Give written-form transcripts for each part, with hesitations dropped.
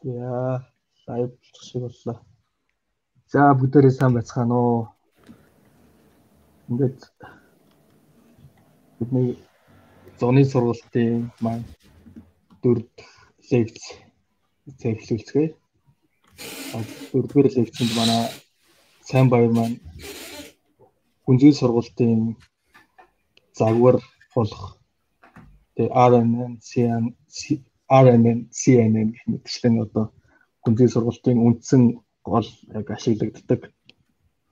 Яа, лайв шиг боллоо. За бүгдээрээ сайн байцгаана уу. Ингээд бидний зуны сургалтын маань 4 лекц эхлүүлцгээе. 4-р лекцэнд манай сайн баяр маань гүнзгий сургалтын загвар болох RNN-CNN гэх мэтчлэн одоо гүнзгий сургалтын үндсэн гол яг ашиглагддаг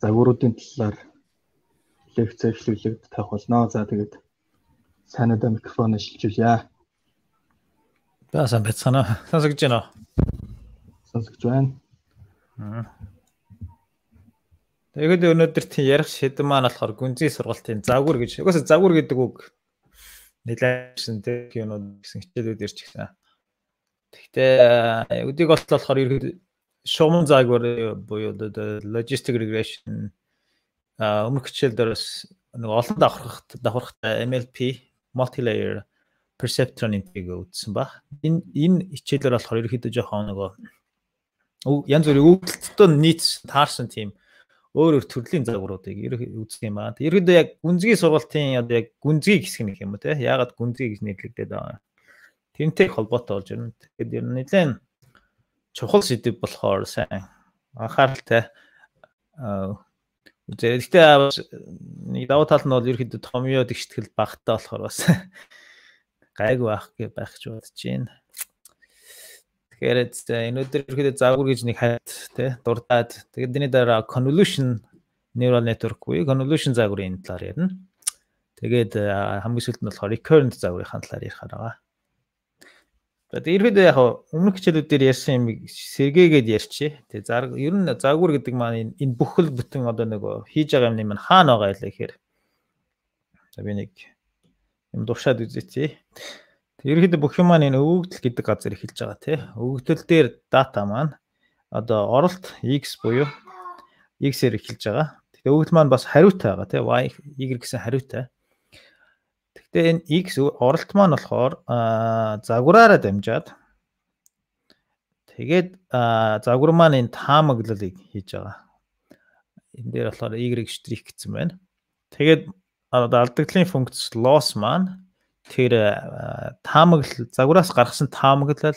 загваруудын талаар лекц эхлүүлээд тавих болно. За тэгээд санаада микрофон шилжүүлье. Басан бацгаана. Сонсогдож байна уу? Сонсогдож байна. Тэгээд өнөөдөр тийм ярих шийдэн маань болохоор гүнзгий сургалтын загвар гэж. Угаасаа загвар гэдэг үг нэлээдсэн тийм юмуд гэсэн хичээлүүд ирж гисэн. Гэхдээ өдийг болохоор ерөөд шугам загвар буюу logistic regression өмнөх хичээл дээрс нэг олон давхархтай MLP multi-layer perceptron-ийг үзсэн баг. Энэ хичээлээр болохоор ерөөхдөө жоохон нөгөө янз бүрийн өгөгдөлтөд нийц таарсан тийм өөр төрлийн загваруудыг үздэг юм байна. Ерөөдөө яг гүнзгий сургалтын одоо яг гүнзгий хэсэг нэг юм уу те? Яагаад гүнзгий гэж нэрлэгдээд байгаа. Тэрнтэй холбоотой болж байна. Тэгэхээр ер нь нэлээд чухал сэдв болохоор сайн анхааралтай Гэхдээ давуу тал нь бол ерөөхдөө томьёо дэгштгэл багтаа болохоор бас гайгүй байх гэж бодож байна. Тэгэхээр өнөөдөр ерөөхдөө загвар гэж нэг хайт тий дурдаад тэгээд энэ дараа convolution neural network буюу convolution загварын талаар ярина. Тэгээд хамгийн сүүлд нь болохоор recurrent загварын талаар ярих байгаа. Тэгээд ерөөдөө яг өмнөх хичээлүүдээр ярьсан юм сэргээгээд ярьчих. Тэгээд ер нь загвар гэдэг маань энэ бүхэл бүтэн одоо нөгөө хийж байгаа юмны маань хаана байгаа ялаа гэхээр за би нэг юм дуршаад үзээч. Тэгээд ерөөдөө бүх юм маань энэ өгөгдөл гэдэг газар эхэлж байгаа тий. Өгөгдөл дээр дата маань одоо оролт x буюу x-ээр эхэлж байгаа. Тэгээд өгөгдөл маань бас хариутай байгаа тий. Y гэсэн хариутай. Гэхдээ энэ x оролт маань болохоор загвараараа дамжаад тэгээд загвар маань энэ таамаглалыг хийж байгаа. Энэ дээр болохоор y' гэсэн байна. Тэгээд алдагдлын функц loss маань тэр таамаглал загвараас гаргасан таамаглал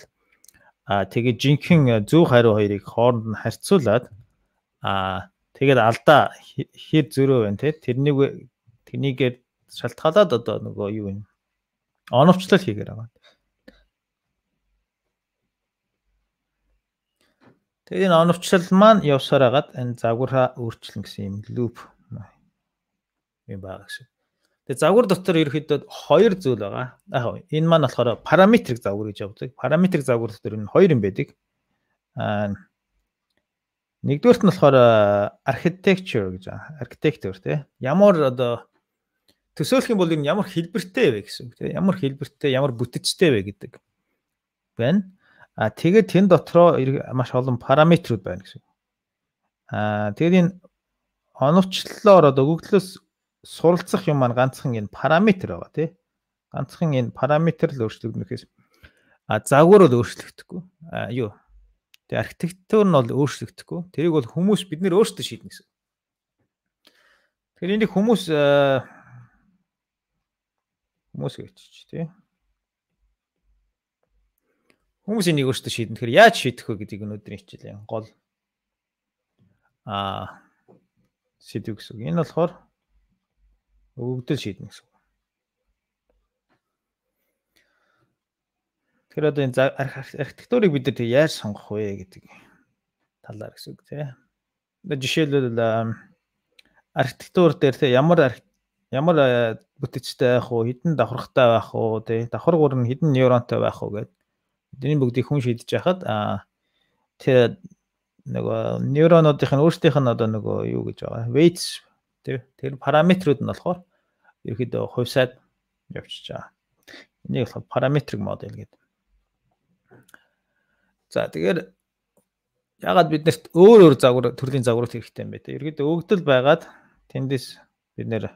тэгээд жинхэнэ зөв хариу хоёрыг хооронд нь харьцуулаад тэгээд алдаа хэр зөрөө байна те тэрнийгээр шалтгаалаад одоо нөгөө юу юм оновчлол хийгээр байгаа. Тэгээд энэ оновчлол маань явсаар хагаад энэ загвараа өөрчлөн гэсэн юм луп юм байгаа гэсэн. Тэгээд загвар дотор ерөөхдөө хоёр зүйл байгаа. Энэ маань болохоор параметрик загвар гэж явдаг. Параметрик загвар дотор энэ хоёр юм байдаг. Нэгдүгээрт нь болохоор architecture гэж байгаа. Architecture тий. Ямар одоо төсөөлөх юм бол энэ ямар хэлбэртэй вэ гэсэн үг тийм ямар хэлбэртэй ямар бүтцтэй вэ гэдэг байна. Тэгээд тэн дотроо маш олон параметрууд байна гэсэн. Тэгээд энэ оновчлолоор одоо өгөгдлөөс суралцах юм маань ганцхан энэ параметр байгаа тийм ганцхан энэ параметр л өөрчлөгдөнөхөөс загвар бол өөрчлөгдөхгүй. Тэгээд архитектур нь бол өөрчлөгдөхгүй. Тэрийг бол хүмүүс бид нэр өөрсдөө шийднэ гэсэн. Тэгэхээр энийг хүмүүс гэвч тий. Хүмүүс энийг өөрсдөө шийдэн. Тэгэхээр яаж шийдэх вэ гэдгийг өнөөдрийн хичээлийн гол сэдв гэсэн. Энэ болохоор өгөгдөл шийднэ гэсэн. Тэгэхээр одоо энэ архитектурыг бид нар яаж сонгох вэ гэдэг талаар гэсэн үг тий. Жишээлбэл архитектур дээр тий ямар бүтцтэй байх уу, хэдэн давхаргатай байх уу, тий давхаргуур нь хэдэн нейронтой байх уу гэдэг. Эдний бүгдийг хүн шийдэж яхад тэр нөгөө нейронуудын өөрсдийнх нь одоо нөгөө юу гэж байгаа. Weights тий тэр параметрууд нь болохоор ерөөдөө хувьсаад явчихж байгаа. Энийг болохоор параметрик модель гэдэг. За тэгэхээр ягаад биднэрт өөр төрлийн загварууд хэрэгтэй юм бэ те. Ерөөдөө өгөгдөл байгаад тэндээс бид нэр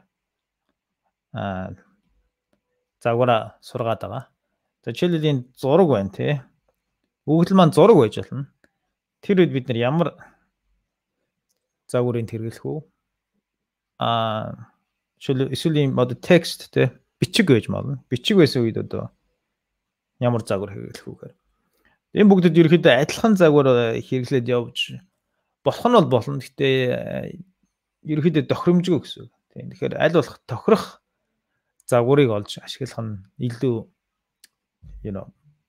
загвараа сургаад байгаа. За жишээлбэл энэ зураг байна тий. Өгөгдөл маань зураг байж болно. Тэр үед бид нар ямар загварыг хэрэглэх үү? Эсвэл ийм одоо текст те бичиг байж болно. Бичиг байсан үед одоо ямар загвар хэрэглэх үү гэхээр энэ бүгдэд ерөөхдөө адилхан загвар хэрэглээд явж болох нь бол болно. Гэхдээ ерөөхдөө тохиромжгүй гэсэн үг. Тийм. Тэгэхээр аль болох тохирох загварыг олж ашиглах нь илүү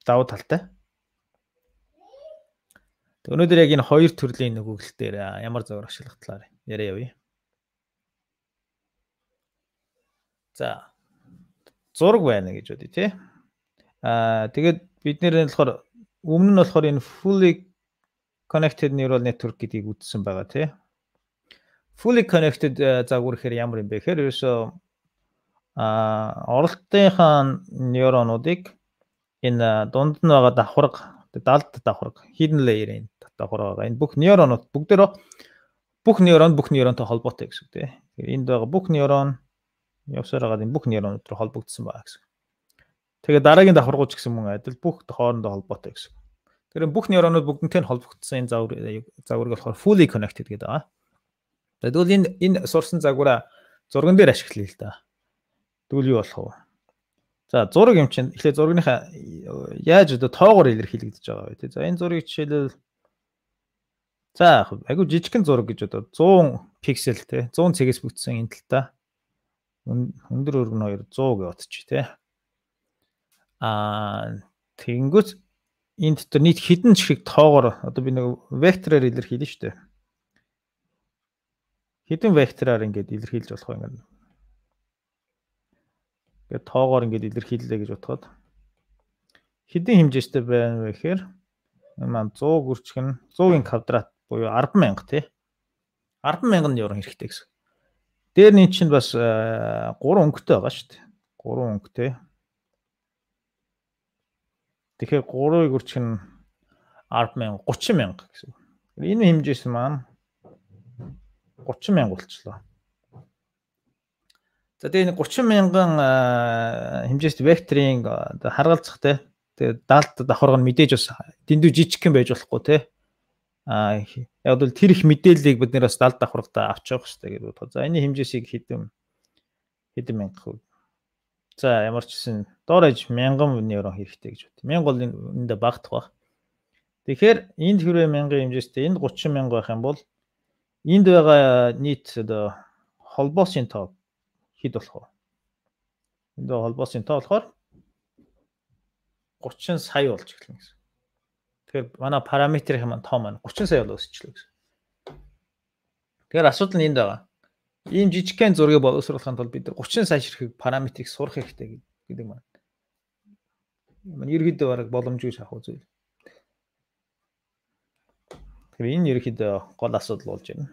давуу талтай. Өнөөдөр яг энэ хоёр төрлийн өгөгдөл дээр ямар загвар ашиглах талаар яриа явъя. За зураг байна гэж бодъё тий. Тэгээд бид нэр болохоор өмнө нь болохоор энэ fully connected neural network гэдгийг үзсэн байгаа тий. Fully connected загвар гэхээр ямар юм бэ гэхээр ерөөсөө оролтынхаа нейронуудыг энэ дунд нь байгаа давхарга, далд давхарга, hidden layer-ийн давхарга байгаа. Энэ бүх нейронууд бүгдээрээ бүх нейронтой холбоотой гэсэн үг тий. Энд байгаа бүх нейрон явсаар байгаа энэ бүх нейронууд руу холбогдсон байгаа гэсэн. Тэгээд дараагийн давхаргууд ч гэсэн мөн адил бүх хоорондоо холбоотой гэсэн. Тэр бүх нейронууд бүгднтэй нь холбогдсон энэ загварыг болохоор fully connected гэдэг байгаа. Тэгвэл энэ сурсан загвараа зурган дээр ашиглая л да. Тэгвэл юу болох вэ? За зураг юм чинь эхлээд зургийнхаа яаж одоо тоогоор илэрхийлэгдэж байгаа вэ тий. За энэ зургийг жишээлбэл за айгу жижигхэн зураг гэж одоо 100 пиксел тий 100 цэгээс бүтсэн энэ талтай өндөр өргөн 200 гэж бодчих тий. Тэгэнгүүт энэ дотор нийт хэдэн шиг тоогоор одоо би нэг вектороор илэрхийлнэ шүү дээ. Хэдэн вектороор ингэж илэрхийлж болох вэ ингэ. Тэгээд тоогоор ингэж илэрхийллээ гэж бодоход хэдэн хэмжээстэй байна вэ гэхээр маань 100 гүрчгэн 100-ийн квадрат буюу 100000 тий. 100000 нейрон хэрэгтэй гэсэн. Дээр нь чинь бас 3 өнгөтэй байгаа шүү дээ. 3 өнгөтэй. Тэгэхээр 3-ыг гүрчгэн 100000 30000 гэсэн. Энэ хэмжээс маань 30000 болчихлоо. За тэгээ 30000 хэмжээст векторын харгалзах те тэгээ далд давхарга нь мэдээж бас дэндүү жижигхэн байж болохгүй те яг бол тэр их мэдээллийг бид нэр бас далд давхаргатаа авч явах хэрэгтэй гэж бодоход. За энэ хэмжээсийг хэдэн мянга хувь. За ямар ч гэсэн доор аж 1000 нейрон хэрэгтэй гэж бод. 1000 бол эндээ багтах баг. Тэгэхээр энд хэрвээ 1000 хэмжээстэй энд 30000 байх юм бол энд байгаа нийт одоо холбоосын тоо хэд болох вэ? Энд холбоосын тоо болохоор 30 сая болж эхэлнэ гэсэн. Тэгэхээр манай параметрийн маань тоо маань 30 сая бол өсчлөө гэсэн. Тэгэхээр асуудал нь энд байгаа. Ийм жижигхэн зургийг боловсруулахын тулд бид 30 сая ширхэг параметрийг сурах хэрэгтэй гэдэг маань. Манай ерөөдөө бараг боломжгүй шахах зүйл. Тэгэхээр энэ ерөөдөө гол асуудал болж байна.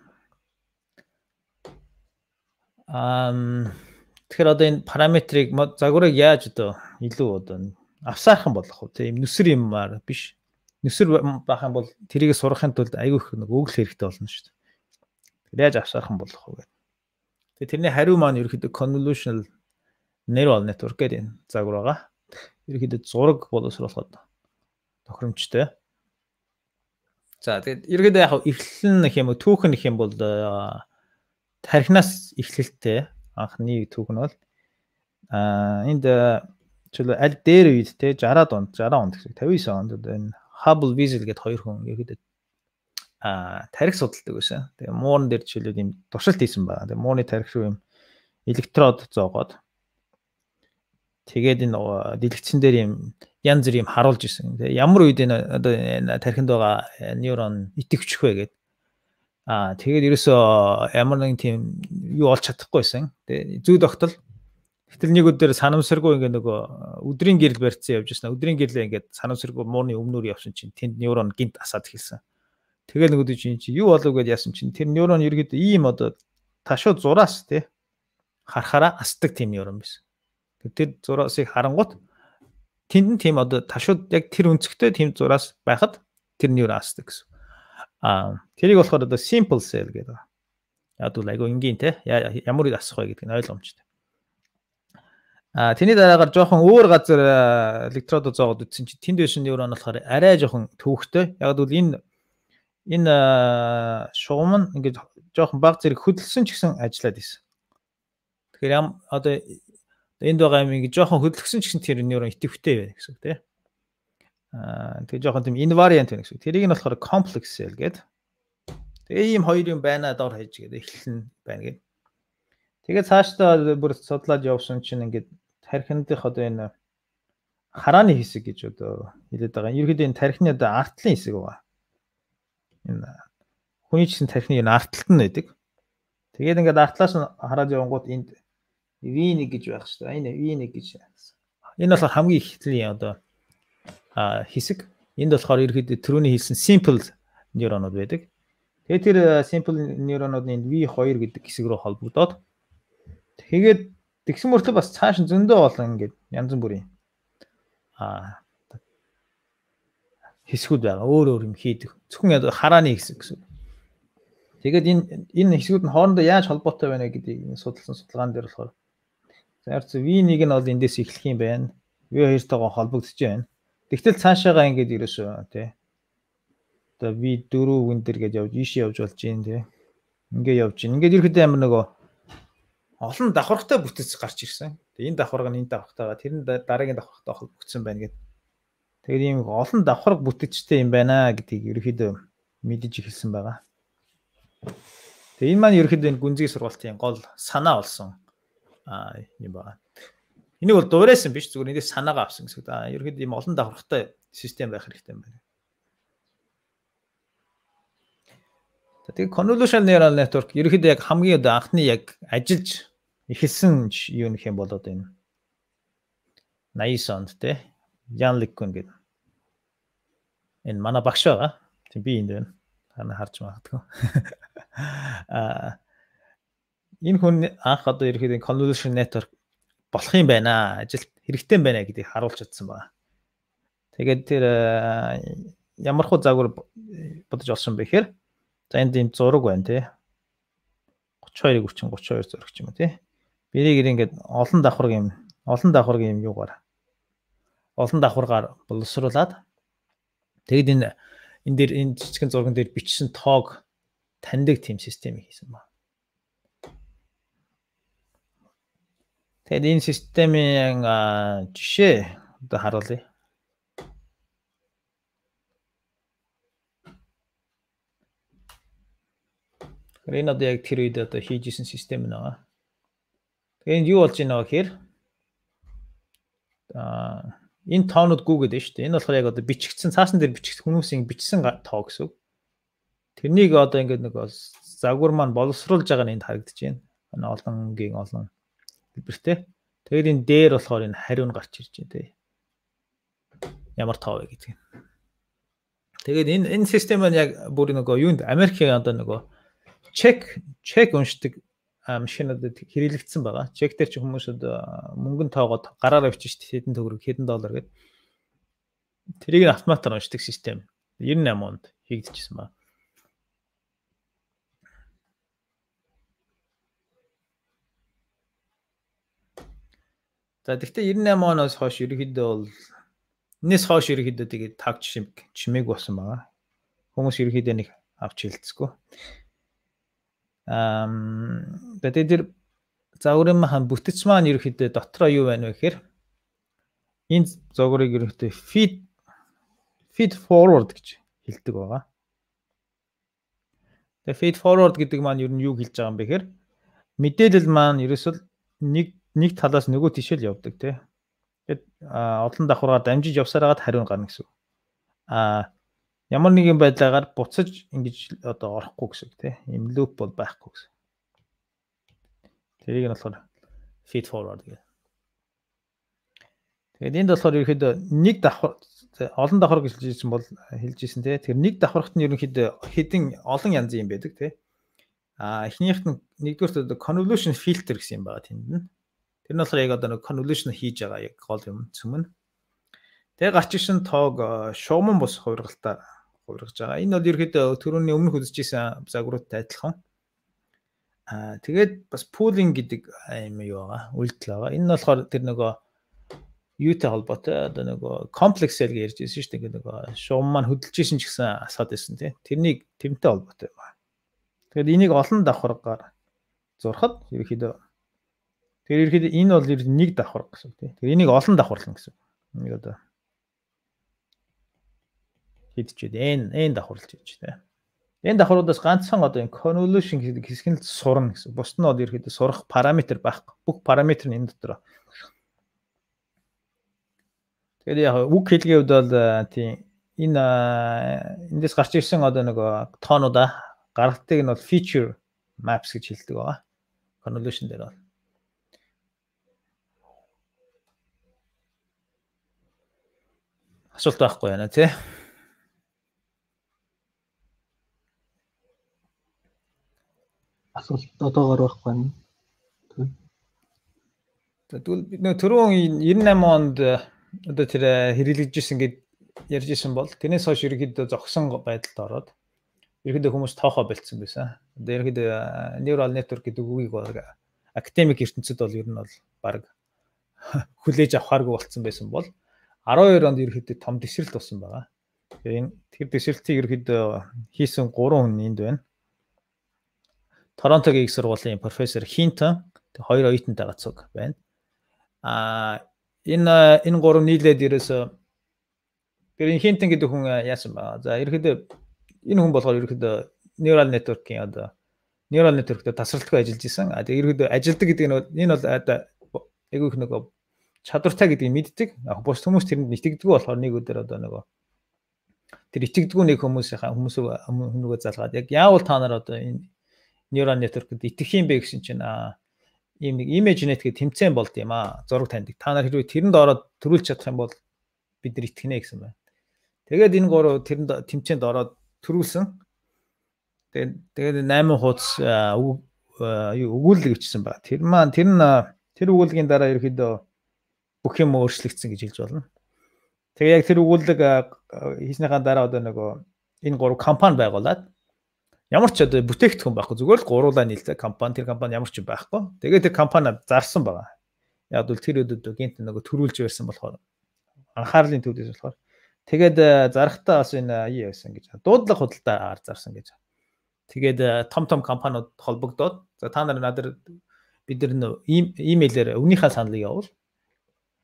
Тэгэхээр одоо энэ параметрийг загварыг яаж одоо илүү одоо авсаархан болох вэ? Тийм нүсэр юмар биш. Нүсэр байх юм бол тэрийг сурахын тулд аягүй их нэг өгөл хэрэгтэй болно шүү дээ. Тэр яаж авсаархан болох вэ гэдэг. Тэгээ тэрний хариу маань ерөөхдөө convolutional neural network гэдэг энэ загвар байгаа. Ерөөхдөө зураг боловсруулахад тохиромжтой. За тэгээд ерөөхдөө яг эхлэл нэх юм уу түүхэн нэх юм бол тархинаас эхлэлтэй анхны түүх нь бол энд чөлөө аль дээр үед те 60 онд гэсэн 59 онд энэ Hubble Wiesel гэдэг хоёр хүн ерөөдөө тарих судалдаг байсан. Тэгээ муурн дээр жишээлбэл юм туршилт хийсэн байна. Тэгээ муурны тарих руу юм электрод зоогоод тэгээд энэ дэлгэцэн дээр юм янз бүр юм харуулж исэн. Тэгээ ямар үед энэ одоо тархинд байгаа нейрон итгэвчих вэ гэдэг. Тэгээд ерөөсөө ямар нэгэн тийм юу олж чадахгүйсэн. Тэгээ зүй тогтол. Гэтэл нэг өдөр санамсаргүй ингээ нөгөө өдрийн гэрэл барьцсан явж байсан. Өдрийн гэрлээ ингээд санамсаргүй муурны өмнөр явсан чинь тэнд нейрон гинт асаад эхэлсэн. Тэгэл нэг өдөр чинь юу болов гэдээ яасан чинь тэр нейрон ерөөдөө ийм одоо ташуу зураас тий харахаараа асдаг тийм нейрон байсан. Тэр зураасыг харангуут тэнд нь тийм одоо ташууд яг тэр өнцгтэй тийм зураас байхад тэр нейрон асдаг гэсэн. Тэрийг болохоор одоо simple cell гэдэг. Яг бол айгу энгийн те ямар үед асах вэ гэдэг нь ойлгомжтой. Тэний дараагаар жоохон өөр газар электродод зоогод үтсэн чи тэнд байсан нейрон болохоор арай жоохон төвөгтэй. Яг гэвэл энэ шугам нь ингээд жоохон баг зэрэг хөдөлсөн ч гэсэн ажиллаад байсан. Тэгэхээр одоо энд байгаа юм ингээд жоохон хөдөлгсөн ч гэсэн тэр нейрон идэвхтэй байна гэсэн үг тийм. Тэгээ жоохон тийм invariant байна гэсэн үг. Тэрийг нь болохоор complex cell гэдэг. Тэгээ ийм хоёр юм байна доор хаяж гэдэг эхлэн байна гэдэг. Тэгээд цаашдаа бүр судлаад явсан чинь ингээд тархиндх одоо энэ харааны хэсэг гэж одоо хэлээд байгаа. Ерөнхийдөө энэ тархины одоо артлын хэсэг байгаа. Энэ хүний чинь тархины энэ артталт нь байдаг. Тэгээд ингээд артлаас нь хараад явангууд энд V1 гэж байх шүү дээ. Энэ V1 гэж. Энэ болохоор хамгийн ихтлийн одоо хэсэг. Энд болохоор ерөнхийдөө түрүүний хэлсэн simple нейронууд байдаг. Тэгээд тэр simple нейронууд нь V2 гэдэг хэсэг рүү холбогдоод тэгээд тэгсэн мөртлөө бас цааш нь зөндөө болон ингээд янз бүрийн хэсгүүд байгаа. Өөр юм хийдэг. Зөвхөн харааны хэсэг гэсэн. Тэгээд энэ хэсгүүд нь хоорондоо яаж холбоотой байна гэдгийг судалсан судалгаан дээр болохоор зарц V1 нь бол эндээс эхлэх юм байна. V2-тойгоо холбогдож байна. Тэгтэл цаашаага ингээд ерөөсөө тий. Одоо V4 гүн дээр гэж явж ийшээ явж болж юм тий. Ингээд явж байна. Ингээд ерөөхдөө амар нөгөө олон давхаргатай бүтэц гарч ирсэн. Тэгээ энэ давхарга нь энэ давхартайгаа тэр нь дараагийн давхаргатай холбогдсон байна гэдэг. Тэгээд ийм олон давхарга бүтэцтэй юм байна гэдгийг ерөөхдөө мэдэж эхэлсэн байгаа. Тэгээ энэ маань ерөөхдөө энэ гүнзгий сургалтын гол санаа болсон юм байна. Энийг бол дуурайсан биш зүгээр эндээс санаагаа авсан гэсэн. Ерөөхдөө ийм олон давхаргатай систем байх хэрэгтэй юм байна. Тэгээ convolutional neural network ерөөхдөө яг хамгийн одоо анхны яг ажиллаж эхэлсэн юу нөх юм болоод энэ 80 онд те Jan LeCun гэдэг энэ манай багш байгаа. Тийм би энд байна. Хана харж магадгүй. Энэ хүн анх одоо ерөөхдөө convolutional network болох юм байна. Ажилт хэрэгтэй юм байна гэдгийг харуулж чадсан байна. Тэгээд тэр ямар хуу загвар бодож олсон бэ гэхээр за энд ийм зураг байна тий. 32-ыг үрчин 32 зураг ч юм уу тий. Бэрийг ингээд олон давхаргийн юугаар олон давхаргаар боловсруулад тэгэд энэ дээр энэ жижигхэн зурган дээр бичсэн тоог таньдаг тийм системийг хийсэн ба. Тэгээд энэ системийн жишээ одоо харуулъя. Энэ одоо яг тэр үед одоо хийжсэн систем нэг. Тэгээ энэ юу болж байна вэ гэхээр энэ тоонууд гүгээд байна шүү дээ. Энэ болохоор яг одоо бичигдсэн цаасан дээр бичигдсэн хүмүүсийн бичсэн тоо гэсэн. Тэрнийг одоо ингээд нэг загвар маань боловсруулж байгаа нь энд харагдаж байна. Энэ олонгийн олон хэлбэртэй. Тэгээд энэ дээр болохоор энэ хариу нь гарч ирж байна тий. Ямар тоо вэ гэдэг. Тэгээд энэ систем маань яг бүр нөгөө юунд Америкийн одоо нөгөө чек уншдаг машинуудад хэрэглэгдсэн байгаа. Чек дээр чи хүмүүс мөнгөнд тоогоод гараараа бичиж хэдэн төгрөг, хэдэн доллар гэдэг. Тэрийг автоматар уншдаг систем 98 онд хийгдчихсэн байна. За тэгвэл 98 оноос хойш ерөнхийдөө бол энэс хойш ерөнхийдөө тэгээд тав чимээг болсон байгаа. Хүмүүс ерөнхийдөө нэг авч хэлцэхгүй. Тэгээд тэр загварын маань бүтэц маань ерөөхдөө дотроо юу байна вэ гэхээр энэ загварыг ерөөхдөө feed forward гэж хэлдэг байгаа. Тэгээд feed forward гэдэг маань ер нь юу хэлж байгаа юм бэ гэхээр мэдээлэл маань ерөөсөл нэг талаас нөгөө тишэл явдаг тий. Тэгээд олон давхаргаар дамжиж явсараад хариу гарна гэсэн. Ямар нэгэн байдлаар буцаж ингэж одоо орохгүй гэсэн тий. Ийм loop бол байхгүй гэсэн. Тэрийг нь болохоор feed forward гэдэг. Тэгээд энд болохоор ерөөхдөө нэг давхар олон давхар гэж хэлжсэн бол хэлжсэн тий. Тэр нэг давхарт нь ерөөхдөө хэдэн олон янзын юм байдаг тий. Эхнийхт нь нэгдүгээр convolution filter гэсэн юм байгаа тэнд нь. Тэр нь болохоор яг одоо нэг convolution хийж байгаа яг гол юм цөмөн. Тэгээ гарч ирсэн тоог шугамн бус хувиргаж байгаа. Энэ бол ерөөхдөө түрүүний өмнөх үзэж исэн загваруудтай адилхан. Тэгээд бас pooling гэдэг юм юу байгаа. Үйлдэл байгаа. Энэ нь болохоор тэр нөгөө юутай холбоотой одоо нөгөө комплекс cell гэж ярьж байсан шүү дээ. Ингээд нөгөө шугам маань хөдөлж исэн ч гэсэн асаад байсан тийм. Тэрнтэй холбоотой байна. Тэгээд энийг олон давхаргаар зурхад ерөөхдөө энэ бол нэг давхар гэсэн тийм. Тэгээд энийг олон давхарлан гэсэн. Энийг одоо хийдчихэд энэ давхарлаж хийж тийм. Энэ давхруудаас ганцхан одоо энэ convolution гэдэг хэсэг нь сурна гэсэн. Бусд нь бол ерөөхдөө сурах параметр байхгүй. Бүх параметр нь энэ дотор. Тэгээд яг үг хэлгийн хувьд бол тийм энэ эндээс гарч ирсэн одоо нөгөө тоонуудаа гаргалтыг нь бол feature maps гэж хэлдэг байгаа. Convolution дээр бол. Асуулт байхгүй байна тий. Асуулт одоогоор байхгүй байна. Тэгвэл бид нөө түрүүн 98 онд одоо тэр хэрэглэгдэжсэн гэд ярьж исэн бол тэрнээс хойш ерөөхдөө зогсон байдалд ороод ерөөхдөө хүмүүс тоохоо болцсон байсан. Одоо ерөөхдөө neural network гэдэг үгийг бол академик ертөнцид бол ер нь бол баг хүлээж авахааргүй болцсон байсан бол 12 онд ерөөхдөө том дэвсгэрэлт болсон байгаа. Тэгэхээр тэр дэвсгэрэлтийг ерөөхдөө хийсэн 3 хүн энд байна. Торонтогийн их сургуулийн профессор Хинтон хоёр оюутантай гацуг байна. Энэ гурав нийлээд ерөөсөө тэр Хинтон гэдэг хүн яасан ба. За ерөөхдөө энэ хүн болохоор ерөөхдөө neural network-ийн одоо neural network-тэй тасралтгүй ажиллаж исэн. Тэгээ ерөөхдөө ажилдаг гэдэг нь энэ бол айгүй их нөгөө чадвартай гэдгийг мэддэг. Бус хүмүүс тэрэнд итгэдэггүй болохоор нэг өдөр одоо нөгөө тэр итгэдэггүй нэг хүмүүсөө залгаад яг яавал та нар одоо энэ neural network-д итгэх юм бэ гэсэн чинь ийм нэг ImageNet гэх тэмцээн болд юм зураг таньдаг. Та нар хэрвээ тэрэнд ороод төрүүлж чадах юм бол бид нар итгэнэ гэсэн байна. Тэгээд энэ гурав тэрэнд тэмцээнд ороод төрүүлсэн. Тэгээд 8 хуудас өгүүлэг өчсөн байна. Тэр өгүүлгийн дараа ерөөхдөө бүх юм өөрчлөгдсөн гэж хэлж болно. Тэгээ яг тэр өгүүлэг хийснийхаа дараа одоо нөгөө энэ гурав компани байгуулад ямар ч одоо бүтээгдэхүүн байхгүй зүгээр л гуруулаа нийлдэг компани тэр компани ямар ч юм байхгүй. Тэгээд тэр компани зарсан байгаа. Яг бол тэр өдөрт гинт нөгөө төрүүлж байсан болохоор анхаарлын төвдөөс болохоор тэгээд зарахтаа бас энэ юу яасан гэж дуудлага худалдаа зарсан гэж. Тэгээд том компаниуд холбогдоод за та нар надад бид нар имэйлээр өмнөхөө саналыг явуул.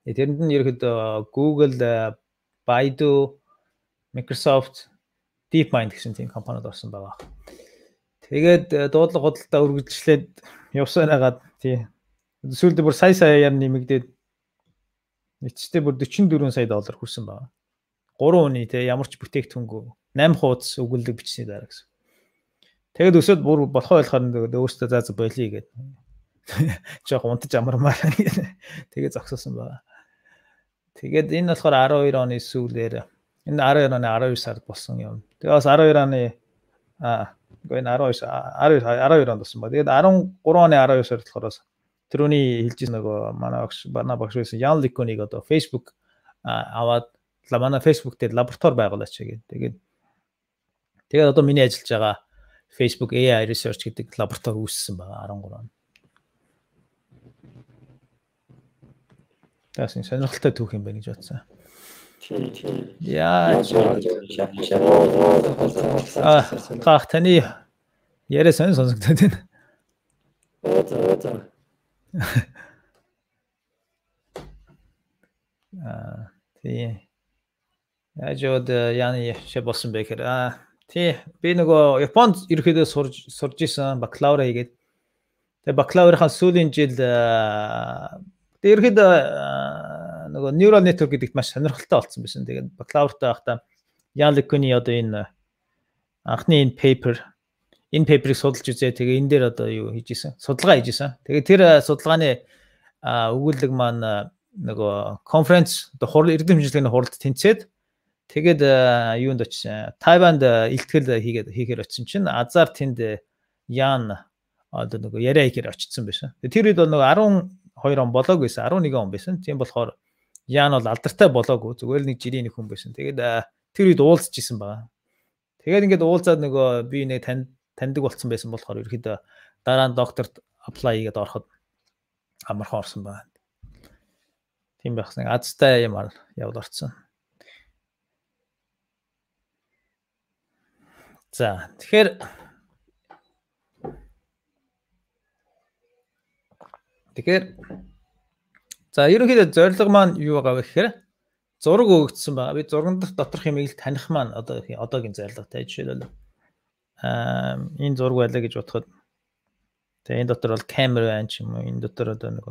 Тэрэнд нь ерөөхдөө Google, Baidu, Microsoft, DeepMind гэсэн тийм компаниуд орсон байгаа. Тэгээд дуудлага худалдаа үргэлжлээд явсан байгаад тий. Сүүлдээ бүр сая нэмэгдээд нийтдээ бүр $44 сая хүрсэн байгаа. 3 хүний тий ямар ч бүтээгдэхүүнгүй 8 хуудас өгүүлэг бичсний дараа гэсэн. Тэгээд өсөд бүр болохоо ойлгохоор өөртөө заа болиё гэдэг. Жог унтаж амармаар тэгээд зогсоосон байгаа. Тэгээд энэ болохоор 12 оны сүүлээр энэ 12 оны 12 сард болсон юм. Тэгээд бас 12 оны энэ 12 онд болсон ба. Тэгээд 13 оны 12 сард болохоор тэрүүний хэлжсэн нөгөө манай багш байсан Ян Ликонийг одоо Facebook аваад манай Facebook дээр лаборатори байгуулаач гэдэг. Тэгээд одоо миний ажиллаж байгаа Facebook AI Research гэдэг лаборатори үүссэн байгаа 13 он. Тэсний сонирхолтой түүх юм байна гэж бодсон. Яа. Гах таны яриа сонсогдоод байна. Тий. Яжод яны шибосон бэ гэхээр тий би нөгөө Японд ерөөхдөө сурж исэн бакалавра хийгээд тэгээ бакалаврынхаа сүүлийн жил ерөөхдөө нөгөө neural network гэдэгт маш сонирхолтой болсон байсан. Тэгээд бакалавртаа байхдаа Ян Ликоны одоо энэ анхны энэ paper-ыг судалж үзээ. Тэгээ энэ дээр одоо юу хийж исэн? Судалгаа хийж исэн. Тэгээ тэр судалгааны өгүүлэг маань нөгөө конференц одоо эрдэм хэмжээний хуралд тэнцээд тэгээд юунд очсон? Тайванд илтгэл хийхээр очсон чинь азар тэнд Ян одоо нөгөө яриа хийхээр очсон байсан. Тэр үед бол нөгөө 12 он болоог байсан, 11 он байсан. Тийм болохоор Ян бол алдартай болоогүй. Зүгээр л нэг жирийн нэг хүн байсан. Тэгээд тэр үед уулзж исэн байгаа. Тэгээд ингээд уулзаад нөгөө би нэг таньдаг болсон байсан болохоор ерөөхдөө дараа нь докторт apply хийгээд ороход амархан орсон байна. Тийм байхсан азтай юмар явд орсон. За тэгэхээр за ерөнхийдөө зорилго маань юу байгаа вэ гэхээр зураг өгөгдсөн байгаа. Би зурган доторх юмыг таних маань одоогийн зорилготой. Жишээлбэл энэ зураг байлаа гэж бодоход тэгээ энэ дотор бол камер байна ч юм уу. Энэ дотор одоо нэг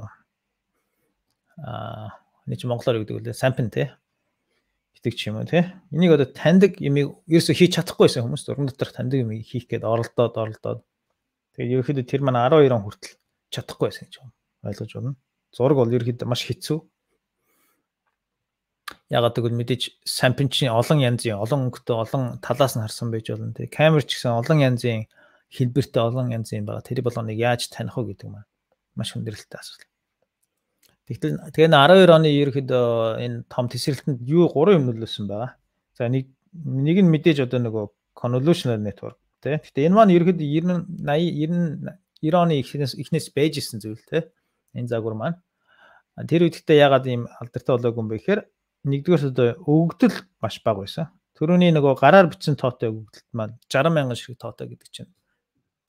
нэг ч монголоор гэдэг үлээ сампин те гэдэг ч юм уу те. Энийг одоо таньдаг юмыг ерөөсө хийж чадахгүйсэн хүмүүс зурган доторх таньдаг юмыг хийх гээд оролдоод тэгээ ерөөхдөө тэр маань 12 он хүртэл чадахгүй байсан гэж ойлгож байна. Зураг бол ерөөхдөө маш хэцүү. Ягаад гэвэл мэдээж сампин чинь олон янзын олон өнгөтэй олон талаас нь харсан байж болно те. Камер ч гэсэн олон янзын хэлбэртэй олон янзын байгаа. Тэр болгоныг яаж таних вэ гэдэг маань маш хүндрэлтэй асуудал. Тэгэхээр 12 оны ерөөхдөө энэ том тесрэлтэнд юу 3 юм нөлөөлсөн байгаа. За нэг нь мэдээж одоо нөгөө convolutional network те. Гэхдээ энэ маань ерөөхдөө 90 оны эхнээс байжсэн зүйл те. Энэ загвар маань. Тэр үедээ ягаад ийм алдартай болоогүй юм бэ гэхээр нэгдүгээр одоо өгөгдөл маш бага байсан. Төрөний нөгөө гараар бичсэн тоотой өгөгдөлт маань 60,000 ширхэг тоотой гэдэг чинь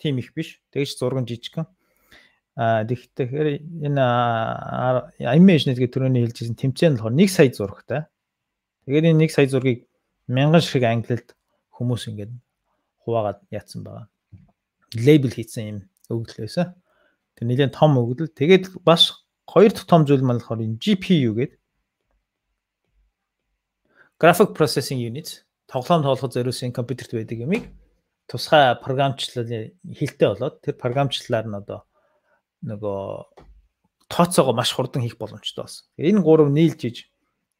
тийм их биш. Тэгэж зурган жижигхэн. Тэгэхээр энэ image гэдэг төрөний хэлжсэн тэмцээн болохоор 1 сая зурагтай. Тэгээд энэ 1 сая зургийг 1000 ширхэг ангилалд хүмүүс ингээд хуваагаад яатсан байгаа. Лейбл хийсэн юм өгөгдөл байсан. Тэр нэлээд том өгөгдөл. Тэгээд бас хоёр дахь том зүйл маань болохоор энэ GPU гэдэг Graphic Processing Unit тоглоом тоглоход зориулсан компьютерт байдаг юмыг тусгай програмчлалын хилтэй болоод тэр програмчлалаар нь одоо нөгөө тооцоогоо маш хурдан хийх боломжтой болсон. Энэ гурав нийлж иж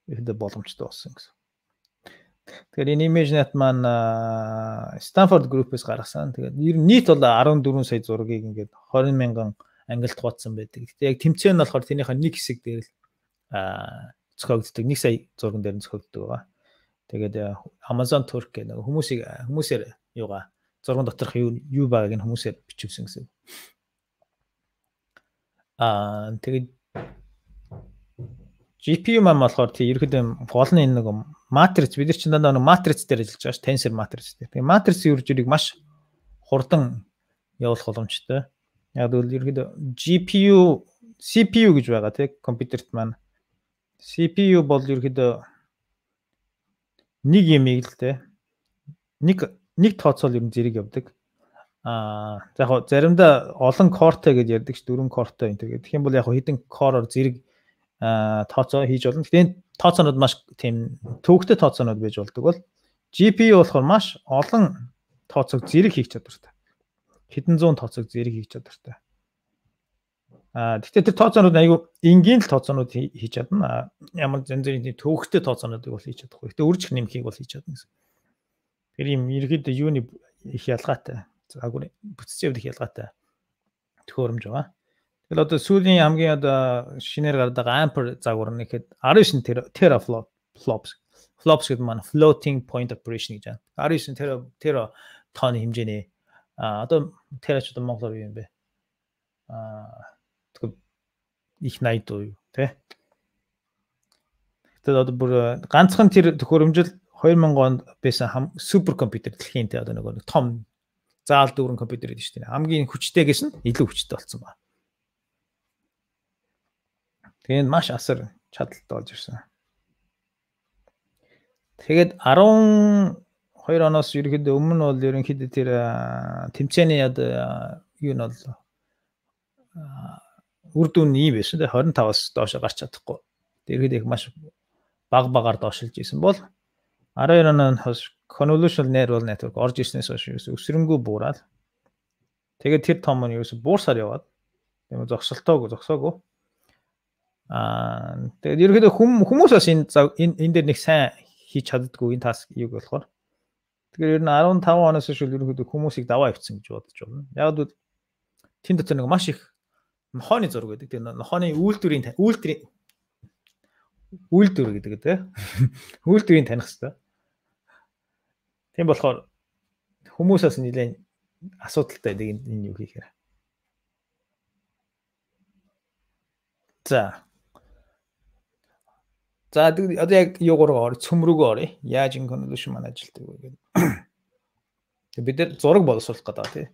ихэдэ боломжтой болсон гэсэн. Тэгэхээр энэ ImageNet маань Stanford Group-ээс гаргасан. Тэгээд ер нь нийт бол 14 сая зургийг ингээд 20,000 ангилалд хуваацсан байдаг. Гэтэ яг тэмцээн нь болохоор тэрнийхээ нэг хэсэг дээр л зохиогддог. 1 сая зурган дээр нь зохиогддог байгаа. Тэгээд Amazon Turk гэх нэг хүмүүсээр юугаа зурган доторх юу байгааг нь хүмүүсээр бичүүлсэн гэсэн. Тэгээд GPU маань болохоор тий ерөөдөө гол нь энэ нэг матриц бид нар чинь дандаа нэг матриц дээр ажиллаж байгаа ш тенсор матриц дээр. Тэгээд матрицын үр жирийг маш хурдан явуулах боломжтой. Яг л ерөөдөө GPU, CPU гэж байгаа тий компьютерт маань. CPU бол ерөөдөө нэг юмыг л тий нэг тооцоол ер нь зэрэг явдаг. За яг заримдаа олон кортой гэж ярьдаг ш 4 кортой энэ тэгээд тэгэх юм бол яг хэдэн короор зэрэг тооцоо хийж болно. Гэхдээ тооцоонууд маш тийм төвөгтэй тооцоонууд байж болдог бол GPU болохоор маш олон тооцоог зэрэг хийх чадвартай. Хэдэн зуун тооцоог зэрэг хийх чадвартай. Гэхдээ тэр тооцоонууд айгүй энгийн л тооцоонууд хийж чадна. Ямар зэн зэн төвөгтэй тооцоонуудыг бол хийж чадахгүй. Гэхдээ үржих нэмхийг бол хийж чадна гэсэн. Тэр юм ерөөдөө юуны их ялгаатай. Загвар бүтцийн хувьд их ялгаатай төхөөрөмж байгаа. Тэгэл одоо сүүлийн хамгийн одоо шинээр гардаг Ampere загвар нь ихэд 19 teraflops гэдэг маань floating point operation гэж байна. 19 тера тонны хэмжээний одоо терач одоо монголоор юу юм бэ? Тэгэхээр их 80 дуу юу тий. Тэгээд одоо бүр ганцхан тэр төхөөрөмжл 2000 онд байсан супер компьютер дэлхийн тий одоо нэг том заал дүүрэн компьютер гэдэг шүү дээ. Хамгийн хүчтэйгээс нь илүү хүчтэй болсон байна. Тэгээд маш асар чадaltaй болж ирсэн. Тэгээд 12 оноос ерөнхийдөө өмнө бол ерөнхийдөө тэр тэмцээний юу нь бол үр дүн ийм байсан. 25-аас доош гарч чадахгүй. Ерөнхийдөө их маш багаар доошилж исэн бол 12 оноос convolutional neural network орж ирснээс хойш өсрөнгөө буураад тэгээд тэр том нь ерөөсө буурсаар яваад тийм зогсоогоо. Тэгээд ерөөдөө хүмүүс бас энэ дээр нэг сайн хийж чаддаггүй энэ таск юг болохоор. Тэгэхээр ер нь 15 оноос хойш ерөөдөө хүмүүсийг даваа явцсан гэж бодож байна. Яг л тэн дотор нэг маш их нохооны зураг байдаг. Тэр нохооны үйлдвэр гэдэг тийм үйлдвэрийг таних хэрэгтэй. Тийм болохоор хүмүүсээс нэлээд асуудалтай байдаг энэ юу хийхээр. За. За одоо яг юугаар цөм рүүгээ оръё. Яаж энэ convolution маань ажилтдаг вэ гэдэг. Бид нар зураг боловсруулах гэдэг тий.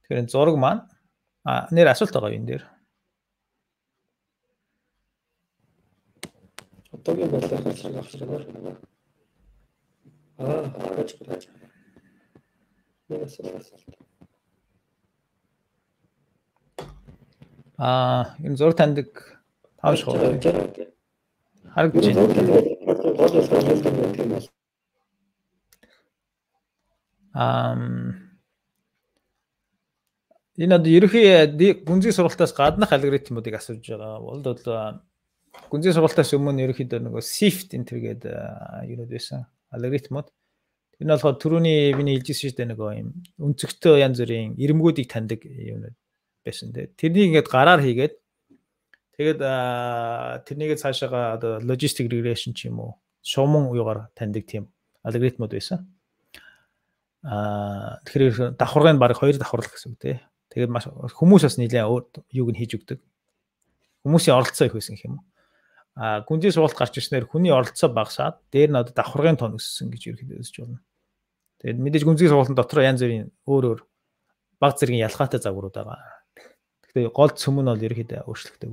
Тэгэхээр энэ зураг маань нэр асуулт байгаа юм дээр. Одоогийн бодлоор харж энэ зураг таньдаг тааш гоё. Харагдаж байна. Энэ одоо ерөнхий гүнзгий сургалтаас гаднах алгоритмуудыг асууж байгаа бол гүнзгий сургалтаас өмнө ерөнхийдөө нөгөө SIFT энэ төргээд юунод байсан алгоритмууд. Тэр нь болохоор түрүүний миний хэлжсэн шүү дээ нөгөө юм өнцөгтэй янз бүрийн ирэмгүүдийг таньдаг юунод байсан тий. Тэрнийг ингээд гараар хийгээд тэгээд тэрнийг цаашаага одоо logistic regression ч юм уу шууман уягаар таньдаг тийм алгоритмууд байсан. Тэгэхээр давхаргыг баг 2 давхарлах гэсэн үг тий. Тэгээд маш хүмүүс бас нэлээд юуг нь хийж өгдөг. Хүмүүсийн оролцоо их байсан гэх юм уу. Гүнзгий сургалт гарч ирснээр хүний оролцоо багасаад дээр нь одоо давхаргын тон өссөн гэж ерөөхдөө үзэж байна. Тэгээд мэдээж гүнзгий сургалтын дотор янз бүрийн өөр баг зэргийн ялгаатай загварууд байгаа. Гэхдээ гол цөм нь бол ерөөхдөө өөрчлөгдөв.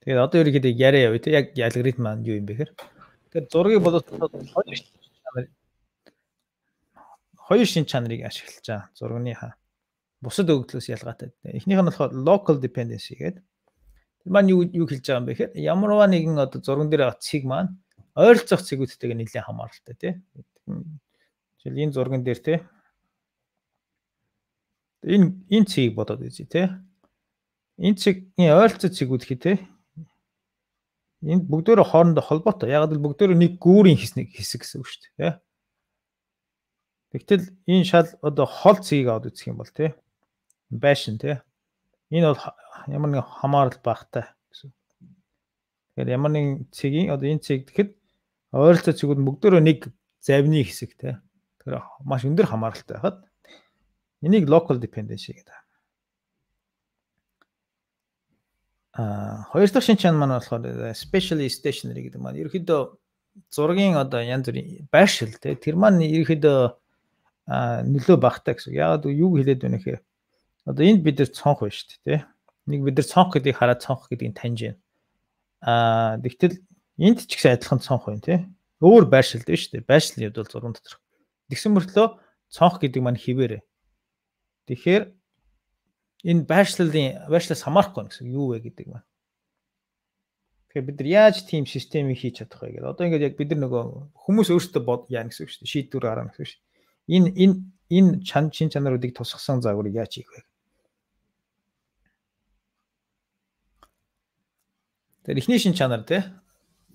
Тэгээд одоо ерөөхдөө яриа явъя те яг алгоритм маань юу юм бэ гэхээр тэгээд зургийг боловсруулах хоёр шин чанарыг ашиглаж байгаа. Зурганы бусад өгөгдлөөс ялгаатай. Эхнийх нь болохоор local dependency гэдэг. Тэр маань юу хэлж байгаа юм бэ гэхээр ямарваа нэгэн одоо зурган дээр байгаа цэг маань ойролцоох цэгүүдтэйгээ нэлээд хамааралтай тий. Жишээл энэ зурган дээр тий. Энэ цэгийг бодоод үзье тий. Энэ цэгийн ойролцоо цэгүүд хий тий. Энд бүгдөө хоорондоо холбоотой. Яг л бүгдөө нэг гүүрийн хэсэг гэсэн үг шүү дээ тий. Тэгтэл энэ шал одоо хол цэгийг аваад үзэх юм бол тий. Байшин тий. Энэ бол ямар нэг хамаарал багтай гэсэн. Тэгэхээр ямар нэг цэгийн одоо энэ цэг гэхэд ойролцоо цэгүүд бүгдөө нэг завны хэсэг тий. Тэгэхээр маш өндөр хамааралтай байхад энийг local dependency гэдэг. Хоёр дахь шинж чанар маань болохоор specially stationary гэдэг маань ерөөхдөө зургийн одоо янз бүрийн байршил тий. Тэр маань ерөөхдөө нөлөө багтай гэсэн. Яг юу хэлээд байна гэхээр одоо энд бид нар цонх байна шүү дээ тий. Нэг бид нар цонх гэдгийг хараад цонх гэдгийг таньж байна. Тэгтэл энд ч гэсэн адилхан цонх байна тий. Өөр байршил дээ шүү дээ. Байршлын хувьд бол зурган доторх. Тэгсэн мөртлөө цонх гэдэг маань хിവэрэ. Тэгэхээр энэ байршлаас хамаарахгүй гэсэн юу вэ гэдэг маань. Тэгэхээр бид нар яаж тийм системийг хийж чадах вэ гэдэг. Одоо ингээд яг бид нар нөгөө хүмүүс өөрсдөө яана гэсэн үг шүү дээ. Шийдвэр гаргана гэсэн үг шүү дээ. Энэ шин чанаруудыг тусгасан загварыг яаж хийх вэ? Тэгэхээр эхний шин чанар тий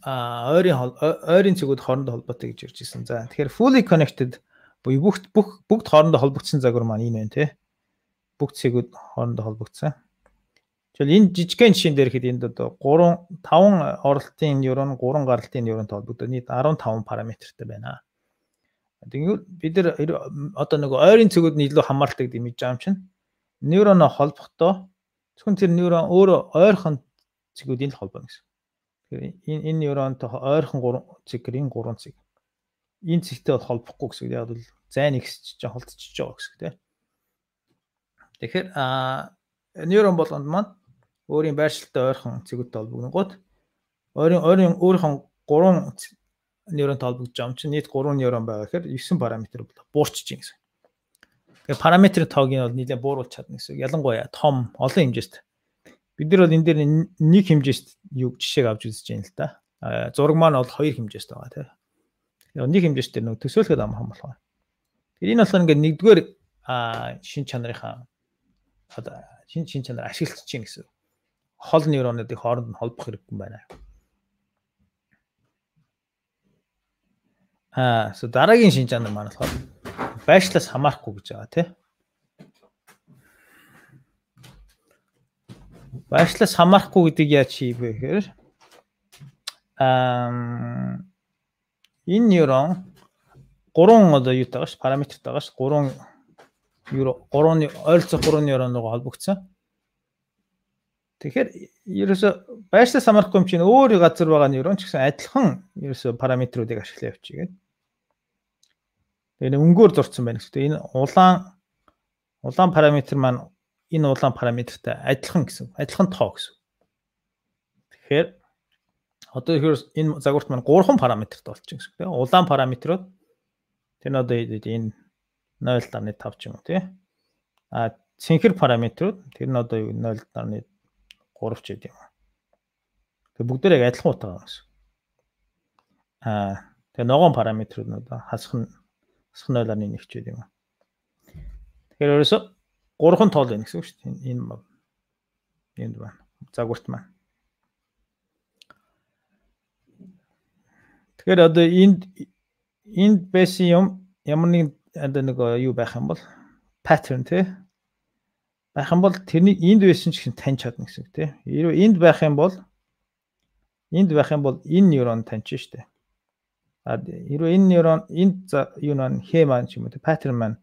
ойрын цэгүүд хоорондоо холбоотой гэж ярьж ирсэн. За тэгэхээр fully connected буюу бүгд хоорондоо холбогдсон загвар маань энэ байна тий. Бүгд цэгүүд хоорондоо холбогдсон. Жишээл энэ жижигхэн жишээн дээр хэд энд одоо 5 оролтын нейрон 3 гаралтын нейронтой холбогдоод нийт 15 параметртэй байна. Тэгвэл бид нар одоо нөгөө ойрын цэгүүд нь илүү хамааралтай гэдэг мэдж байгаа юм чинь нейроноо холбохдоо зөвхөн тэр нейрон өөрөө ойрхон цэгүүдийн л холбооно гэсэн. Тэгэхээр энэ нейронтой ойрхон 3 цэг гэрийн 3 цэг. Энэ цэгтэй бол холбохгүй гэсэн. Яг бол зайн ихсэж холдчихж байгаа гэсэн тийм. Тэгэхээр нейрон болгонд маань өөрийн байршилтай ойрхон цэгүүдтэй холбогногод өөрийнхөө 3 нейронтой холбогдож байгаа юм чинь нийт 3 нейрон байгаа гэхээр 9 параметр буурчиж байна гэсэн. Тэгэхээр параметрын тоог нь бол нэлээд бууруулж чадна гэсэн. Ялангуяа том олон хэмжээст. Бид нар бол энэ дээр нэг хэмжээст юу жишээг авч үзэж байна л да. Зураг маань бол 2 хэмжээст байгаа тийм. Тэгэхээр нэг хэмжээст дээр нэг төсөөлөхөд амархан болохоор. Тэгэхээр энэ болохоор ингээд нэгдүгээр шин чанарынхаа одоо шин чанар ашиглаж чинь гэсэн. Хол нейронуудыг хооронд нь холбох хэрэггүй байна. Дараагийн шин чанар маань болохоор байршлаас хамаарахгүй гэж байгаа тийм. Байршлаас хамаарахгүй гэдгийг яаж хийх вэ гэхээр энэ нейрон 3 одоо юу тааш параметртэй байгаа ш 3 ойролцоо 3 нейроноо холбогдсон. Тэгэхээр ерөөсө байршлаас хамаарахгүй юм чинь өөр газар байгаа нейрон ч гэсэн адилхан ерөөсө параметруудыг ашиглаа явчих гээд. Тэгээ өнгөөр зурцсан байна гэсэн. Энэ улаан параметр маань энэ улаан параметртай адилхан гэсэн. Адилхан тоо гэсэн. Тэгэхээр одоо энэ загварт маань 3 параметрт болчих гэсэн. Тэгээ улаан параметрууд тэр нь одоо энэ 0.5 ч юм уу тий. Цэнхэр параметрууд тэр нь одоо 0.3 ч гэдэг юм. Тэгээ бүгдээр яг адилхан утга байгаа гэсэн. Тэгээ ногоон параметрууд нь одоо хасах 0.1 ч гэдэг юм. Тэгэхээр ерөөсө 3 тоол байна гэсэн үг шүү дээ. Энд байна. Загварт маань. Тэгэхээр одоо энд байсан юм ямар нэг нэг юу байх юм бол pattern тий байх юм бол тэрний энд байсан ч гэсэн таньж чадна гэсэн үг тий. Хэрвээ энд байх юм бол энэ нейрон таньж штэ. Хэрвээ энэ нейрон энд юу нэ хэ маань ч юм уу тий pattern маань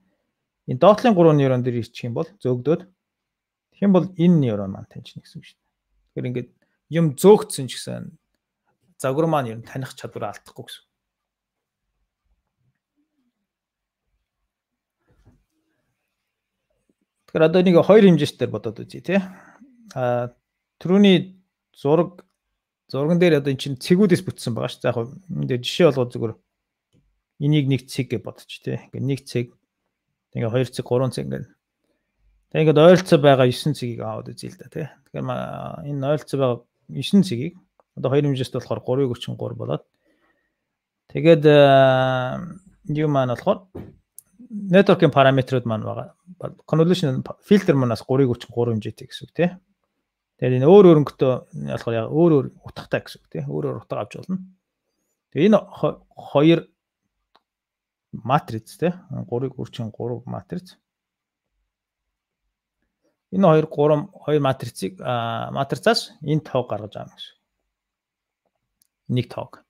энэ доотлын 3 нейрон дээр ирчих юм бол зөөгдөөд тэгэх юм бол энэ нейрон маань таньжна гэсэн үг штэ. Тэгэхээр ингээд юм зөөгдсөн ч гэсэн загвар маань ер нь таних чадвараа алдахгүй гэсэн. Тэгэхээр одоо нэг хоёр хэмжээчээр бодоод үзье тий. Түрүүний зурган дээр одоо эн чинь цэгүүдээс бүтсэн байгаа шүү. За яг энэ жишээ болгоод зүгээр энийг нэг цэг гэж бодчих тий. Ингээд нэг цэг тэгээ 2 цэг 3 цэг ингээд. Тэгээ ингээд ойролцоо байгаа 9 цэгийг аваад үзье л да тий. Тэгэхээр энэ ойролцоо байгаа 9 цэгийг одоо хоёр хэмжээст болохоор 3.33 болоод тэгээд юу маань болохоор network-ийн параметрууд маань байгаа. Convolution filter манаас 3.33 хэмжээтэй гэсэн үг тий. Тэгээд энэ өөр өнгөтэй болохоор яг өөр утгатай гэсэн үг тий. Өөр утга авч болно. Тэгээд энэ хоёр матриц тий. 3.33 матриц. Энэ хоёр матрицаас энэ тоог гаргаж авах гэсэн. Нэг тоог.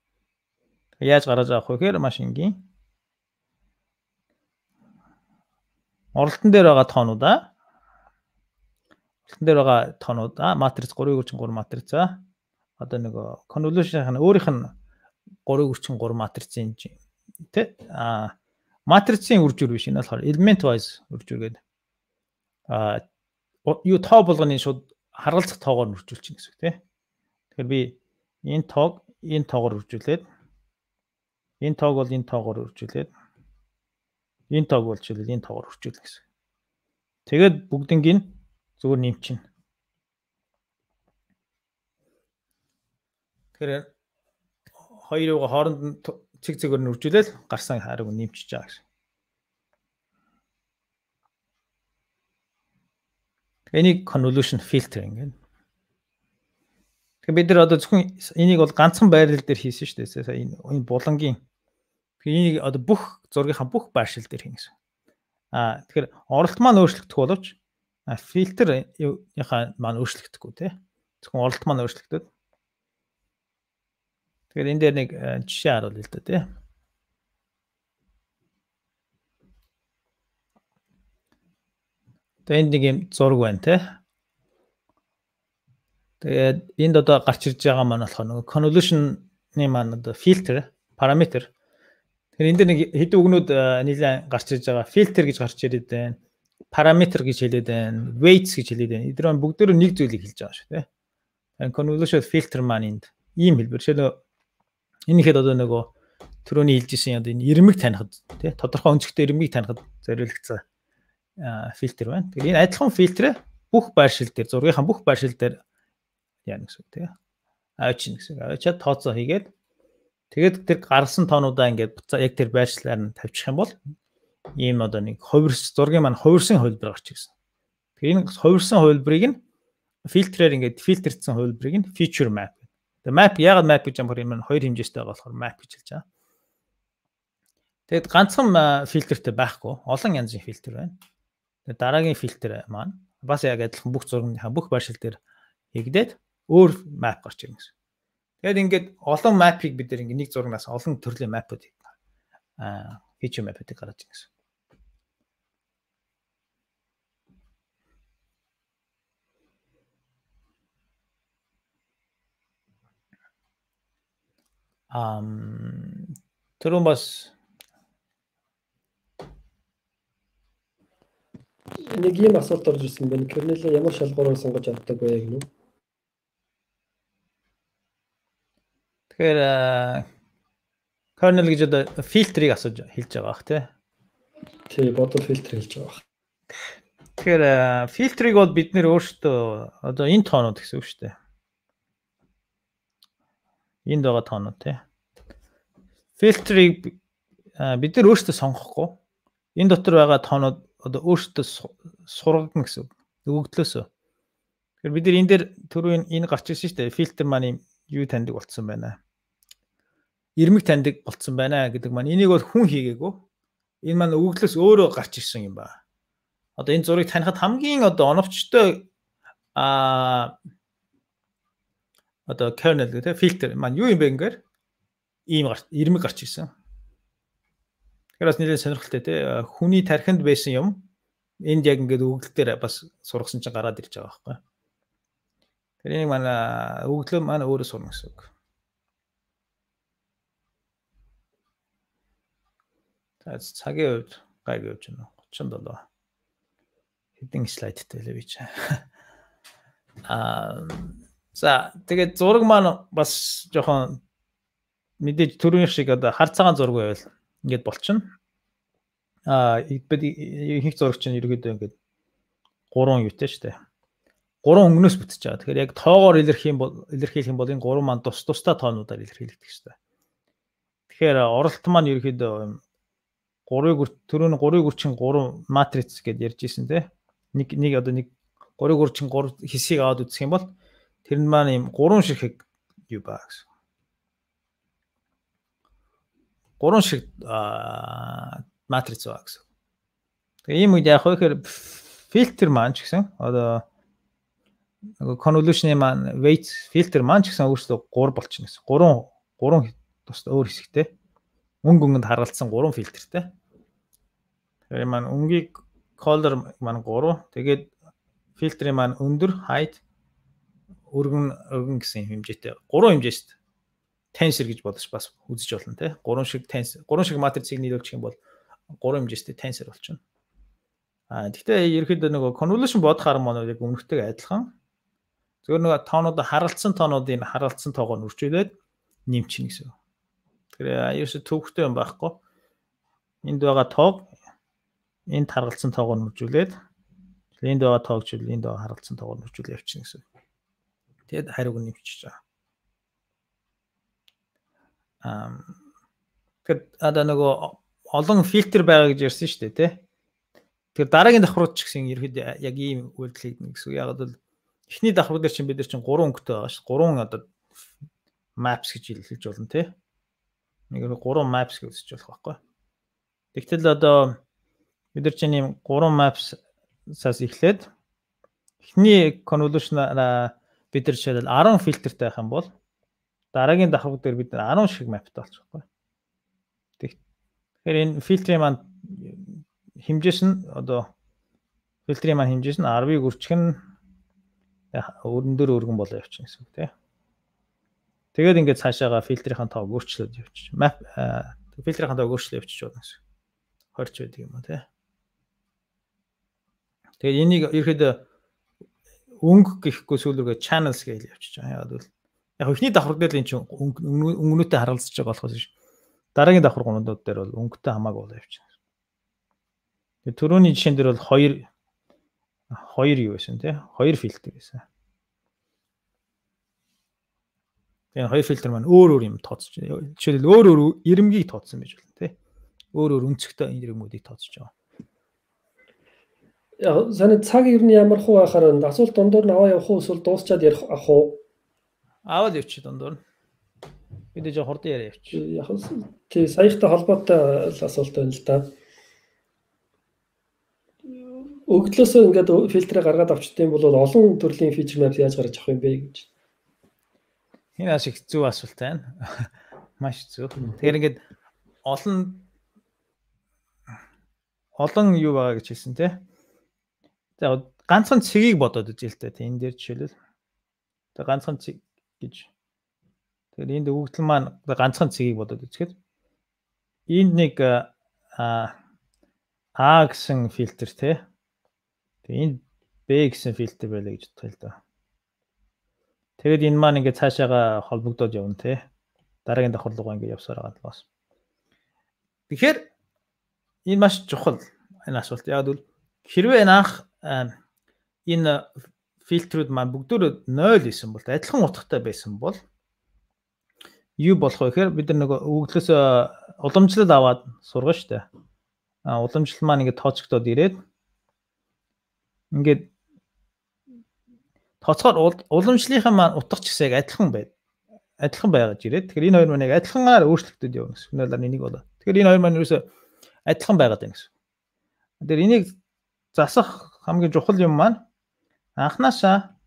Яаж гаргаж авах вэ гэхээр маш энгийн. Оролтон дээр байгаа тоонуудаа матриц 3.33 матрицаа одоо нэг convolution-ын өөрийнх нь 3.33 матрицын тий матрицын үржүүр биш энэ болохоор element wise үржүүр гэдэг юу тоо болгоны шууд харгалзах тоогоор нь үржүүлчих гэсэн үг тий. Тэгэхээр би энэ тоогоор үржүүлээд энэ тоог бол энэ тоогоор үржүүлээд энэ тоог болчихвол энэ тоогоор үржүүлнэ гэсэн. Тэгээд бүгднийг нь зүгээр нэмчихнэ. Тэгэхээр хоёрыг хооронд цэг цэгээр нь үржүүлээд гарсан хариг нэмчихэж байгаа гэсэн. Энийг convolution filtering гэдэг. Тэгэхээр бид нар одоо зөвхөн энийг бол ганцхан байрлал дээр хийсэн шүү дээ. Сая энэ булангийн. Тэгэхээр энийг одоо бүх зургийнхаа бүх байршил дээр хийн гэсэн. Тэгэхээр оролт маань өөрчлөгдөх боловч фильтрийнхаа маань өөрчлөгдөхгүй тий. Зөвхөн оролт маань өөрчлөгдөд. Тэгэхээр энэ дээр нэг жишээ харуул л да тий. Тэгээд энд нэг юм зураг байна тий. Тэгээд энд одоо гарч ирж байгаа маань болохоор нөгөө convolution-ны маань одоо фильтр параметр. Тэгэхээр энэ дээр нэг хэдэн үгнүүд нэлээд гарч ирж байгаа. Фильтр гэж гарч ирээд байна. Параметр гэж хэлээд байна. Weights гэж хэлээд байна. Эдгээр маань бүгдөө нэг зүйлийг хэлж байгаа шүү тий. Энэ convolution filter маань энд ийм хэлбэр. Жишээлбэл энэ ихэд одоо нөгөө түрүүний хэлжсэн одоо энэ ирмэг танихад тий тодорхой өнцгтэй ирмэг танихад зориулагдсан фильтр байна. Тэгэхээр энэ адилхан фильтрээ бүх байршил дээр зургийнхаа бүх байршил дээр яана гэсэн үг тий. Авчин гэсэн. Авчаад тооцоо хийгээд тэгээд тэр гарсан тоонуудаа ингээд яг тэр байршлаар нь тавьчих юм бол ийм одоо нэг зургийн маань хувирсан хувилбар гарч ирсэн. Тэгэхээр энэ хувирсан хувилбарыг нь фильтрээр ингээд фильтрдсэн хувилбарыг нь feature map. Тэгээ map яагаад map гэж юм хоёр хэмжээтэй байгаа болохоор map гэж хэлж байгаа. Тэгэд ганцхан фильтртэй байхгүй, олон янзын фильтр байна. Тэгээд дараагийн фильтр маань бас яг адилхан бүх зургийнхаа бүх байршил дээр хийгдээд өөр map гарч ирнэ гэсэн. Тэгээд ингээд олон map-ыг бид нэг зургаас олон төрлийн map-ууд feature map-ыг гаргаж ирнэ гэсэн. Түрүүн бас нэг юм асуулт орж ирсэн байна. Kernel-ээ ямар шалгуураар сонгож авдаг вэ гэнэ үү? Тэгэхээр kernel гэж одоо фильтрийг асууж хэлж байгаа бах тий. Тий, бодол фильтр хэлж байгаа. Тэгэхээр фильтрийг бол бид нэр өөрсдөө одоо энэ тоонууд гэсэн үг шүү дээ. Энд байгаа тоонууд тий. Фильтрийг бид нэр өөрсдөө сонгохгүй. Энэ дотор байгаа тоонууд одоо өөрсдөө сургагдана гэсэн үг. Өгөгдлөөсөө. Тэгэхээр бид нэр энэ дээр түрүү энэ гарч ирсэн шүү дээ. Фильтр маань юу таньдаг болцсон байна. Ирмэг таньдаг болцсон байна гэдэг маань энийг бол хүн хийгээгүй. Энэ маань өгөгдлөөс өөрөө гарч ирсэн юм ба. Одоо энэ зургийг танихад хамгийн одоо оновчтой одоо kernel гэдэг фильтр маань юу юм бэ ингээр ийм ирмэг гарч ирсэн. Тэгэхээр бас нэлээд сонирхолтой тий. Хүний тархинд байсан юм энд яг ингээд өгөгдөл дээр бас сургасан чинь гараад ирж байгаа байхгүй. Тэр энийг манай өгөгдлөө маань өөрөө сурна гэсэн үг. Цагийн хувьд гайг явж байна. 37. Хэдэн слайдтай лээ би чи. За тэгээд зураг маань бас жоохон мэдээж төрийн шиг одоо хар цагаан зураг байвал ингээд болчихно. Ихэнх зураг чинь ерөөдөө ингээд 3 юутэй шүү дээ. 3 өнгнөөс бүтэж байгаа. Тэгэхээр яг тоогоор илэрхийлэх юм бол энэ 3 маань тусдаа тоонуудаар илэрхийлэгдэх хэрэгтэй. Тэгэхээр оролт маань ерөөдөө 3-ийн гүрчин 3 матриц гэдээ ярьж ирсэн те. Нэг одоо нэг 3-ийн гүрчин 3 хэсгийг аваад үзэх юм бол тэр нь маань юм 3 шиг юу ба гэсэн. 3 шиг матриц ба гэсэн. Тэгээ ийм үед яг хөөхээр фильтр маань ч гэсэн одоо convolution-ийн маань weight фильтр маань ч гэсэн өөрөөсөө 3 болчихно гэсэн. 3 тусдаа өөр хэсэгтэй. Өнгөнд харгалцсан 3 фильтртэй. Тэгэхээр маань өнгийг color маань 3. Тэгээд фильтрийн маань өндөр, height, өргөн гэсэн хэмжээтэй. 3 хэмжээст tensor гэж бодож бас үзэж болно те. 3 шиг tensor, 3 шиг матрицыг нийлүүлчих юм бол 3 хэмжээстэй tensor болчихно. Гэхдээ ерөөхдөө нөгөө convolution бодохоор маань яг өмнөхтэйг адилхан. Зөвхөн нөгөө тоонуудаа харгалцсан тоонуудын харгалцсан тоогоор үржүүлээд нэмчихнэ гэсэн. Тэгэхээр ерөөсө төвхтэй юм байхгүй. Энд байгаа тоог энд харгалцсан тоогоор үржүүлээд энд байгаа тоогч энд байгаа харгалцсан тоогоор үржүүлээ явчихна гэсэн. Тэгэд хариуг нь нэмчихэж байгаа. Тэгэхээр одоо нөгөө олон фильтр байгаа гэж ярьсан шүү дээ тий. Тэгэхээр дараагийн давхрууд ч гэсэн ерөөд яг ийм үйлдэл хийгнэ гэсэн. Яг бол эхний давхар дээр чинь бид нар чинь 3 өнгөтэй байгаа шүү. 3 одоо maps гэж хэлж болно тий. Нэг 3 maps гэж үзэж болох байхгүй. Тэгтэл одоо бид нар чинь ийм 3 maps-аас эхлээд эхний convolution-аараа бид нар жишээлбэл 10 фильтртэй байх юм бол дараагийн давхар дээр бид нар 10 шиг mapтай болчих байхгүй. Тэгэхээр энэ фильтрийн маань хэмжээс нь одоо фильтрийн маань хэмжээс нь 10-ыг үрчгэн өргөндөр өргөн болоо явчихна гэсэн үг тий. Тэгээд ингээд цаашаага фильтрийн тоог өөрчлөөд явчих. Map фильтрийн тоог өөрчлөө явчих болно гэсэн. Хорч байдаг юм аа тий. Тэгээд энийг ерөөдөө өнгө гэхгүй сүүлрүүгээ channels гэж явчих. Яг бол яг ихний давхар дээр л эн чинь өнгөнөөтэй харгалзаж байгаа болохоос биш. Дараагийн давхар гонодууд дээр бол өнгөтэй хамаагүй болоо явчихна. Тэгээд түрүүний жишээн дээр бол 2 юу байсан тий? 2 фильтр байсан. Тэгээд 2 фильтр маань өөр юм тооцож байна. Жишээлбэл өөр ирэмгийг тооцсон байж болно тий. Өөр өнцгтэй ирэмгүүдийг тооцож байгаа. Яа, саний цаг ер нь ямар хуу байхаар асуулт дундуур нь аваа явах уу эсвэл дуусчаад ярих ах уу? Аваад явчих дундуур. Бид жоо хурдан яриа явчих. Яг тий саяхтай холбоотой асуулт байна л да. Өгдлөөсөө ингээд фильтрээ гаргаад авчдсан бол олон төрлийн feature maps яаж гарч авах юм бэ гэж. Энэ ашиг зөв асуулт байна. Маш зөв. Тэгэхээр ингээд олон юу байгаа гэж хэлсэн тий. За ганцхан цэгийг бодоод үзье л дээ. Энэ дээр жишээлбэл. Тэгээ ганцхан цэг гэж Тэгэхээр энд өгөгдөл маань ганцхан цэгийг бодоод үзэхэд энд нэг А гэсэн фильтр тий. Тэгээ энд Б гэсэн фильтр байлаа гэж бодъё л доо. Тэгээд энэ маань ингээд цаашаага холбогдоод явна тий. Дараагийн давхар руугаа ингээд явсаар байгаа талаас. Тэгэхээр энэ маш чухал энэ асуулт. Яг бол хэрвээ анх энэ фильтрүүд маань бүгдөө 0 байсан бол адилхан утгатай байсан бол юу болох вэ гэхээр бид нар нөгөө өгөгдлөөс уламжлал аваад сургана шүү дээ. Уламжлал маань ингээд тооцогдоод ирээд ингээд тооцохоор уламжлалынхаа маань утга ч гэсэн яг адилхан байгаад ирээд тэгэхээр энэ хоёр маань яг адилханаар өөрчлөгдөж явна гэсэн. Үнэхээр энийг болоо. Тэгэхээр энэ хоёр маань ерөөсөө адилхан байгаад байна гэсэн. Тэгэхээр энийг засах хамгийн чухал юм маань анханасаа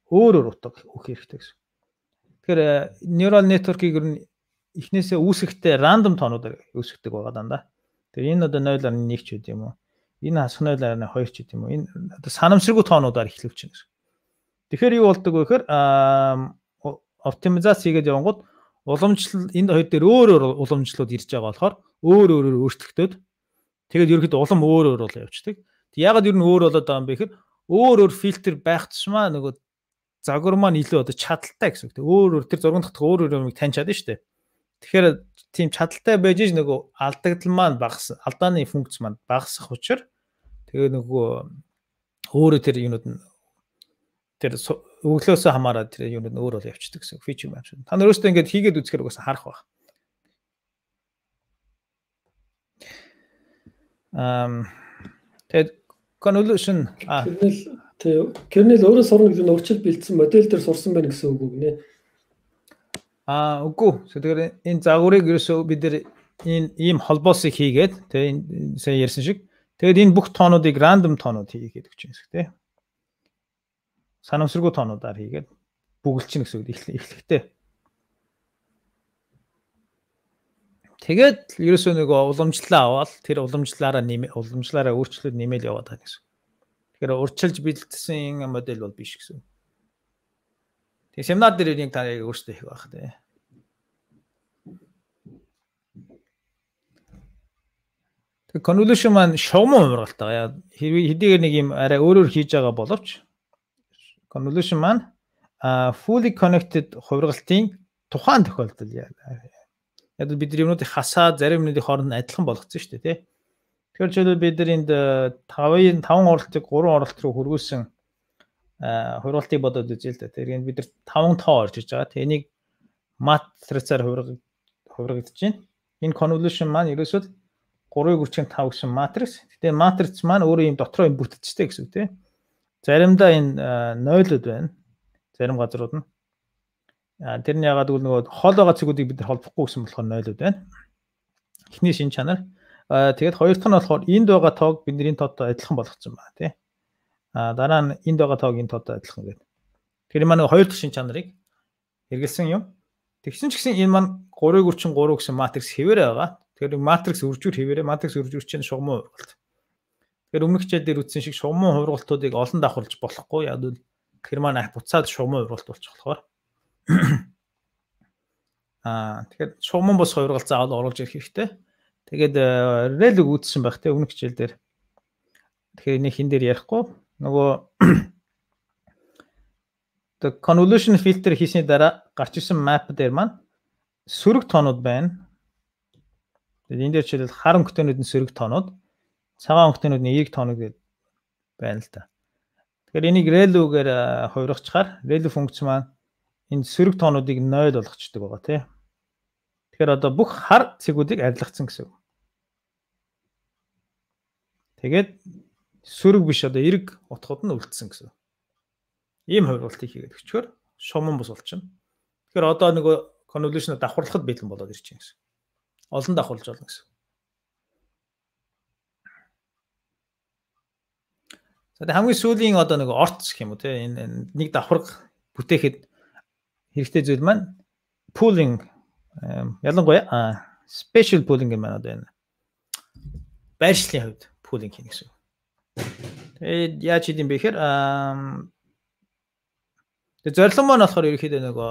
өөр утга өгөх хэрэгтэй гэсэн. Тэгэхээр neural network-ийг ер нь эхнээсээ үүсэхдээ random тоонуудаар үүсгдэг байгаа дандаа. Тэгэхээр энэ одоо 0.1 ч үт юм уу? Энэ хасах 0.2 ч үт юм уу? Энэ одоо санамсаргүй тоонуудаар эхлэвч чинь гэсэн. Тэгэхээр юу болдог вэ гэхээр оптимизац хийгээд явангууд уламжлал энэ хоёр дээр өөр уламжлалууд ирж байгаа болохоор өөрөөр өөрчлөгдөд тэгээд ерөөхдөө улам өөр бол явцдаг. Тэг ягаад ер нь өөр болоод байгаа юм бэ гэхээр өөр фильтр байх тусмаа нөгөө загвар маань илүү одоо чадaltaй гэсэн үг. Өөр тэр зурган дахь өөр юмыг таньж чадна шүү дээ. Тэгэхээр тийм чадaltaй байж иж нөгөө алдагдал маань багассан, алдааны функц маань багасах учраас тэгээ нөгөө өөрөө тэр юмуд нь тэр өглөөсөө хамаараад тэр юмуд нь өөр бол явцдаг гэсэн фичер юм шиг. Та нар өөрөөсөө ингэж хийгээд үзэхээр угаасаа харах баг. Тэгээд convolution kernel өөрөө сурна гэдэг нь урьдчил бэлдсэн модель дээр сурсан байна гэсэн үг үгнэ. Үгүй. Тэгэхээр энэ загварыг ерөөсөө бид нэр энэ ийм холбоосыг хийгээд тэгээ сая ярьсан шиг тэгээд энэ бүх тоонуудыг random тоонууд хийгээд өгч юм шиг тий. Санамсаргүй тоонуудаар хийгээд бүгэлчин гэсэн үг эхлэхдээ. Тэгээд ерөөсөө нөгөө уламжлалаа аваад тэр уламжлалаараа өөрчлөлт нэмэл яваад байгаа гэсэн. Тэгэхээр урьдчилж бэлдсэн модель бол биш гэсэн. Тэгээ семинар дээр нэг та яг өөрсдөө хийх байх тий. Тэгээ convolution маань шугам уургалтай. Хэдийгээр нэг юм арай өөрөөр хийж байгаа боловч convolution маань fully connected хувиргалтын тухайн тохиолдол яг бид юмнуудыг хасаад зарим юмнуудын хооронд адилхан болгоцсон шүү дээ тий. Тэгэхээр жишээлбэл бид нар энд 5 оролтыг 3 оролт руу хөргүүлсэн хувиргалтыг бодоод үзье л да. Тэгэхээр бид нар 5 тоо орж иж байгаа. Тэгээ энийг матрицаар хувиргагдаж байна. Энэ convolution маань ерөөсөө 3.5 гэсэн матрикс. Тэгээ матриц маань өөрөө юм дотроо юм бүтцтэй гэсэн үг тий. Заримдаа энэ 0-уд байна. Зарим газрууд нь. Тэр нь ягаад гэвэл нөгөө хол байгаа цэгүүдийг бид холбохгүй гэсэн болохоор 0-уд байна. Эхний шин чанар. Тэгээд хоёр дахь нь болохоор энд байгаа тоог бидний тоодтой адилхан болгоцсон байна тий. Дараа нь энд байгаа тоог энэ тоодтой адилхан гэдэг. Тэр маань хоёр дахь шин чанарыг хэрэгэлсэн юм. Тэгсэн ч гэсэн энэ маань 3.3 гэсэн матрикс хэвээрээ байгаа. Тэгэхээр матрикс үржүүр хэвээрээ матрикс үржүүр чинь шугамын хувиргалт. Тэгэхээр өмнөх хичээл дээр үтсэн шиг шугамын хувиргалтуудыг олон давхарлаж болохгүй. Яг л тэр маань буцаад шугамын хувиргалт болчих болохоор. Тэгэхээр шугамын бос хувиргалт заавал оруулж ирэх хэрэгтэй. Тэгээд религ үүссэн байх те өмнөх хичээл дээр. Тэгэхээр энийг хин дээр ярихгүй. Нөгөө the convolution filter хийсний дараа гарч ирсэн map дээр маань сөрөг тоонууд байна. Тэгээд энэ дээр жишээлбэл хар өнгөтэйнүүд нь сөрөг тоонууд, цагаан өнгөтэйнүүд нь эерэг тоонууд гэдэг байна л та. Тэгэхээр энийг relu-гээр хувиргачаар relu функц маань энэ сөрөг тоонуудыг 0 болгочдөг байгаа тий. Тэгэхээр одоо бүх хар цэгүүдийг арилгацсан гэсэн үг. Тэгээд сөрөг биш одоо эрэг утгууд нь үлдсэн гэсэн. Ийм хувиргалтыг хийгээд өчгөр шуман бус болчихно. Тэгэхээр одоо нөгөө convolution давхарлахад бэлэн болоод ирж байна гэсэн. Олон давхарлаж болно гэсэн. За хамгийн сүүлийн одоо нөгөө орц гэх юм уу те энэ нэг давхарга бүтээхэд хэрэгтэй зүйл маань pooling ялангуяа special pooling юм байна одоо энэ байршлын хувьд pooling хийнэ гэсэн. Тэгээд яаж хийх юм бэ гэхээр зорилго маань болохоор ерөөхдөө нөгөө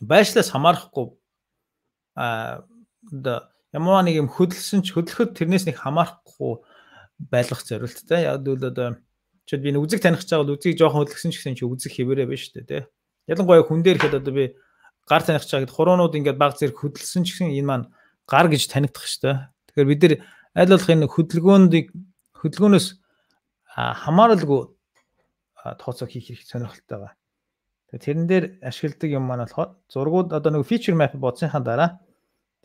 байшлаас хамаарахгүй ямар нэг юм хөдөлгөхөд тэрнээс нэг хамаарахгүй байлгах зорилттой. Яг л одоо чи би үзэг таних гэж байгаа бол үзгийг жоохон хөдөлгсөн ч гэсэн чи үзэг хэвээрээ биш үү те. Ялангуяа хүн дээр ихэд одоо би гар таних гэж байгаа хуруунууд ингээд баг зэрэг хөдөлсөн ч гэсэн энэ маань гар гэж танигдах шүү дээ. Тэгэхээр бид нар аль болох энэ хөдөлгөөнөөс хамааралгүй тооцоо хийх хэрэг сонирхолтой байгаа. Тэгэхээр тэрэн дээр ашигладаг юм маань болохоор зургууд одоо нэг feature map бодсныхаа дараа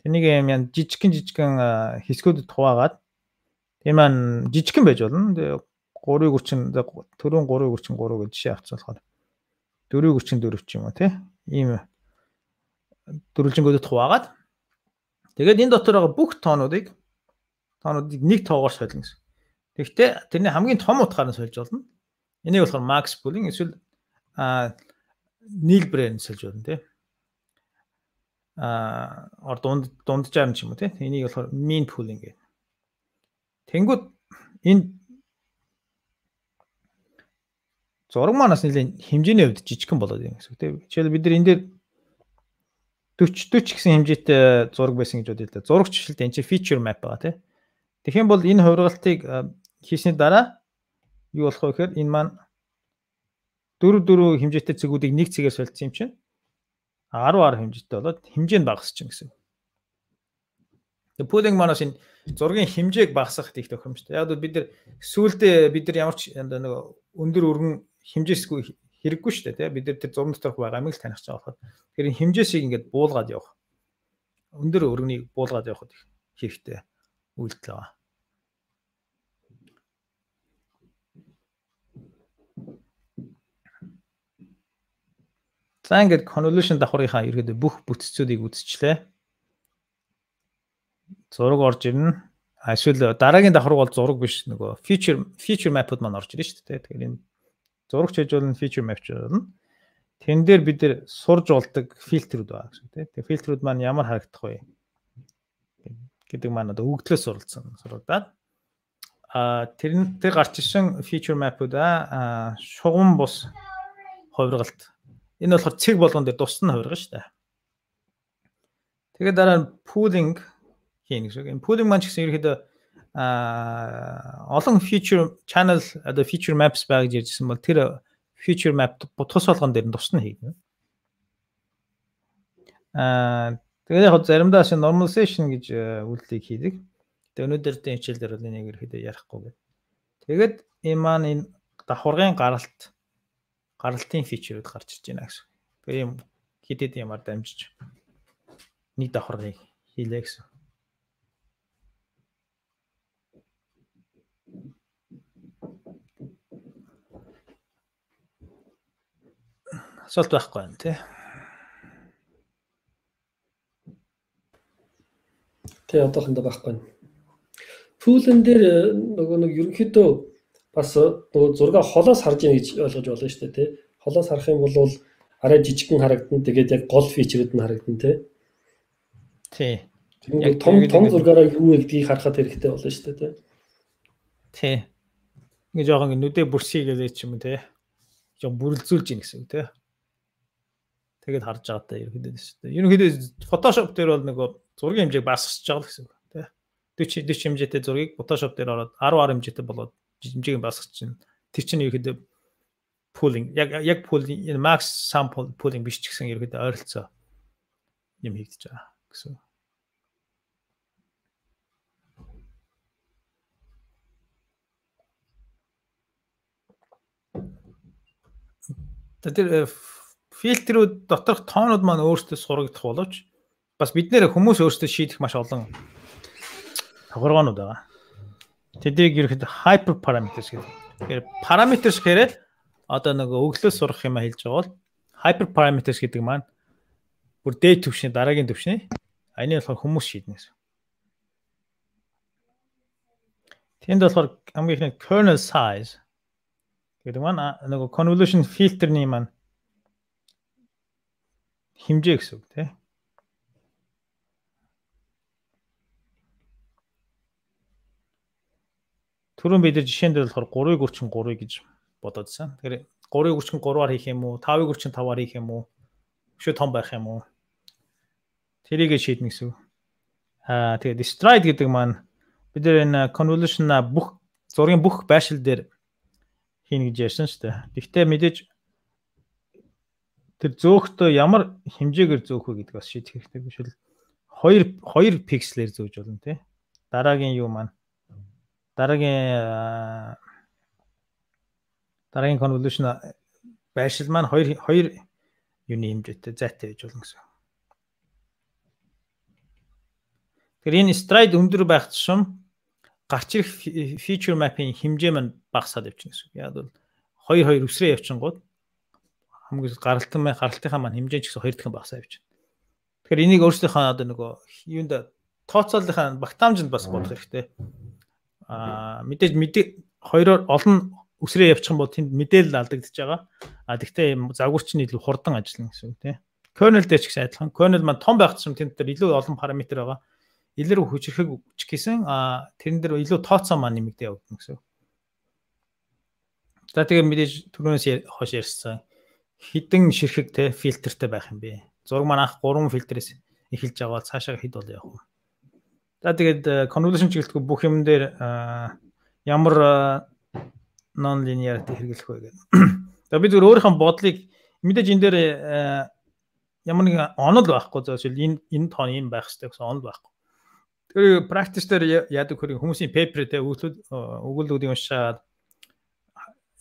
тэнийг юм жижигхэн хэсгүүдэд хуваагаад тийм маань жижигхэн байж болно. Тэгээ 3:30 төрөн 3:33 гэж жишээ авцсан болохоор 4:44 ч юм уу тий. Ийм дөрвөлжингүүдэд хуваагаад тэгээд энэ дотор байгаа бүх тоонуудыг нэг тоогоор солино гэсэн. Тэгэхдээ тэрний хамгийн том утгаар нь сольж болно. Энийг болохоор max pooling эсвэл нийлбэрээр нь сольж болно тий. Дунджаар нь ч юм уу тий. Энийг болохоор mean pooling гэх. Тэнгүүд энэ зураг манаас нэлийн хэмжээний хувьд жижигхэн болоод юм гэсэн үг тий. Жишээл бид нар энэ дээр 40 гэсэн хэмжээтэй зураг байсан гэж бодъё л да. Зураг жишээлд энэ чинь feature map байгаа тий. Тэгэх юм бол энэ хувиргалтыг хийсний дараа юу болох вэ гэхээр энэ маань 4 хэмжээтэй цэгүүдийг нэг цэгээр солилцсон юм чинь 10 хэмжээтэй болоод хэмжээ нь багасч чинь гэсэн. Тэгээ pooling манаас энэ зургийн хэмжээг багасгах их тохиромжтой. Яг л бид нар сүүлдээ бид нар ямар ч нэг өндөр өргөн хэмжээсгүй хэрэггүй шүү дээ тий. Бид нар тэр зургийн доторх байгаа амиг л таних гэж байгаа. Тэгэхээр энэ хэмжээсийг ингээд буулгаад явах. Өндөр өргөнийг буулгаад явахд хэрэгтэй үйлдэл байгаа. За ингээд convolution давхрынхаа ерөөдөө бүх бүтцүүдийг үзчихлээ. Зураг орж ирнэ. Эсвэл дараагийн давхар бол зураг биш нөгөө feature map-ууд маань орж ирнэ шүү дээ. Тэгэхээр энэ зурагч хийж болно feature map ч болно. Тэн дээр бид нэр сурж болдог фильтрүүд байгаа гэсэн тийм. Тэгээ фильтрүүд маань ямар харагдах вэ гэдэг маань одоо өгдлөөс суралцаад тэр гарч ирсэн feature map-уудаа шугам бус хувиргалт. Энэ болохоор цэг болгон дээр тусна хувиргана шүү дээ. Тэгээд дараа нь pooling хийн гэсэн. Энэ pooling маань ч гэсэн ерөөхдөө олон feature channel одоо feature maps байгаа гэж ярьжсэн бол тэр feature map тус болгон дээр нь тусна хийгнэ. Тэгээд яг заримдаа normalization гэж үйлдэлийг хийдэг. Тэгээд өнөөдрийн хичээлдэр бол энийг ерөөхдөө ярихгүй байна. Тэгээд энэ маань энэ давхаргын гаралтын фичерүүд гарч ирж байна гэсэн. Тэгээ юм хитэд ямар дамжиж нэг давхаргыг хийлээ гэсэн. Асуулт байхгүй байна тий. Тэ одоохондоо байхгүй байна. Пүүлэн дээр нөгөө нэг ерөнхийдөө бас нөгөө зураг холоос харж яах гэж ойлгож болно шүү дээ тий. Холоос харах юм бол арай жижигхэн харагдана. Тэгээд яг гол фичерүүд нь харагдана тий. Тий. Яг том зургаараа юу вэ гэдгийг харахад хэрэгтэй болно шүү дээ тий. Тий. Ингээ жоохон нүдээ бүрсгийгээ ч юм уу тий. Жоо бүрэлзүүлж ийн гэсэн тий. Тэгээд харж байгаа та ерөнхийдөө шүү дээ. Ерөнхийдөө Photoshop дээр бол нөгөө зургийн хэмжээг багасгаж байгаа л гэсэн үг тий. 40 хэмжээтэй зургийг Photoshop дээр ороод 10 хэмжээтэй болоод хэмжээг нь багасгаж чинь тэр чинь ерөөдөө pooling яг pooling max sample pooling биш ч гэсэн ерөөдөө ойролцоо юм хийгдэж байгаа гэсэн. Тэр фильтрүүд доторх тоонууд маань өөрсдөө сурагдах боловч бас бид нэр хүмүүс өөрсдөө шийдэх маш олон тохиргоонууд байгаа. Тэдийг ерөөхдөө hyper parameters гэдэг. Тэгэхээр parameters гэхээр одоо нэг өглөөс сурах юм хэлж байгаа бол hyper parameters гэдэг маань бүр дээд түвшний дараагийн түвшний энэ болохоор хүмүүс шийднэ гэсэн. Тэнд болохоор хамгийн ихний kernel size гэдэг маань нэг convolution filter-ний маань хэмжээ гэсэн үг тийм. Түрүүн бид нар жишээн дээр болохоор 3:33 гэж бодоодсэн. Тэгэхээр 3:33-аар хийх юм уу, 5:35-аар хийх юм уу? өшөө том байх юм уу? Тэрийг шийднэ гэсэн. Тэгээд stride гэдэг маань бид энэ convolution бүх зургийн бүх байшил дээр хийнэ гэж ярьсан шүү дээ. Гэхдээ мэдээж тэр зөөхтөө ямар хэмжээгээр зөөх вэ гэдэг бас шийдэх хэрэгтэй биш үү? 2 пикселээр зөөж болно тий. Дараагийн юу маань дараагийн convolution байшил маань 2 юуны хэмжээтэй зайтай байж болно гэсэн. Тэгэхээр энэ stride өндөр байх тусам гарч ирэх feature map-ийн хэмжээ маань багасаад явчихна гэсэн. Яг бол 2 өсрөө явчихгууд хамгийн гаралтынхаа маань хэмжээ ч гэсэн 2 дахин багасаа явчихна. Тэгэхээр энийг өөрсдийнхөө одоо нөгөө юунд тооцооллынхаа багтаамжинд бас бодох хэрэгтэй. Мэдээж хоёроор олон өсрөө явчих юм бол тэнд мэдээлэл алдагдчихж байгаа. Тэгвэл загварч нь илүү хурдан ажиллана гэсэн үг тийм. Kernel дээр ч гэсэн адилхан. Kernel маань том байх тусам тэнд дээр илүү олон параметр байгаа. Илэр хүчрхэг ч гэсэн тэрэн дээр илүү тооцоо маань нэмэгдээ явагдана гэсэн. За тэгээ мэдээж түрүүнээс хойш ярьсан хідэн ширхэг те фильтртэй байх юм бэ. Зураг маань анх 3 фильтрээс эхэлж байгаа бол цаашаа хэд бол явах вэ? За тэгээд convolution чиглэлгүй бүх юм дээр ямар non-linearity хэрэглэх вэ гэдэг. За бид өөрийнхөө бодлыг мэдээж энэ дээр ямар нэг онол байхгүй зөвшөөрөл энэ тоон юм байх хэрэгтэй гэсэн онол байхгүй. Тэр practice дээр яадаг хөрийн хүмүүсийн paper те өгүүлбэрүүдийг уншаад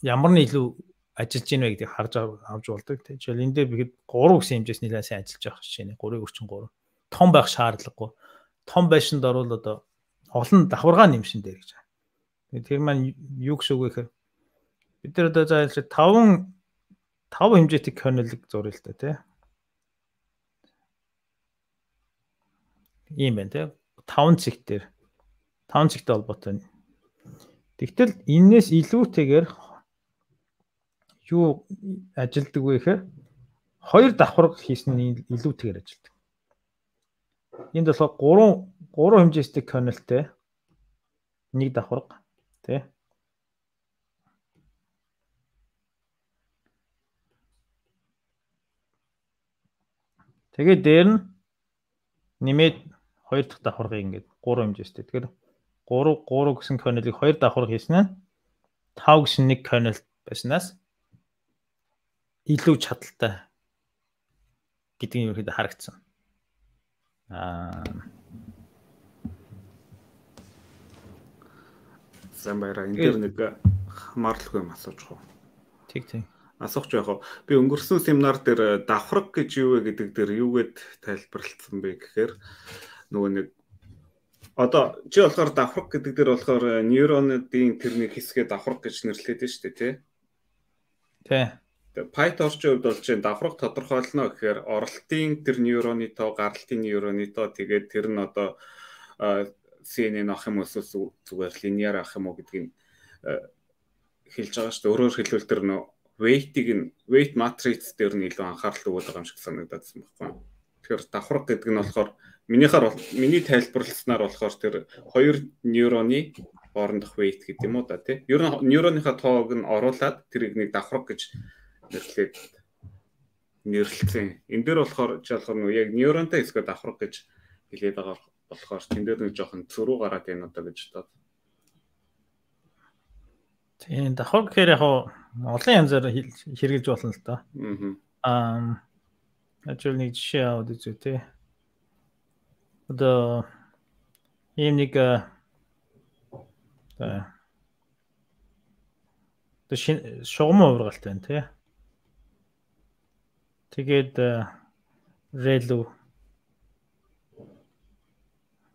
ямар нь илүү ажиллаж гин вэ гэдгийг харж авч болдог. Жишээл энэ дээр бид 3 гэсэн хэмжээс нэлээд сайн ажиллаж байгаа жишээ нь 3 том байх шаардлагагүй. Том байшинд орвол одоо олон давхаргаа нэмшин дээр гэж. Тэр маань юу гэж үг вэ гэхээр бид нар одоо зааж 5 хэмжээтэй kernel-ийг зуръя л да тий. Ийм байна тий. 5 цэгтэр 5 цэгтэй холбоотой. Тэгтэл энээс илүүтэйгээр юу ажилдаг вэ гэхээр 2 давхарга хийсэн нь илүүтэйгээр ажилдаг. Энд болохоор 3 хэмжээстэй kernelтэй 1 давхарга тий. Тэгээд дээр нь нэмээд 2 дахь давхаргыг ингээд 3 хэмжээстэй. Тэгэхээр 3 гэсэн kernel-ийг 2 давхарга хийсэн нь 5 гэсэн 1 kernel байснаас илүү чадaltaй гэдгийг ерөөхдөө харагдсан. Сайн баяраа. Энэ дээр нэг хамаарлахгүй юм асууж байгаа. Тэг. Асуух яг би өнгөрсөн семинар дээр давхарга гэж юу вэ гэдэг дээр юугээд тайлбарлалцсан бэ гэхээр нөгөө нэг одоо чи болохоор давхарга гэдэг дээр болохоор нейронуудын тэрний хэсгээ давхарга гэж нэрлэдэг шүү дээ тий. Тий. PyTorch-ийн хувьд бол чинь давхарга тодорхойлно гэхээр оролтын тэр нейроны тоо, гаралтын нейроны тоо тэгээд тэр нь одоо CNN авах юм эсвэл зүгээр линейр авах юм уу гэдгийг хэлж байгаа шүү дээ. Өөрөөр хэлбэл тэр нөө weight matrix дээр нь илүү анхаарал өгöd байгаа юм шиг санагдсан байна. Тэгэхээр давхарга гэдэг нь болохоор миний тайлбарласнаар болохоор тэр 2 нейроны хоорондох weight гэдэг юм уу да тий. Ер нь нейроныхаа тоог нь оруулаад тэрийг нэг давхарга гэж нэрлэлцэн. Энэ дээр болохоор жишээлбэл яг нейронтой хэсгээ давхарга гэж хэлээд байгаа болохоор тэн дээр нэг жоохон зөрүү гараад байна одоо гэж бодоод. Тийм давхарга гэхээр яг олон янзаар хэрэгжилж болно л доо. Ажил нэг жишээ аваад үзье тий. Одоо ийм нэг шугам ургалтай байна тий. Тэгээд релу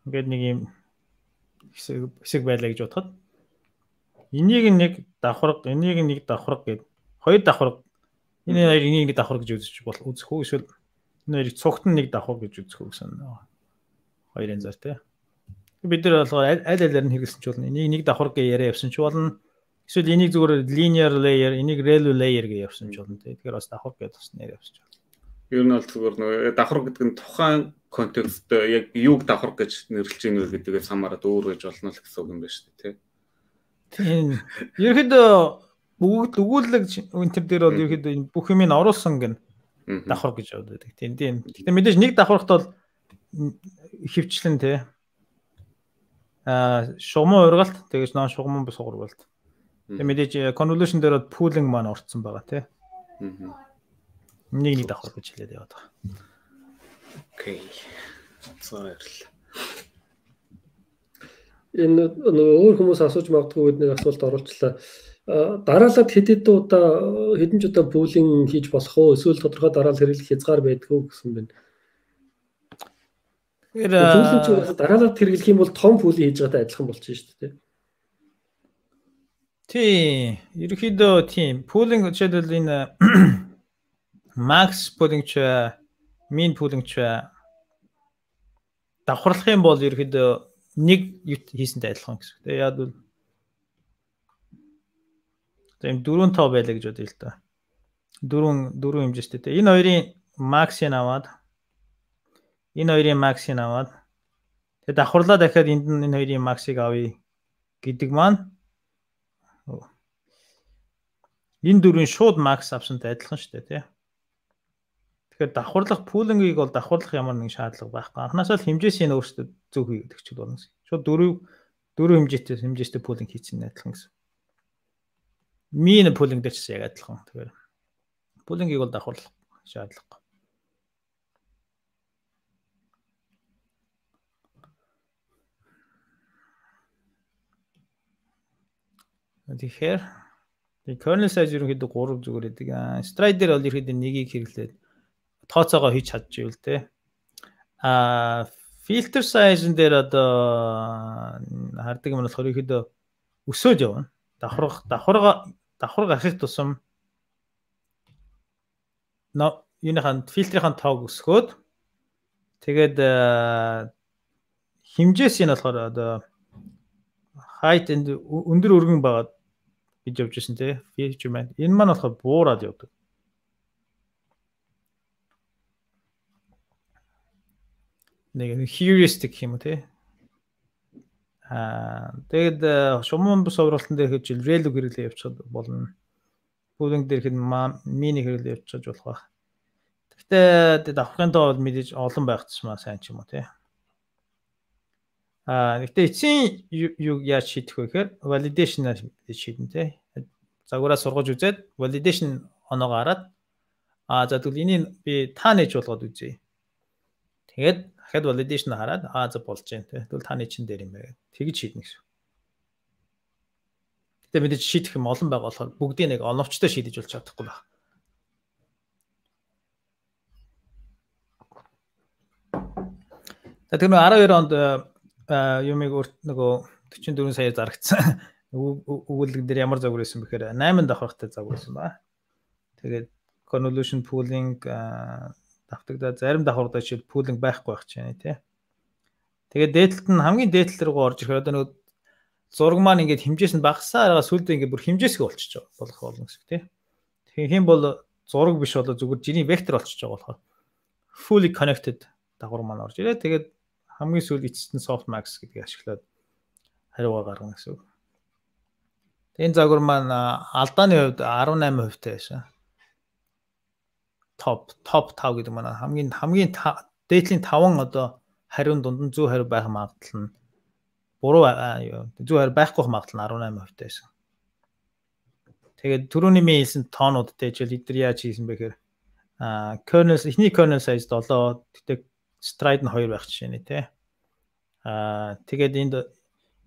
ингээд нэг юм хэсэг байлаа гэж бодоход энийг нэг давхарга, энийг нэг давхарга гэд 2 давхарга энэ хоёр энийг нэг давхарга гэж үзэх үү эсвэл энэ хоёрыг цугт нь нэг давхарга гэж үзэх үү гэсэн хоёр янзаар тий. Бид нар болохоор аль алиар нь хэрэглэсэн ч болно. Энийг нэг давхарга гэж яриа явсан ч болно. Эсвэл энийг зүгээр linear layer, энийг relu layer гэж явсан ч болно тий. Тэгэхээр бас давхарга гэж бас нэр явсан ч болно. Ер нь бол зүгээр нөгөө давхарга гэдэг нь тухайн контекст яг юуг давхарга гэж нэрлэж ийн вэ гэдгээс хамаарат өөр гэж болно л гэсэн үг юм байна шүү дээ тий. Тийм. Ерөнхийдөө өгүүлэг энэ төр дээр бол ерөнхийдөө бүх юмыг оруулсан гэн давхар гэж боддог. Тийм. Гэхдээ мэдээж нэг давхархт бол хөвчлэн тий. Шугамын ургалт тэгэж нөө шугамын бус ургалт. Тэгээ мэдээж convolution дээр pooling маань орцсон байгаа тий. Нэг давхар гэж хэлээд яваад байгаа. Окей. Баярлалаа. Энэ өөр хүмүүс асууж магадгүй нэг асуулт оруулчлаа. Дараалал хэдэн ч удаа пулинг хийж болох уу? Эсвэл тодорхой дараалал хэрэглэх хязгаар байдгүй гэсэн байна. Пулинг ч дараалал хэрэглэх юм бол том пулинг хийж байгаатай адилхан болчихно шүү дээ. Тийм. Ерөнхийдөө тийм. Пулинг жишээлбэл энэ max pulling ч min pulling ч давхарлах юм бол ерөнхийдөө нэг хийсэнтэй адилхан гэсэн. Тэгээ яад бол тийм 4-5 байлаа гэж бодъё л да. 4 хэмжээстэй. Энэ хоёрын max-ыг аваад тэгээ давхарлаа дахиад энэ хоёрын max-ыг авъя гэдэг маань энэ дөрвийн шууд max авсантай адилхан шүү дээ, тий. Тэгэхээр давхарлах пулингийг бол давхарлах ямар нэгэн шаардлага байхгүй. Анхнаасаа л хэмжээсийн өөрсдөө зөв хийгээд өгч болно гэсэн. Шууд 4 хэмжээтэй пулинг хийсэн адилхан гэсэн. Мин пулинг дээр ч яг адилхан. Тэгэхээр пулингийг бол давхарлах шаардлагагүй. Тэгэхээр kernel size ерөнхийдөө 3 зүгээр гэдэг. Stride дээр бол ерөнхийдөө нэгийг хэрэглээд тооцоогоо хийж чадчихвэл те. Filter size дээр одоо хардаг юм болохоор ерөнхийдөө өсөөж явна. Давхар гарахын тусам юуныхан фильтрийн тоог өсгөөд тэгээд хэмжээс нь болохоор одоо height энд өндөр өргөн байгаа гэж явж ирсэн те. Feature маань энэ маань болохоор буураад явдаг. Нэг heuristic юм те. Тэгээд шумын бус уралтан дээр хийж relu хэрэглээ явуулах болно. Pooling дээр хэд mini хэрэглээ явуулж болох байх. Гэхдээ давхрын тоо бол мэдээж олон байх тусмаа сайн ч юм уу те. Гэхдээ эцсийн юу яаж шийдэх вэ гэхээр validation-аар шийдэн те. Загвараа сургаж үзээд validation оноогоо хараад за тэгвэл энийг би та нээж болгоод үзье. Тэгээд дахиад validation хараад за болж байна те. Тэгвэл та нээж чин дээр юм байна. Тэгж шийднэ гэсэн. Гэтэ мэдээж шийдэх юм олон байгаа болохоор бүгдийг нэг оновчтой шийдэж болж чадахгүй байна. Тэгэхээр 12 онд юмыг нөгөө 44 саяар зарагдсан. Өгүүлэг дээр ямар загвар байсан бэхээр 8 давхартай загвар байсан ба. Тэгээд convolution pooling давтагдаа зарим давхардаа чи pooling байхгүй байх чинь тий. Тэгээд дээдлэлт нь хамгийн дээдлэл рүү орж ирэхээр одоо нөгөө зураг маань ингээд хэмжээс нь багасаа арга сүлдээ ингээд бүр хэмжээсгээ болчихж байгаа болох болно гэсэн тий. Тэгэхээр хэм бол зураг биш болоо зүгээр жиний вектор болчихж байгаа болохоор fully connected дагвар маань орж ирээ. Тэгээд хамгийн сүүл эцэст нь softmax гэдгийг ашиглаад хариугаа гаргана гэсэн үг. Энэ загвар маань алдааны хувьд 18% таа байсан. Top 5 гэдэг маань хамгийн дээдлийн 5 одоо хариун дунд нь зөв хариу байх магадлал нь буруу зөв хариу байхгүй магадлал нь 18% таа байсан. Тэгээд түрүүний хэлсэн тоонуудтай жишээл эдгээр яаж хийсэн бэ гэхээр kernel эхний kernel size 7 тэгтээ stride нь 2 байх жишээ нэ тий. Тэгээд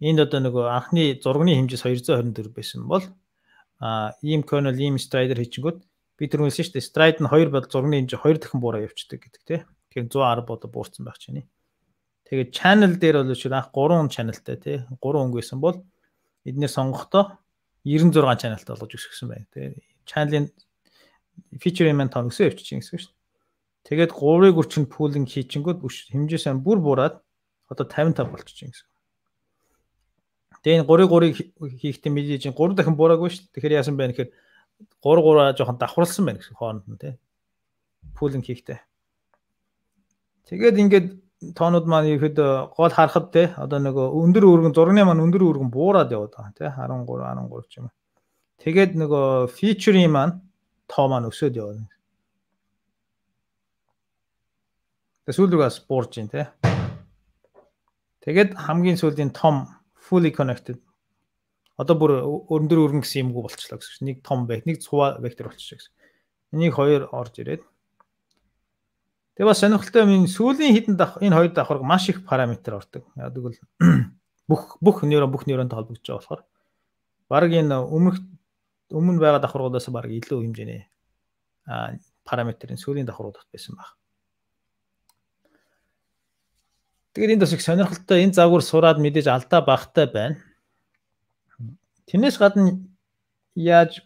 энд одоо нөгөө анхны зургийн хэмжээс 224 байсан бол ийм kernel ийм strider хийчихгүүд би түрүүлсэн шүү дээ. Stride нь 2 бол зургийн хэмжээ 2 дахин буураа явчихдаг гэдэг тий. Тэгэхээр 110 бодо буурсан байх чинь. Тэгээд channel дээр бол шүү анх 3 channelтай тий. 3 өнгө байсан бол эдгээр сонгохдоо 96 channelтай болгож өсгсөн байна. Тэгээд channel-ийн feature element тоо өсөө явчихсан гэсэн шүү дээ. Тэгээд 3-ыг үрчин pooling хийчихэнгүүд хэмжээсээ бүр буураад одоо 55 болчихсон гэсэн. Тэгээд 3-3 хийхдээ мэдээж 3 дахин буураагүй шүү дээ. Тэгэхээр яасан бэ гэхээр 3-3 жоохон давхарлсан байна гэсэн хооронд нь тий. Pooling хийхдээ. Тэгээд ингээд тоонууд маань ихэд гол харахад тий одоо нөгөө өндөр өргөн зургийн маань өндөр өргөн буураад яваад байгаа тий 13 ч юм. Тэгээд нөгөө feature-ийн маань тоо маань өсөд явна. Сүүлрүүгээс буурж ийн те. Тэгээд хамгийн сүүлийн том fully connected одоо бүр өндөр өргөн гэсэн юмгүй болчихлоо гэсэн. Нэг том нэг цуваа вектор болчихсон гэсэн. Энийг хоёр орж ирээд. Тэгээ бас сонирхолтой юм сүүлийн хідэн энэ хоёр давхарга маш их параметр ордог. Яг тэгвэл бүх нейронтой холбогдож байгаа болохоор баг энэ өмнө байгаа давхаргуудаас баг илүү хэмжээний параметрын сүүлийн давхаргууд байсан баг. Тэгээд энэ бас их сонирхолтой энэ загвар сураад мэдээж алдаа багтай байна. Тэрнээс гадна яаж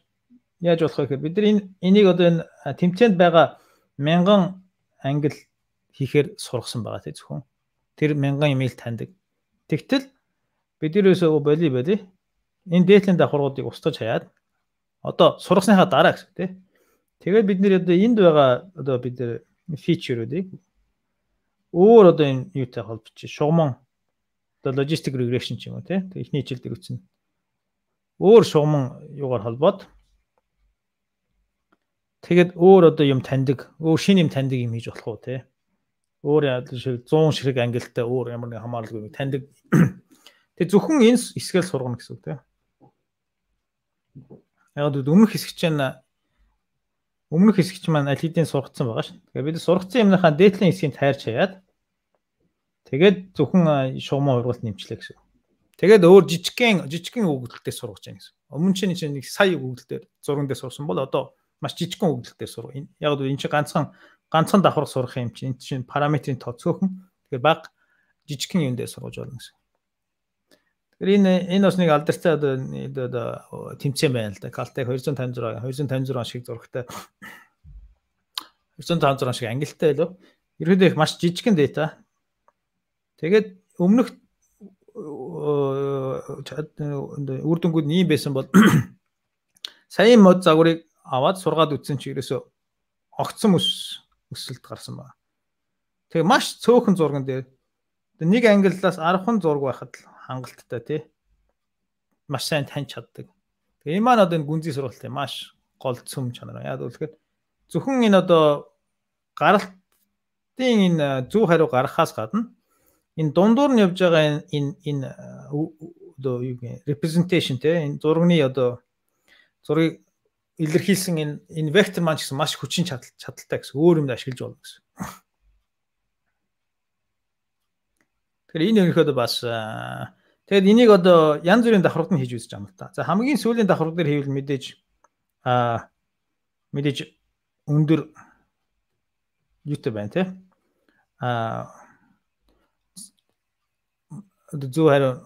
болох вэ гэхээр бид нар энийг одоо энэ тэмцээнд байгаа 1000 англи хийхээр сургасан байгаа тийм зөвхөн. Тэр 1000 имэйл таньдаг. Тэгтэл бид ерөөсөө боли энэ дээдлийн давхаргуудыг устгаж хаяад одоо сургасныхаа дараа гэсэн тийм. Тэгээд бид нэр одоо энд байгаа одоо бид нар фичерүүдийг өөр одоо энэ юутай холбож шугамн одоо logistic regression ч юм уу тийм. Эхний хичээл дээр үзнэ. Өөр шугамн юугаар холбоод тэгээд өөр одоо юм таньдаг, өөр шинэ юм таньдаг юм хийж болох уу те. Өөр шиг 100 ширхэг ангилтай өөр ямар нэг хамааралгүй таньдаг. Тэг зөвхөн энэ хэсгээл сургана гэсэн үг те. Яг өмнөх хэсэгч маань аль хэдийн сургацсан байгаа шүү. Тэгээд бид сургацсан юмныхаа дээдлийн хэсгийг тайрч хаяад тэгээд зөвхөн шугамн ургалт нэмчлээ гэсэн. Тэгээд өөр жижигхэн өгөгдөлтөөр сургаж байгаа гэсэн. Өмнө чинь нэг сая өгөгдөлтөөр зурган дээр сурсан бол одоо маш жижигхэн өгөгдөлтөөр сурах. Яг нь чинь ганцхан давхар сурах юм чинь энэ чинь параметрийн тоо цөөхөн. Тэгэхээр баг жижигхэн юм дээр сургаж болно гэсэн. Тэгэхээр энэ бас нэг алдартай одоо тэмцээн байна л да. Caltech 256 шиг зурагтай 256 шиг ангилтай лөө. Ерөөдөө их маш жижигхэн дата. Тэгээд өмнөх үр дүнгууд нь юм байсан бол сайн мод загварыг аваад сургаад үтсэн чи ерөөсөө огцсон өсөлт гарсан байна. Тэгээ маш цөөхөн зурган дээр нэг ангиллаас 10хан зураг байхад хангалттай тий. Маш сайн таньж чаддаг. Тэгээ энэ маань одоо энэ гүнзгий сургалтын маш гол цөм чанар. Яг үгээр зөвхөн энэ одоо гаралтын энэ зөв хариу гаргахаас гадна энэ дундуур нь явж байгаа энэ одоо юу гэх representation те энэ зургийн одоо зургийг илэрхийлсэн энэ вектор маань гэсэн маш хүчин чадалтай гэсэн өөр юмд ашиглаж болно гэсэн. Тэгэхээр энэ өөрөөр бас тэгээд энийг одоо янз бүрийн давхаргад нь хийж үзэж байгаа юм л та. За хамгийн сүүлийн давхаргад дээр хийвэл мэдээж өндөр юутай байна те. Зөв хариу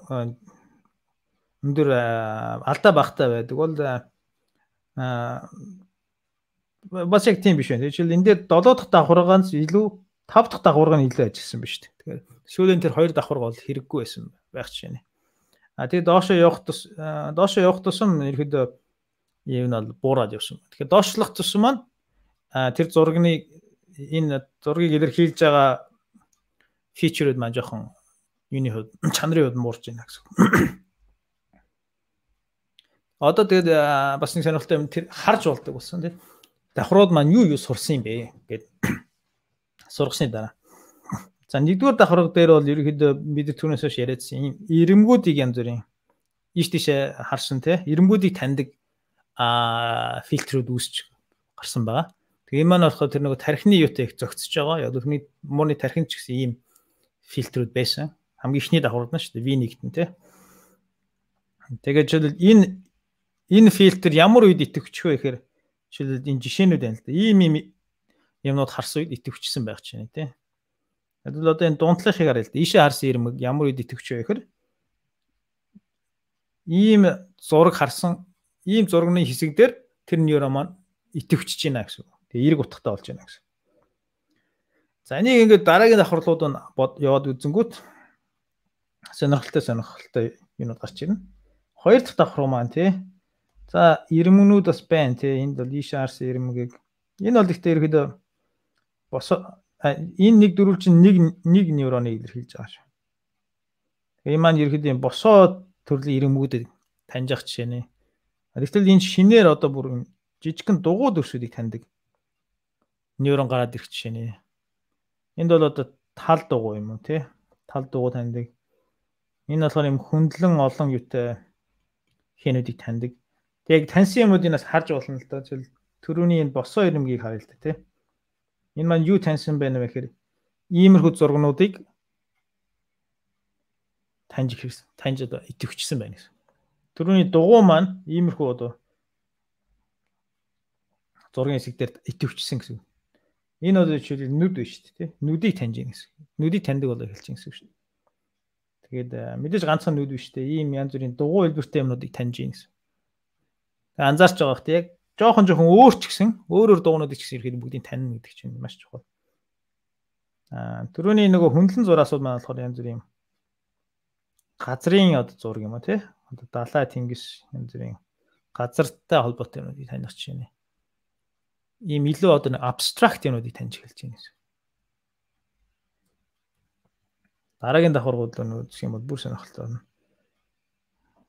өндөр алдаа багтай байдаг бол бас яг тийм биш байна. Жишээл энэ дээр 7 дахь давхаргаас илүү 5 дахь давхарга нь илүү ажилласан биз дээ. Тэгэхээр сүүлийн тэр 2 давхарга бол хэрэггүй байсан байх жишээ. Тэгээд доошоо явах тусам ерөөдөө юм нь буураад явсан. Тэгэхээр доошлох тусам маань тэр зургийг илэрхийлж байгаа фичерүүд маань жоохон юуны хувьд чанарын хувьд муурж байна гэсэн. Одоо тэгээд бас нэг сонирхолтой юм тэр харж болдог болсон тийм. Давхрууд маань юу сурсан юм бэ гэд сургасны дараа. За нэгдүгээр давхарга дээр бол ерөөхдөө бид түрүүнээс хойш яриадсан юм ирэмгүүдийг янз бүрийн ийш тийшээ харсан тийм. Ирэмгүүдийг таньдаг фильтрүүд үүсч гарсан байгаа. Тэгээ энэ маань болохоор тэр нэг тархины юутай их зөгцөж байгаа. Яг түрүүний мууны тархинд ч гэсэн ийм фильтрүүд байсан. Хамгийн ихний давхаргууд нь шүү дээ. V1-т тийм. Тэгээд жишээлбэл энэ фильтр ямар үед идэвхчих вэ гэхээр жишээлбэл энэ жишээнүүд байна л да. Ийм юмнууд харсан үед идэвхчихсэн байх чинь тийм. Тэгвэл одоо энэ дунтлахыг харъя л да. Ийшээ харсан ирмэг ямар үед идэвхчих вэ гэхээр ийм зураг харсан ийм зургийн хэсэг дээр тэр нейрон маань идэвхчихэж байна гэсэн үг. Тэгээ эрг утгатай болж байна гэсэн. За энийг ингээд дараагийн давхарлууд нь яваад үзэнгүүт сонирхолтой юмуд гарч ирнэ. Хоёр дахь давхар маань тий. За ирмэгнүүд бас байна тий. Энд бол ийшээ харсан ирмэгийг энэ бол ихтэй ерөөдөө энэ нэг дөрвөл чинь нэг нейроныг илэрхийлж байгаа шүү. Энэ маань ерөөдөө босоо төрлийн ирмэгүүдэд таньж ах жишээ нэ. Тэгвэл энэ шинээр одоо бүр жижигхэн дугуй төрсүүдийг таньдаг нейрон гараад ирэх жишээ нэ. Энд бол одоо тал дугуй юм уу тий? Тал дугуй таньдаг. Энэ болохоор юм хөндлөн олон юутай хэнүүдийг таньдаг. Тэг яг таньсан юмнуудыг нас харж болно л доо. Төрөүний энэ босоо ирэмгийг харъя л да тий. Энэ маань юу таньсан байна вэ гэхээр иймэрхүү зургнуудыг таньж одоо идэвхжсэн байна гэсэн. Төрөүний дугуй маань иймэрхүү одоо зургийн хэсэг дээр идэвхжсэн гэсэн. Энэ одоо жишээл нүд биш шүү дээ тий. Нүдийг таньж ийн гэсэн. Нүдийг таньдаг болоо хэлж ийн гэсэн шүү дээ. Тэгээд мэдээж ганцхан нүд биш дээ. Ийм янз бүрийн дугуй хэлбэртэй юмнуудыг таньж ийн гэсэн. Тэгээд анзаарч байгаа хэрэг яг жоохон өөр ч гэсэн өөрөөр дугуйнуудыг ч гэсэн ирэхэд бүгдийг таньна гэдэг чинь маш чухал. Төрөүний нөгөө хөндлөн зураасууд маань болохоор янз бүрийн газрын одоо зураг юм а тий. Одоо далай тэнгис янз бүрийн газартай холбоотой юмнуудыг таних чинь ийм илүү одоо нэг абстракт юмнуудыг таньж эхэлж байна гэсэн. Дараагийн давхаргууд нь үзэх юм бол бүр сонирхолтой байна.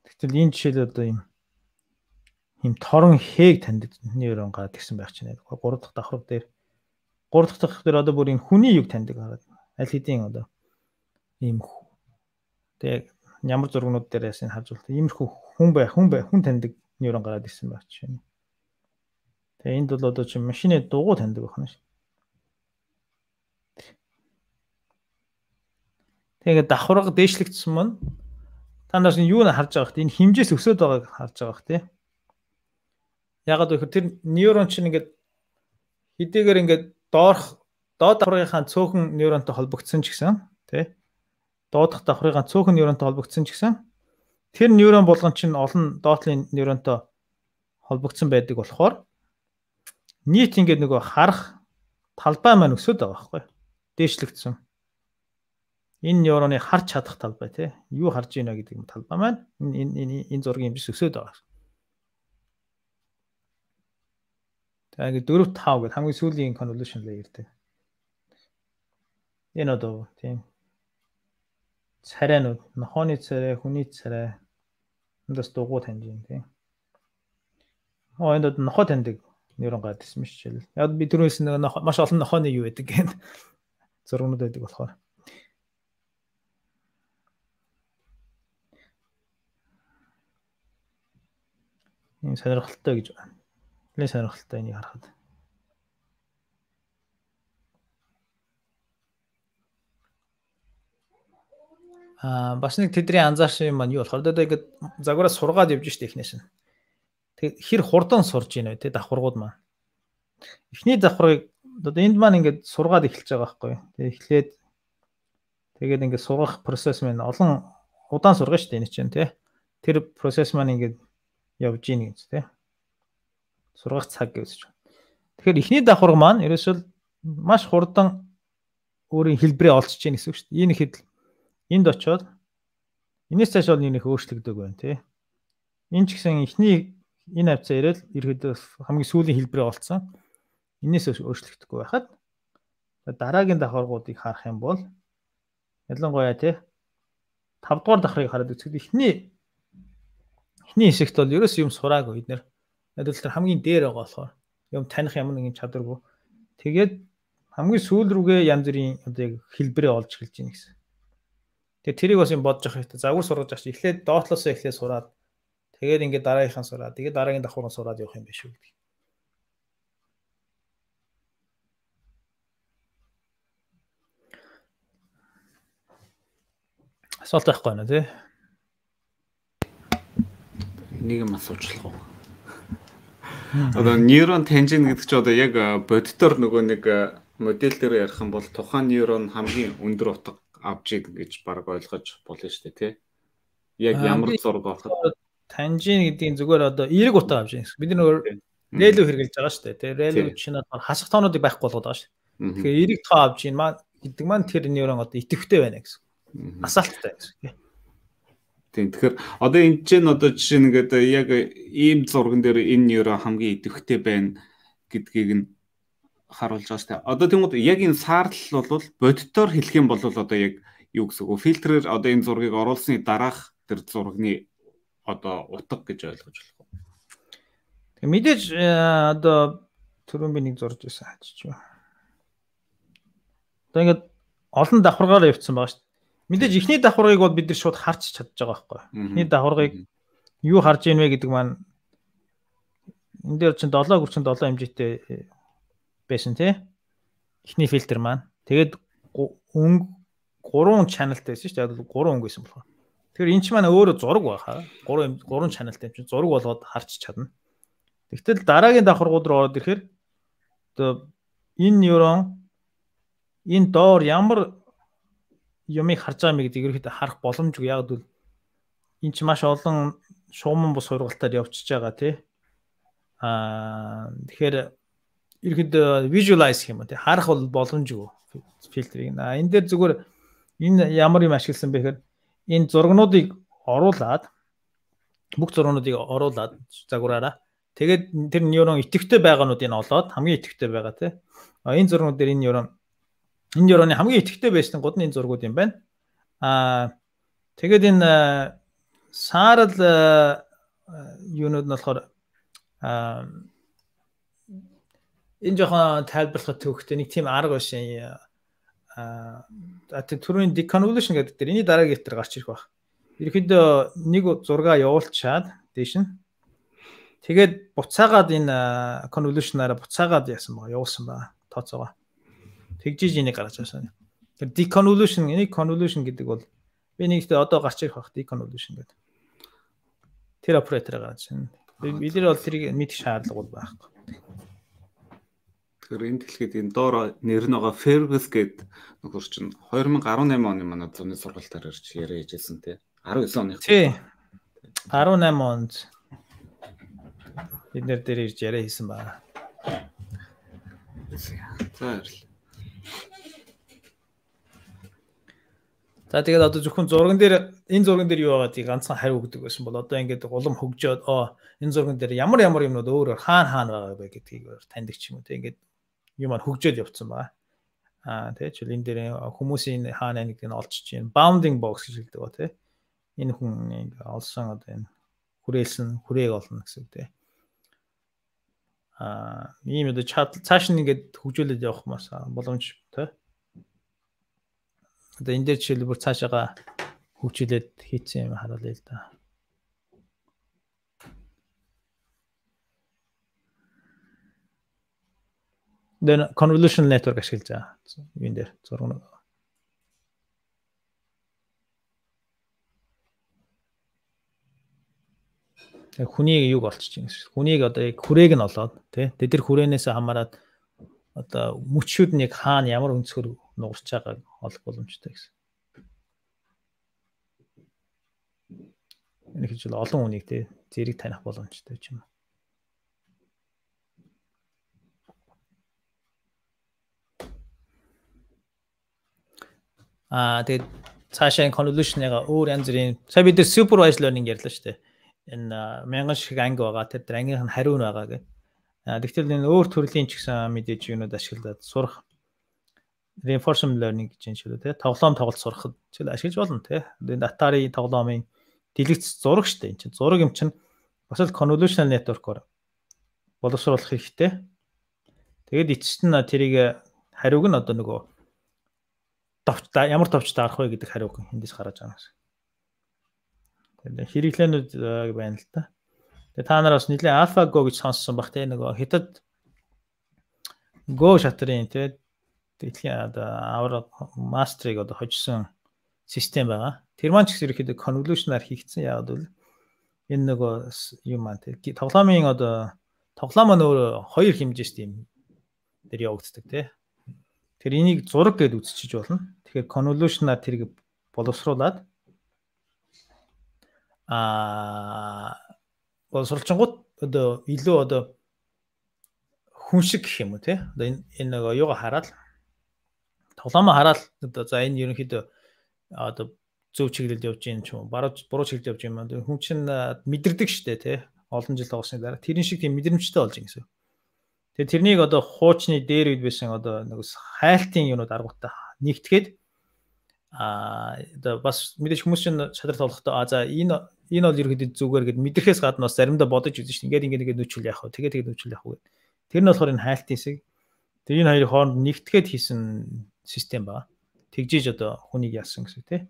Тэгтэл энэ жишээл одоо ийм торон хээг таньдаг нейрон гараад ирсэн байх чинь. 3 дахь давхар дээр одоо бүр энэ хүний юг таньдаг гараад аль хэдийн одоо ийм тэг ямар зургнууд дээрээс энэ харж байна. Иймэрхүү хүн таньдаг нейрон гараад ирсэн байх чинь. Тэгээ энд бол одоо чи машины дугуй таньдаг байна шүү. Тэгээ давхарга дээшлэгдсэн мөн та нар юу н харж байгаа хэрэг энэ хэмжээс өсөд байгааг харж байгаа хэрэг тий. Ягаад гэвэл тэр нейрон чинь ингээд хэдийгээр ингээд доод давхаргынхаа цөөхөн нейронтой холбогдсон ч гэсэн тий. Доодох давхаргынхаа цөөхөн нейронтой холбогдсон ч гэсэн тэр нейрон болгон чинь олон доотлын нейронтой холбогдсон байдаг болохоор нийт ингээд нөгөө харах талбай маань өсөд байгаа байхгүй. Дээшлэгдсэн. Энэ нейроны харж чадах талбай тий. Юу харж байна гэдэг талбай маань энэ зургийн хэмжээс өсөд байгаа. Тэгээд 4 5 гэдэг хамгийн сүүлийн convolution layer дээ. Энэ одоо тийм царайнууд, нохооны царай, хүний царай эндээс дугуй таньж байна тийм. Энд нохоо таньдаг нейрон гараад ирсэн мэт жишээл. Яг би түрүүнээс маш олон нохооны юу байдаг гэх зургнууд байдаг болохоор. Энэ сонирхолтой гэж байна. Нэлээд сонирхолтой энийг харахад. Бас нэг тэдний анзаарсан юм маань юу болохоор одоо ингээд загвараас сургаад явж штэ эхнээс нь. Тэг хэр хурдан сурж ийн вэ те давхаргууд маань. Эхний давхаргыг одоо энд маань ингээд сургаад эхэлж байгаа байхгүй. Тэг эхлээд тэгээд ингээд сургах процесс маань олон удаан сургана штэ энэ чинь те. Тэр процесс маань ингээд явж ийн гэж те. Сургах цаг гэж. Тэгэхээр эхний давхарга маань ерөөсөө маш хурдан өөрийн хэлбэрээ олчж ийн гэсэн үг шүү дээ. Энэ ихэд энд очиод энэс цааш бол нэг өөрчлөгдөг байна тий. Энэ ч гэсэн эхний энэ хавцаа ирэл ерөөдөө хамгийн сүүлийн хэлбэрээ олцсон. Энээс өөрчлөгдөхгүй байхад дараагийн давхаргуудыг харах юм бол ялангуяа тий 5 дугаар давхрыг хараад үзэхэд эхний хэсэгт бол ерөөс юм сураагүй бид нэр. Надад тэр хамгийн дээр байгаа болохоор юм таних ямар нэгэн чадваргүй. Тэгээд хамгийн сүүл рүүгээ янз бүрийн одоо яг хэлбэрээ олж эхэлж байна гэсэн. Тэгээд тэрийг бас юм бодож явах хэрэгтэй. Загвар сургаж авч эхлээд доотлосоо эхлээд сураад тэгээд ингээд дараагийнхаа сураад тэгээд дараагийн давхаргыг сураад явах юм биш үү гэдэг. Асуулт байхгүй нэ тий. Нэг юм асуучлах уу? Одоо нейрон таньжин гэдэг чинь одоо яг бодитоор нөгөө нэг модель дээр ярих юм бол тухайн нейрон хамгийн өндөр утга авч ийг гэж баг ойлгож болно шүү дээ тий. Яг ямар зураг болоход таньжин гэдгийг зүгээр одоо эерэг утга авч ийн гэсэн. Бид нөгөө рэлүү хэрэгжилж байгаа шүү дээ тий. Рэлүү чинь хасах тоонуудыг байхгүй болгоод байгаа шүү. Тэгэхээр эерэг тоо авч ийн маань гэдэг маань тэр нейрон одоо идэвхтэй байна гэсэн. Асаалттай гэсэн тий. Тийм. Тэгэхээр одоо энэ чинь одоо жишээ нь ингээд яг ийм зурган дээр энэ нейрон хамгийн идэвхтэй байна гэдгийг нь харуулж байгаа шүү дээ. Одоо тэгмүүд яг энэ саарлал бол бодитоор хэлэх юм бол одоо яг юу гэсэн үг вэ? Фильтрээр одоо энэ зургийг оруулсны дараах тэр зургийн одоо утга гэж ойлгож болох уу? Тэг мэдээж одоо түрүүн би нэг зурж байсан хаачих. Одоо ингээд олон давхаргаараа явцсан байгаа шүү дээ. Мэдээж ихний давхаргыг бол бид нар шууд харч чадж байгаа байхгүй. Ихний давхаргыг юу харж ийн вэ гэдэг маань энэ дээр чинь 7 хэмжээтэй байсан тий. Ихний фильтр маань. Тэгээд 3 channelтай байсан шүү дээ. 3 өнгө байсан болохоор. Тэгэхээр энэ ч маань өөрөө зураг байхаа. 3 channelтай юм чинь зураг болгоод харч чадна. Тэгтэл дараагийн давхаргууд руу ороод ирэхээр одоо энэ нейрон энэ доор ямар юмыг харж байгаа мэй гэдэг ерөөхдөө харах боломжгүй. Яг бол энэ ч маш олон шугамн бус сургалтаар явчихж байгаа тий. Тэгэхээр ерөөхдөө visualize гэх юм уу тий. Харах бол боломжгүй фильтрийг. Энэ дээр зүгээр энэ ямар юм ашигласан бэ гэхээр энэ зургнуудыг оруулаад бүх зургнуудыг оруулаад загвараараа тэгээд тэр нейрон идэвхтэй байгаануудыг олоод хамгийн идэвхтэй байгаа тий. Энэ зургууд дээр энэ нейроны хамгийн идэвхтэй байсан гол нь энэ зургууд юм байна. Тэгээд энэ саарл юунууд нь болохоор энэ жоохон тайлбарлахад төвхтэй нэг тийм арга байсан. Түрүүний deconvolution гэдэг дээр энэ дараагийн хэлтэр гарч ирэх баг. Ерөнхийдөө нэг зургаа явуулчаад дээш нь тэгээд буцаагаад энэ convolution-аараа буцаагаад явуулсан ба тооцоогоо. Тэгжиж энийг гаргаж авсан. Тэр deconvolution, энийг convolution гэдэг бол би нэгт одоо гарч ирэх баг deconvolution гэдэг. Тэр оператор гаргаж байна. Бид нар бол тэрийг мэдэх шаардлага бол байхгүй. Тэгэхээр энэ дэлхийд энэ доор нэр нь байгаа Fergus гэдэг нөхөр чинь 2018 оны манай зуны сургалтаар ирж яриа хийжсэн тий. 19 оны. Тий. 18 онд бид нэр дээр ирж яриа хийсэн байна. За баярлалаа. За тэгээд одоо зөвхөн зурган дээр энэ зурган дээр юу байгаа тийг ганцхан хариу өгдөг байсан бол одоо ингээд улам хөгжөөд энэ зурган дээр ямар юмнууд өөрөөр хаана байгаа вэ гэдгийг таньдаг ч юм уу те ингээд юм хөгжөөд явцсан байгаа. Тэгээ ч энэ дээр хүмүүсийн хаана нэгдийг нь олж чинь bounding box гэж хэлдэг ба те. Энэ хүн ингээд олсон одоо энэ хүрээг олно гэсэн үг те. Ийм одоо цааш нь ингээд хөгжүүлээд явах маш боломж те. Одоо энэ дээр жишээлбэл цаашаага хөгжүүлээд хийцэн юм харуулъя л да. Then convolutional network ашиглаж байгаа. Энэ дээр зураг. Хүнийг юг олчих чинь гэсэн. Хүнийг одоо яг хүрээг нь олоод тий. Тэр хүрээнээс хамаарат одоо мөчүүд нь яг хаана ямар өнцгөр нугарч байгааг олох боломжтой гэсэн. Энэ гэж олон хүнийг тий зэрэг таних боломжтой ч юм уу. Тэгээд цаашаа convolution-ыг өөр янз бүрийн сая бид supervised learning ярьлаа шүү дээ. Энэ 1000 шиг анги байгаа. Тэр ангийнх нь хариу нь байгаа гэх. Тэгвэл энэ өөр төрлийн ч гэсэн мэдээж юунууд ашиглаад сурах reinforcement learning гэж юм шиг үү те. Тоглоом тоглолт сурахад ч ашиглаж болно те. Энэ Atari тоглоомын дэлгэц зураг шүү дээ. Энэ чинь зураг юм чинь бас л convolutional network-оор боловсруулах хэрэгтэй. Тэгээд эцэст нь тэрийг хариуг нь одоо нөгөө ямар товчтой арах вэ гэдэг хариуг эндээс гаргаж байгаа гэсэн. Тэгээд хэрэглээнүүд байна л та. Тэгээд та нар бас нэлээд AlphaGo гэж сонссон баг те нөгөө хятад Go шатрын те дэлхийн авраг мастрыг одоо хожсон систем байгаа. Тэр маань ч гэсэн ерөөхдөө convolution-аар хийгдсэн яагаад бол энэ нөгөө юм маань те тоглоомын одоо тоглоом нь өөрөө хоёр хэмжээст юм дээр явагддаг те. Тэр энийг зураг гэж үзчихэж болно. Тэгэхээр convolution-аар тэрийг боловсруулад боловсруулчингууд одоо илүү одоо хүн шиг гэх юм уу те. Одоо энэ нөгөө юугаа хараад тоглоомоо хараад одоо за энэ ерөнхийдөө одоо зөв чиглэлд явж юм ч юм буруу чиглэлд явж юм. Хүн чинь мэдэрдэг штэ те. Олон жил тоглосны дараа тэрэн шиг тийм мэдрэмжтэй болж юм гэсэн. Тэгээ тэрнийг одоо хуучны дээр үед байсан одоо нэг хайлтын юунууд аргуудтай нэгтгэхэд одоо бас мэдээж хүмүүс чинь шатрал тоглохдоо за энэ бол ерөөдөө зүгээр гэд мэдрэхээс гадна бас заримдаа бодож үзэн чинь ингээд нүүчүүл яах вэ тэгээд нүүчүүл яах вэ тэр нь болохоор энэ хайлтын хэсэг тэр энэ хоёрын хооронд нэгтгэхэд хийсэн систем байгаа. Тэгжиж одоо хүнийг яасан гэсэн тий.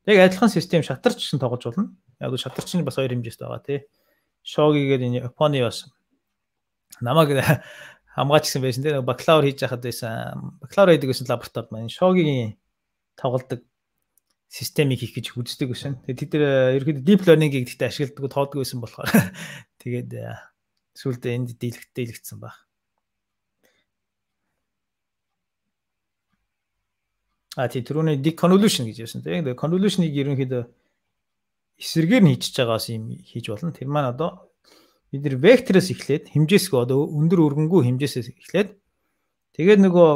Яг адилхан систем шатарч гэсэн тоглож болно. Яг шатарчны бас хоёр хэмжээст байгаа тий. Шоги гэдэг энэ Японы бас намайг хамгаачсан байсан тий. Бакалавр хийж байхад байсан. Бакалавр хийдэг гэсэн лабораторид маань шогигийн тоглодог системийг хийх гэж үздэг байсан. Тэгээд тэд нэр ерөөд deep learning-ийг гэхдээ ашигладаг тооддог байсан болохоор тэгээд сүүлдээ энд дийлэгдсэн баг. Түрүүний deconvolution гэж ярьсан тийм. Тэгээд convolution-ыг ерөнхийдөө эсрэгээр нь хийчихэж байгаас юм хийж болно. Тэр маань одоо бид нэр вектороос эхлээд хэмжээсгүй одоо өндөр өргөнгөө хэмжээсээс эхлээд тэгээд нөгөө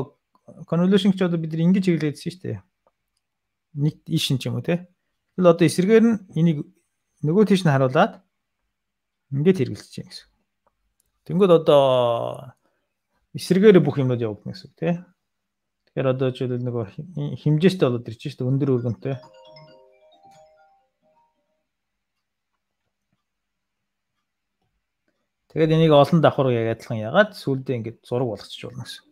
convolution ч одоо бид нар ингэж хэвлэжсэн шүү дээ. Нэг ишин ч юм уу те. Тэгэл одоо эсрэгээр нь энийг нөгөө тийш нь харуулад ингээд хэрэглэж чинь гэсэн. Тэнгүүд одоо эсрэгээр бүх юмуд явагдана гэсэн те. Тэгэхээр одоо жишээлбэл нөгөө хэмжээстэй болоод ирж шүү дээ өндөр өргөнтэй. Тэгээд энийг олон давхар яг адилхан ягаад сүлдээ ингээд зураг болгочих болно гэсэн.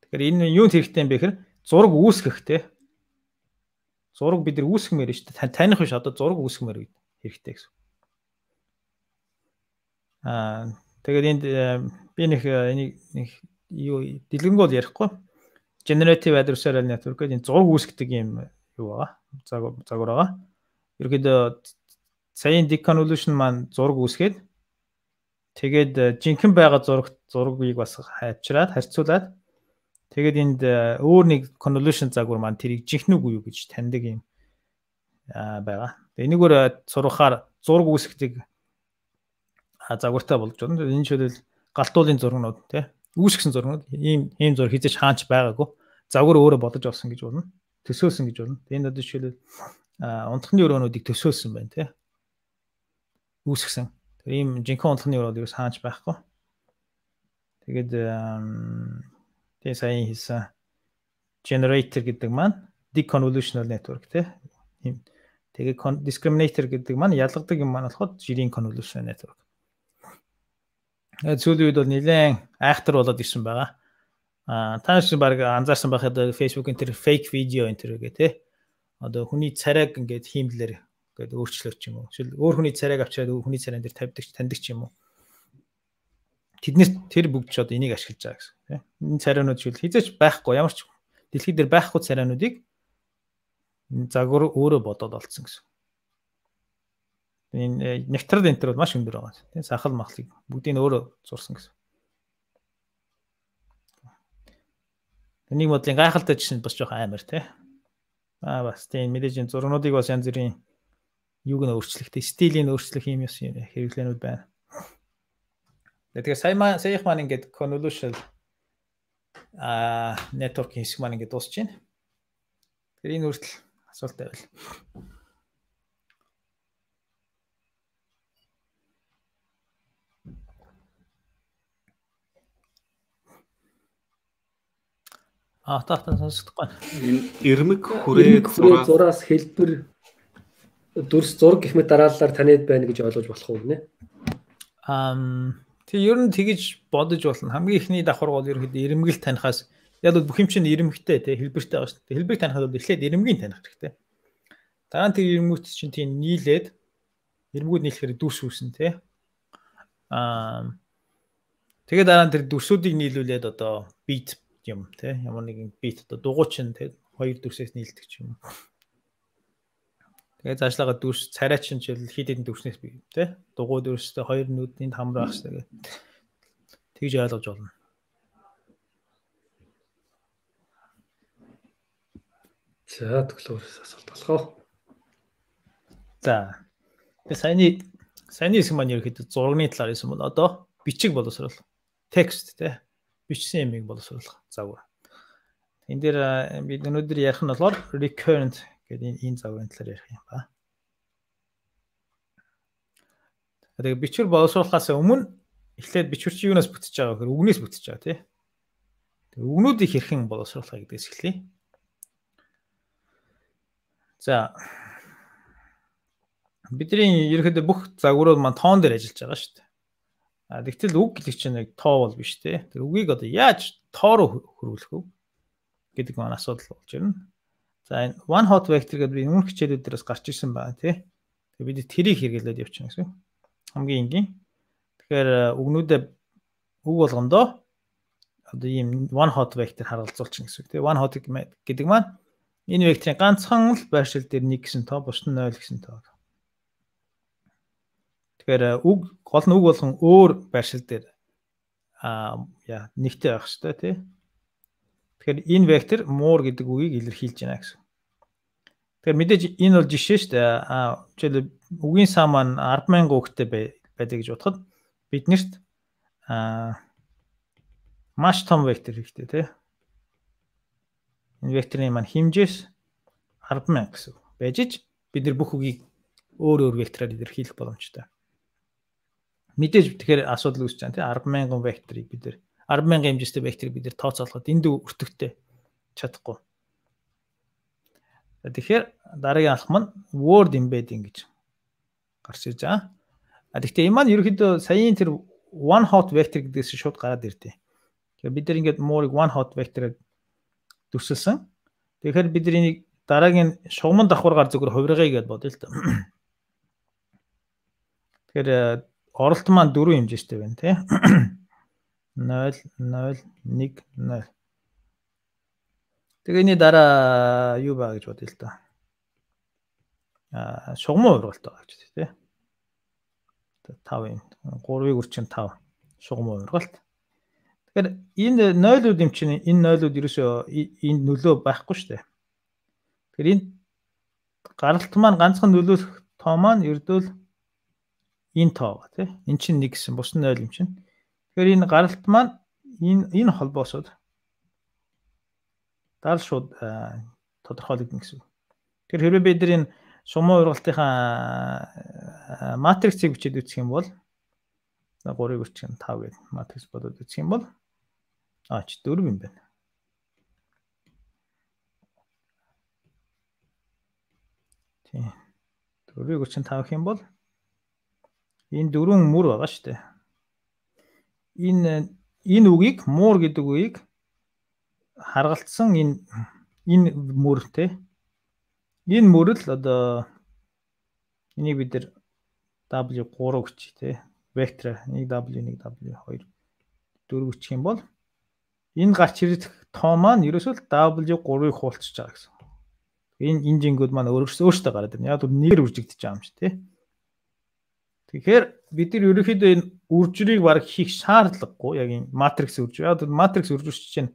Тэгэхээр энэ юунд хэрэгтэй юм бэ гэхээр зураг үүсгэх те. Зураг бид нар үүсгэмээр шүү дээ. Таних биш одоо зураг үүсгэмээр хэрэгтэй гэсэн. Тэгээд энд би нэг юу дэлгэнг бол ярихгүй. Generative adversarial network гэдэг энэ зураг үүсгдэг юм юу байгаа. Загвар байгаа. Ерөөдөө саяын deconvolution маань зураг үүсгээд тэгээд жинхэнэ байгаа зургийг бас харьцуулаад тэгээд энд өөр нэг convolution загвар маань тэрийг жинхэнэ үгүй юу гэж таньдаг юм байгаа. Тэгээ энэгээр сурахаар зураг үүсгдэг загвартай болж байна. Энэ жишээлбэл галтуулын зургнууд тий үүсгэсэн зургнууд ийм зураг хийж хаанч байгаагүй. Загвар өөрөө бодож олсон гэж болно. Төсөөлсөн гэж болно. Энэ одоо жишээлбэл унтхны өрөөнүүдийг төсөөлсөн байна тий. Үүсгэсэн. Тэр ийм жинхэнэ унтхны өрөөнд ерөөс хаанч байхгүй. Тэгээд тэгээ саяын хийсэн generator гэдэг маань deconvolutional network тий. Тэгээ discriminator гэдэг маань ялгадаг юм маань болоход жирийн convolutional network. Сүүлийн үед бол нэлээд айхтар болоод ирсэн байгаа. Та нар баг анзаарсан байхад Facebook энэ төр fake video энэ төр гэх тий. Одоо хүний царайг ингээд хиймлэр ингээд өөрчлөөр ч юм уу. Жишээл өөр хүний царайг авчираад хүний царайн дээр таньдаг ч юм уу. Тэднэр тэр бүгд ч одоо энийг ашиглаж байгаа гэсэн тий. Энэ царайнууд жишээл хизээч байхгүй ямар ч дэлхий дээр байхгүй царайнуудыг загвар өөрөө бодоод олцсон гэсэн. Энэ нектрал энтер бол маш өндөр байгаа. Тийм сахал махлыг бүгдийг өөрөө зурсан гэсэн. Энийг модлын гайхалтай жишээ бас жоох амар тий. Бас тийм мэдээж зургнуудыг бас янз бүрийн юуг нь өөрчлөхтэй стилийн өөрчлөх юм хэрэглэнүүд байна. Тэгэхээр саяхан маань ингээд convolutional network хэсэг маань ингээд дуусч байна. Тэгэхээр энэ хүртэл асуулт байвал. Таатан сонсохгүй. Энэ эрмэг хүрээ зураас хэлбэр дүрс зураг гэх мэт дараалалаар таниад байна гэж ойлгож болох уу нэ? Тэг ер нь тэгэж бодож болно. Хамгийн ихний давхар бол ерөнхийдөө эрмэгэл танихаас яг л бүх юм чинь эрмэгтэй тий хэлбэртэй байгаа шүү дээ. Хэлбэрийг танихад бол эхлээд эрмэгийг таних хэрэгтэй. Дараа нь тэр эрмэгүүд чинь тийм нийлээд эрмэгүүд нийлэхээр дүрс үүснэ тий. Тэгээд дараа нь тэр дүрсүүдийг нийлүүлээд одоо бит юм тий ямар нэгэн бит одоо дугуйчин тий хоёр дүрсээс нийлдэг ч юм. Тэгээд цаашлага дүрс царайчин ч хэд хэдэн дүрснээс бий тий дугуй дүрстэй хоёр нүдэнд хамрах хэрэгтэй. Тэгж ойлгож болно. За төглөөрөөс асуулт болох. За. Тэгээд саяны хэсэг маань ерөөхдөө зургийн талаар хэлсэн бол одоо бичиг боловсрол текст тий бичсэн юмыг боловсруулах загвар. Энд дээр бид өнөөдөр ярих нь болохоор recurrent гэдэг энэ загварын талаар ярих юм ба. Тэгээд бичвэр боловсруулахаас өмнө эхлээд бичвэр чи юунаас бүтэж байгаа гэхээр үгнээс бүтэж байгаа тий. Тэгээд үгнүүдийг хэрхэн боловсруулах гэдгээс эхлэе. За. Бидний ерөөхдөө бүх загварууд маань тоон дээр ажиллаж байгаа шүү дээ. Тэгтэл үг гэдэг чинь яг тоо бол биш те. Тэр үгийг одоо яаж тоо руу хөрвүүлэх вэ? гэдэг маань асуудал болж ирнэ. За энэ one hot vector гэдэг би өмнөх хичээлүүдээс гарч ирсэн байна тий. Тэгээ бид тэрийг хэрэглээд явчихна гэсэн. Хамгийн энгийн. Тэгэхээр үгнүүдээ үг болгондоо одоо ийм one hot vector харгалзуулчихна гэсэн. Тэгээ one hot гэдэг маань энэ векторын ганцхан л байршил дээр 1 гэсэн тоо, бус нь 0 гэсэн тоо. Тэгэхээр гол нь үг болгон өөр байршил дээр нэгтэй байх хэрэгтэй тий. Тэгэхээр энэ вектор more гэдэг үгийг илэрхийлж байна гэсэн. Тэгэхээр мэдээж энэ бол жишээ шүү дээ. Жишээлбэл үгийн сан маань 100000 үгтэй байдаг гэж бодоход биднэрт маш том вектор хэрэгтэй тий. Энэ векторын маань хэмжээс 100000 гэсэн байж ич бид нар бүх үгийг өөр вектороор илэрхийлэх боломжтой. Мэдээж тэгэхээр асуудал үүсэж байна тий 100000 векторыг бид нар 100000 хэмжээтэй векторыг бид нар тооцоолоход энд өртөгтэй чадахгүй. Тэгэхээр дараагийн алхам нь word embedding гэж гарч ирж байгаа. Гэхдээ энэ маань ерөөхдөө саяын тэр one hot vector гэдгээс шууд гараад ирдээ. Тэгэхээр бид нар ингээд more-ыг one hot vector-аар төсөлсөн. Тэгэхээр бид нар энийг дараагийн шугамн давхаргаар зөвхөн хувиргая гэж бодъё л та. Тэгэхээр оролт маань 4 хэмжээтэй байна тий. 0 0 1 0. Тэгээ энэ дараа юу баа гэж бодъё л та. Шугамн хувиргалт байгаа гэж тий. 5 юм. 3-ыг үрчин 5 шугамн хувиргалт. Тэгэхээр энэ 0-ууд юм чинь энэ 0-ууд ерөөсөө энэ нөлөө байхгүй шүү дээ. Тэгэхээр энэ гаралт маань ганцхан нөлөөлөх тоо маань ердөө энэ тоо ба тий. Эн чинь 1 гэсэн бус нь 0 юм чинь. Тэгэхээр энэ гаралт маань энэ холбоосод даал шууд тодорхойлогдно гэсэн. Тэгэхээр хэрвээ бид нар энэ шугамн хувиргалтынхаа матриксыг бичиж үзэх юм бол 3-ыг үрчин 5 гэдэг матрикс бодоод үзэх юм бол 4 юм байна. Тийм. 4-ыг үрчин 5 гэх юм бол энэ 4 мөр байгаа шүү дээ. Энэ үгийг муур гэдэг үгийг харгалцсан энэ мөр те. Энэ мөр л одоо энийг бид нар W3 гэж те. Вектор 1W 2 4 гэх юм бол энэ гарч ирэх тоо маань ерөөсөө W3-ыг хуулчихж байгаа гэсэн. Энэ жингүүд маань өөрөөсөө гараад ирнэ. Яг нэр үржигдэж байгаа юм чи те. Тэгэхээр бид нар ерөөхдөө энэ үржрийг баг хийх шаардлагагүй яг энэ матрикс үржиж. Яг матрикс үржиж чинь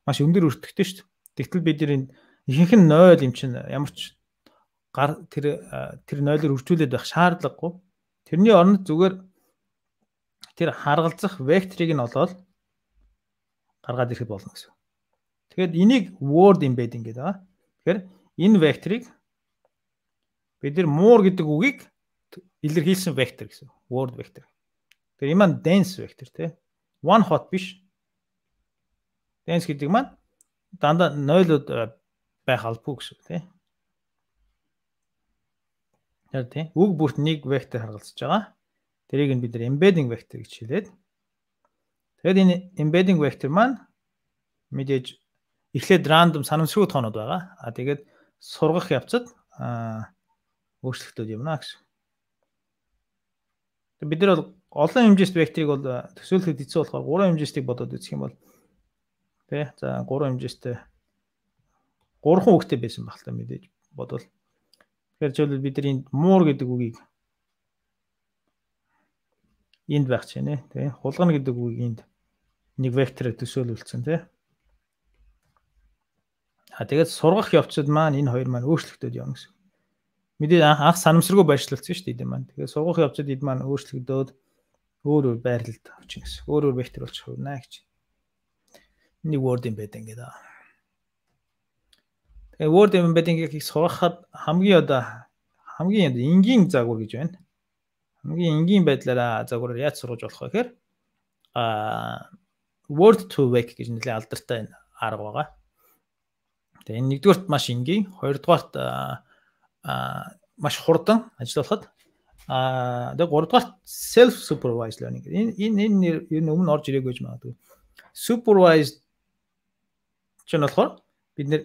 маш өндөр өртөгтэй шүү дээ. Тэгтэл бид нар энэ ихэнх нь 0 юм чинь ямар ч тэр 0-оор үржүүлээд байх шаардлагагүй. Тэрний оронд зүгээр тэр харгалзах векторыг нь олоод гаргаад ирэхэд болно гэсэн. Тэгэхээр энийг word embedding гэдэг байгаа. Тэгэхээр энэ векторыг бид нар more гэдэг үгийг илэрхийлсэн вектор гэсэн. Word vector. Тэгэхээр энэ маань dense vector тий. One hot биш. Dense гэдэг маань дандаа 0-ууд байх албагүй гэсэн тий. Тэгэхээр тий. Үг бүрт нэг вектор харгалзаж байгаа. Тэрийг нь бид нар embedding vector гэж хэлээд. Тэгэхээр энэ embedding vector маань мэдээж эхлээд random санамсргүй тоонууд байгаа. Тэгээд сургах явцад өөрчлөлтүүд юмна гэсэн. Бид нар бол олон хэмжээст векторыг бол төсөөлөхөд хэцүү болохоор 3 хэмжээстийг бодоод үзэх юм бол тий. За 3 хэмжээстэй 3 үгтэй байсан баг л та мэдээж бодвол. Тэгэхээр жишээлбэл бид нар энд more гэдэг үгийг энд байх ч нэ тий. Хулгана гэдэг үгийг энд нэг вектороор төсөөлүүлсэн тий. Тэгээд сургах явцад маань энэ хоёр маань өөрчлөгдөд явна гэсэн. Мэдээ анх санамсаргүй байршлуулсан шүү дээ энэ маань. Тэгээд сургах явцад эд маань өөрчлөгдөөд өөр байрлалд авчих гэсэн. Өөр вектор болж хувирна гэж. Энийг word embedding гэдэг. Тэгээд word embedding-ийг сургахад хамгийн энгийн загвар гэж байна. Хамгийн энгийн байдлаараа загвараар яаж сургаж болох вэ гэхээр word to vec гэж нэлээд алдартай арга байгаа. Тэгээ энэ нэгдүгээрт маш энгийн, хоёрдугаарт маш хурдан ажиллахад тэгээ гуравдугаарт self supervised learning гэдэг. Энэ өмнө орж ирээгүй гэж магадгүй. Supervised чинь болохоор бид нэр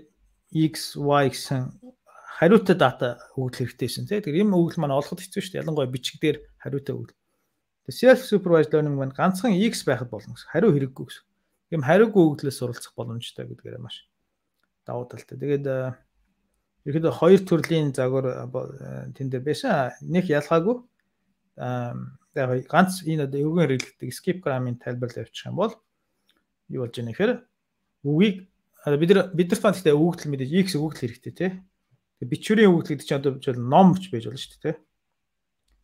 x, y гэсэн хариутай дата өгөх хэрэгтэйсэн тий. Тэгэхээр ийм өгөл маань олоход хэцүү шүү дээ. Ялангуяа бичгээр хариутай өгөл. Self supervised learning маань ганцхан x байхад болно гэсэн. Хариу хэрэггүй гэсэн. Ийм хариугүй өгдлөөс суралцах боломжтой гэдгээр маш давуу талтай. Тэгээд ерөөдөө хоёр төрлийн загвар тэн дээр байсан. Нэг ялгаагүй яг ганц энэ одоо өвгөн хэрэглэдэг skip gram-ын тайлбарлал явуучих юм бол юу болж байгаа нэхэр үгийг бид нар фан гэхдээ өгөгдөл мэдээж x өгөгдөл хэрэгтэй тий. Бичвэрийн өгөгдөл гэдэг чинь одоо bijэл ном ч байж болно шүү дээ тий.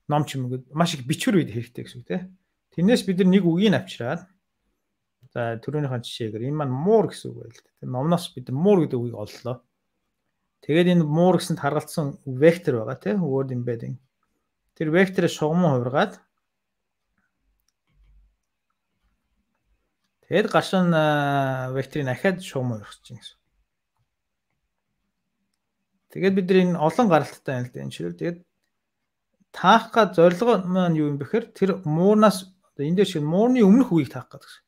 Ном ч юм уу маш их бичвэр үед хэрэгтэй гэсэн үг тий. Тэрнээс бид нар нэг үгийг авчираад за түрүүнийхэн жишээгээр энэ маань муур гэсэн үг байл тий. Номноос бид нар муур гэдэг үгийг оллоо. Тэгээд энэ муур гэсэнд харгалзсан вектор байгаа тий. Word embedding. Тэр векторыг шугамн хувиргаад тэгээд гашин векторыг ахаад шугам хувирах чинь гэсэн. Тэгээд бид нар энэ олон гаралттай байна л да энэ шил. Тэгээд таах га зорилго маань юу юм бэхээр тэр муурнаас энэ дээр шиг муурны өмнөх үгийг таах гэдэг гэсэн.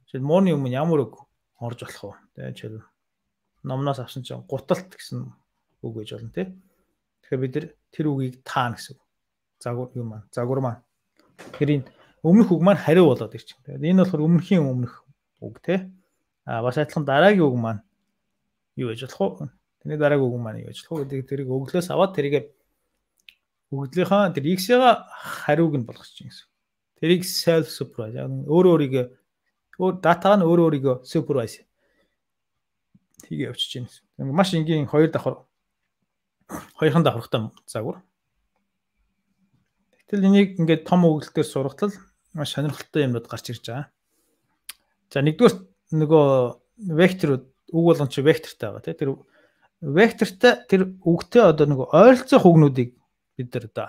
Жишээл муурны өмнө ямар үг орж болох вэ? Тэгээд жишээл номноос авсан чинь гуталт гэсэн үг гэж болно тий. Тэгэхээр бид тэр үгийг таана гэсэн. Загвар юм маань, загвар маань. Тэгэхээр энэ өмнөх үг маань хариу болоод ирчих. Тэгээд энэ болохоор өмнөхийн өмнөх үг тий. Бас адилхан дараагийн үг маань юу гэж болох вэ? Тэрний дараагийн үг маань юу гэж болох вэ гэдэг тэрийг өглөөс аваад тэрийг өгдлийнхаа тэр x-ийн хариуг нь болгох чинь гэсэн. Тэрийг self supervise өөрийгөө датаг нь өөрийгөө supervise хийгээ явуулчих чинь. Маш энгийн хоёр хоёрхан давхартай загвар. Гэтэл энийг ингээд том өгүүлэлтээр сургатал маш сонирхолтой юмнууд гарч ирж байгаа. За нэгдүгээр нөгөө векторууд үг болгон чи вектортай байгаа тий. Тэр вектортай тэр үгтэй одоо нөгөө ойролцоох үгнүүдийг бид нар одоо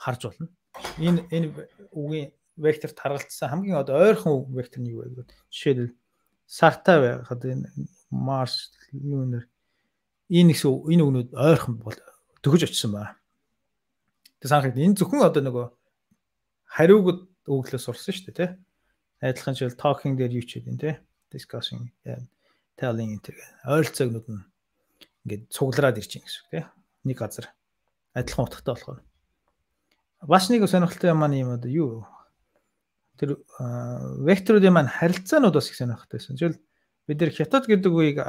харж болно. Энэ үгийн векторт харгалзсан хамгийн одоо ойрхон үг вектор нь юу вэ гэвэл жишээлбэл сартай байхад энэ Mars Lunar энэ үгнүүд ойрхон бол төгөж очсон байна. Тэг санахад энэ зөвхөн одоо нөгөө хариуг өглөөс сурсан шүү дээ тий. Адилхан жишээл talking дээр юу ч гэдэг тий. Discussing, telling гэдэг ойролцоогнууд нь ингээд цуглараад ирж байгаа гэсэн үг тий. Нэг газар адилхан утгатай болохоор. Бас нэг сонирхолтой юм маань юм одоо юу тэр векторуудын маань харилцаанууд бас их сонирхолтойсэн. Жишээл бид нэр хятад гэдэг үеийг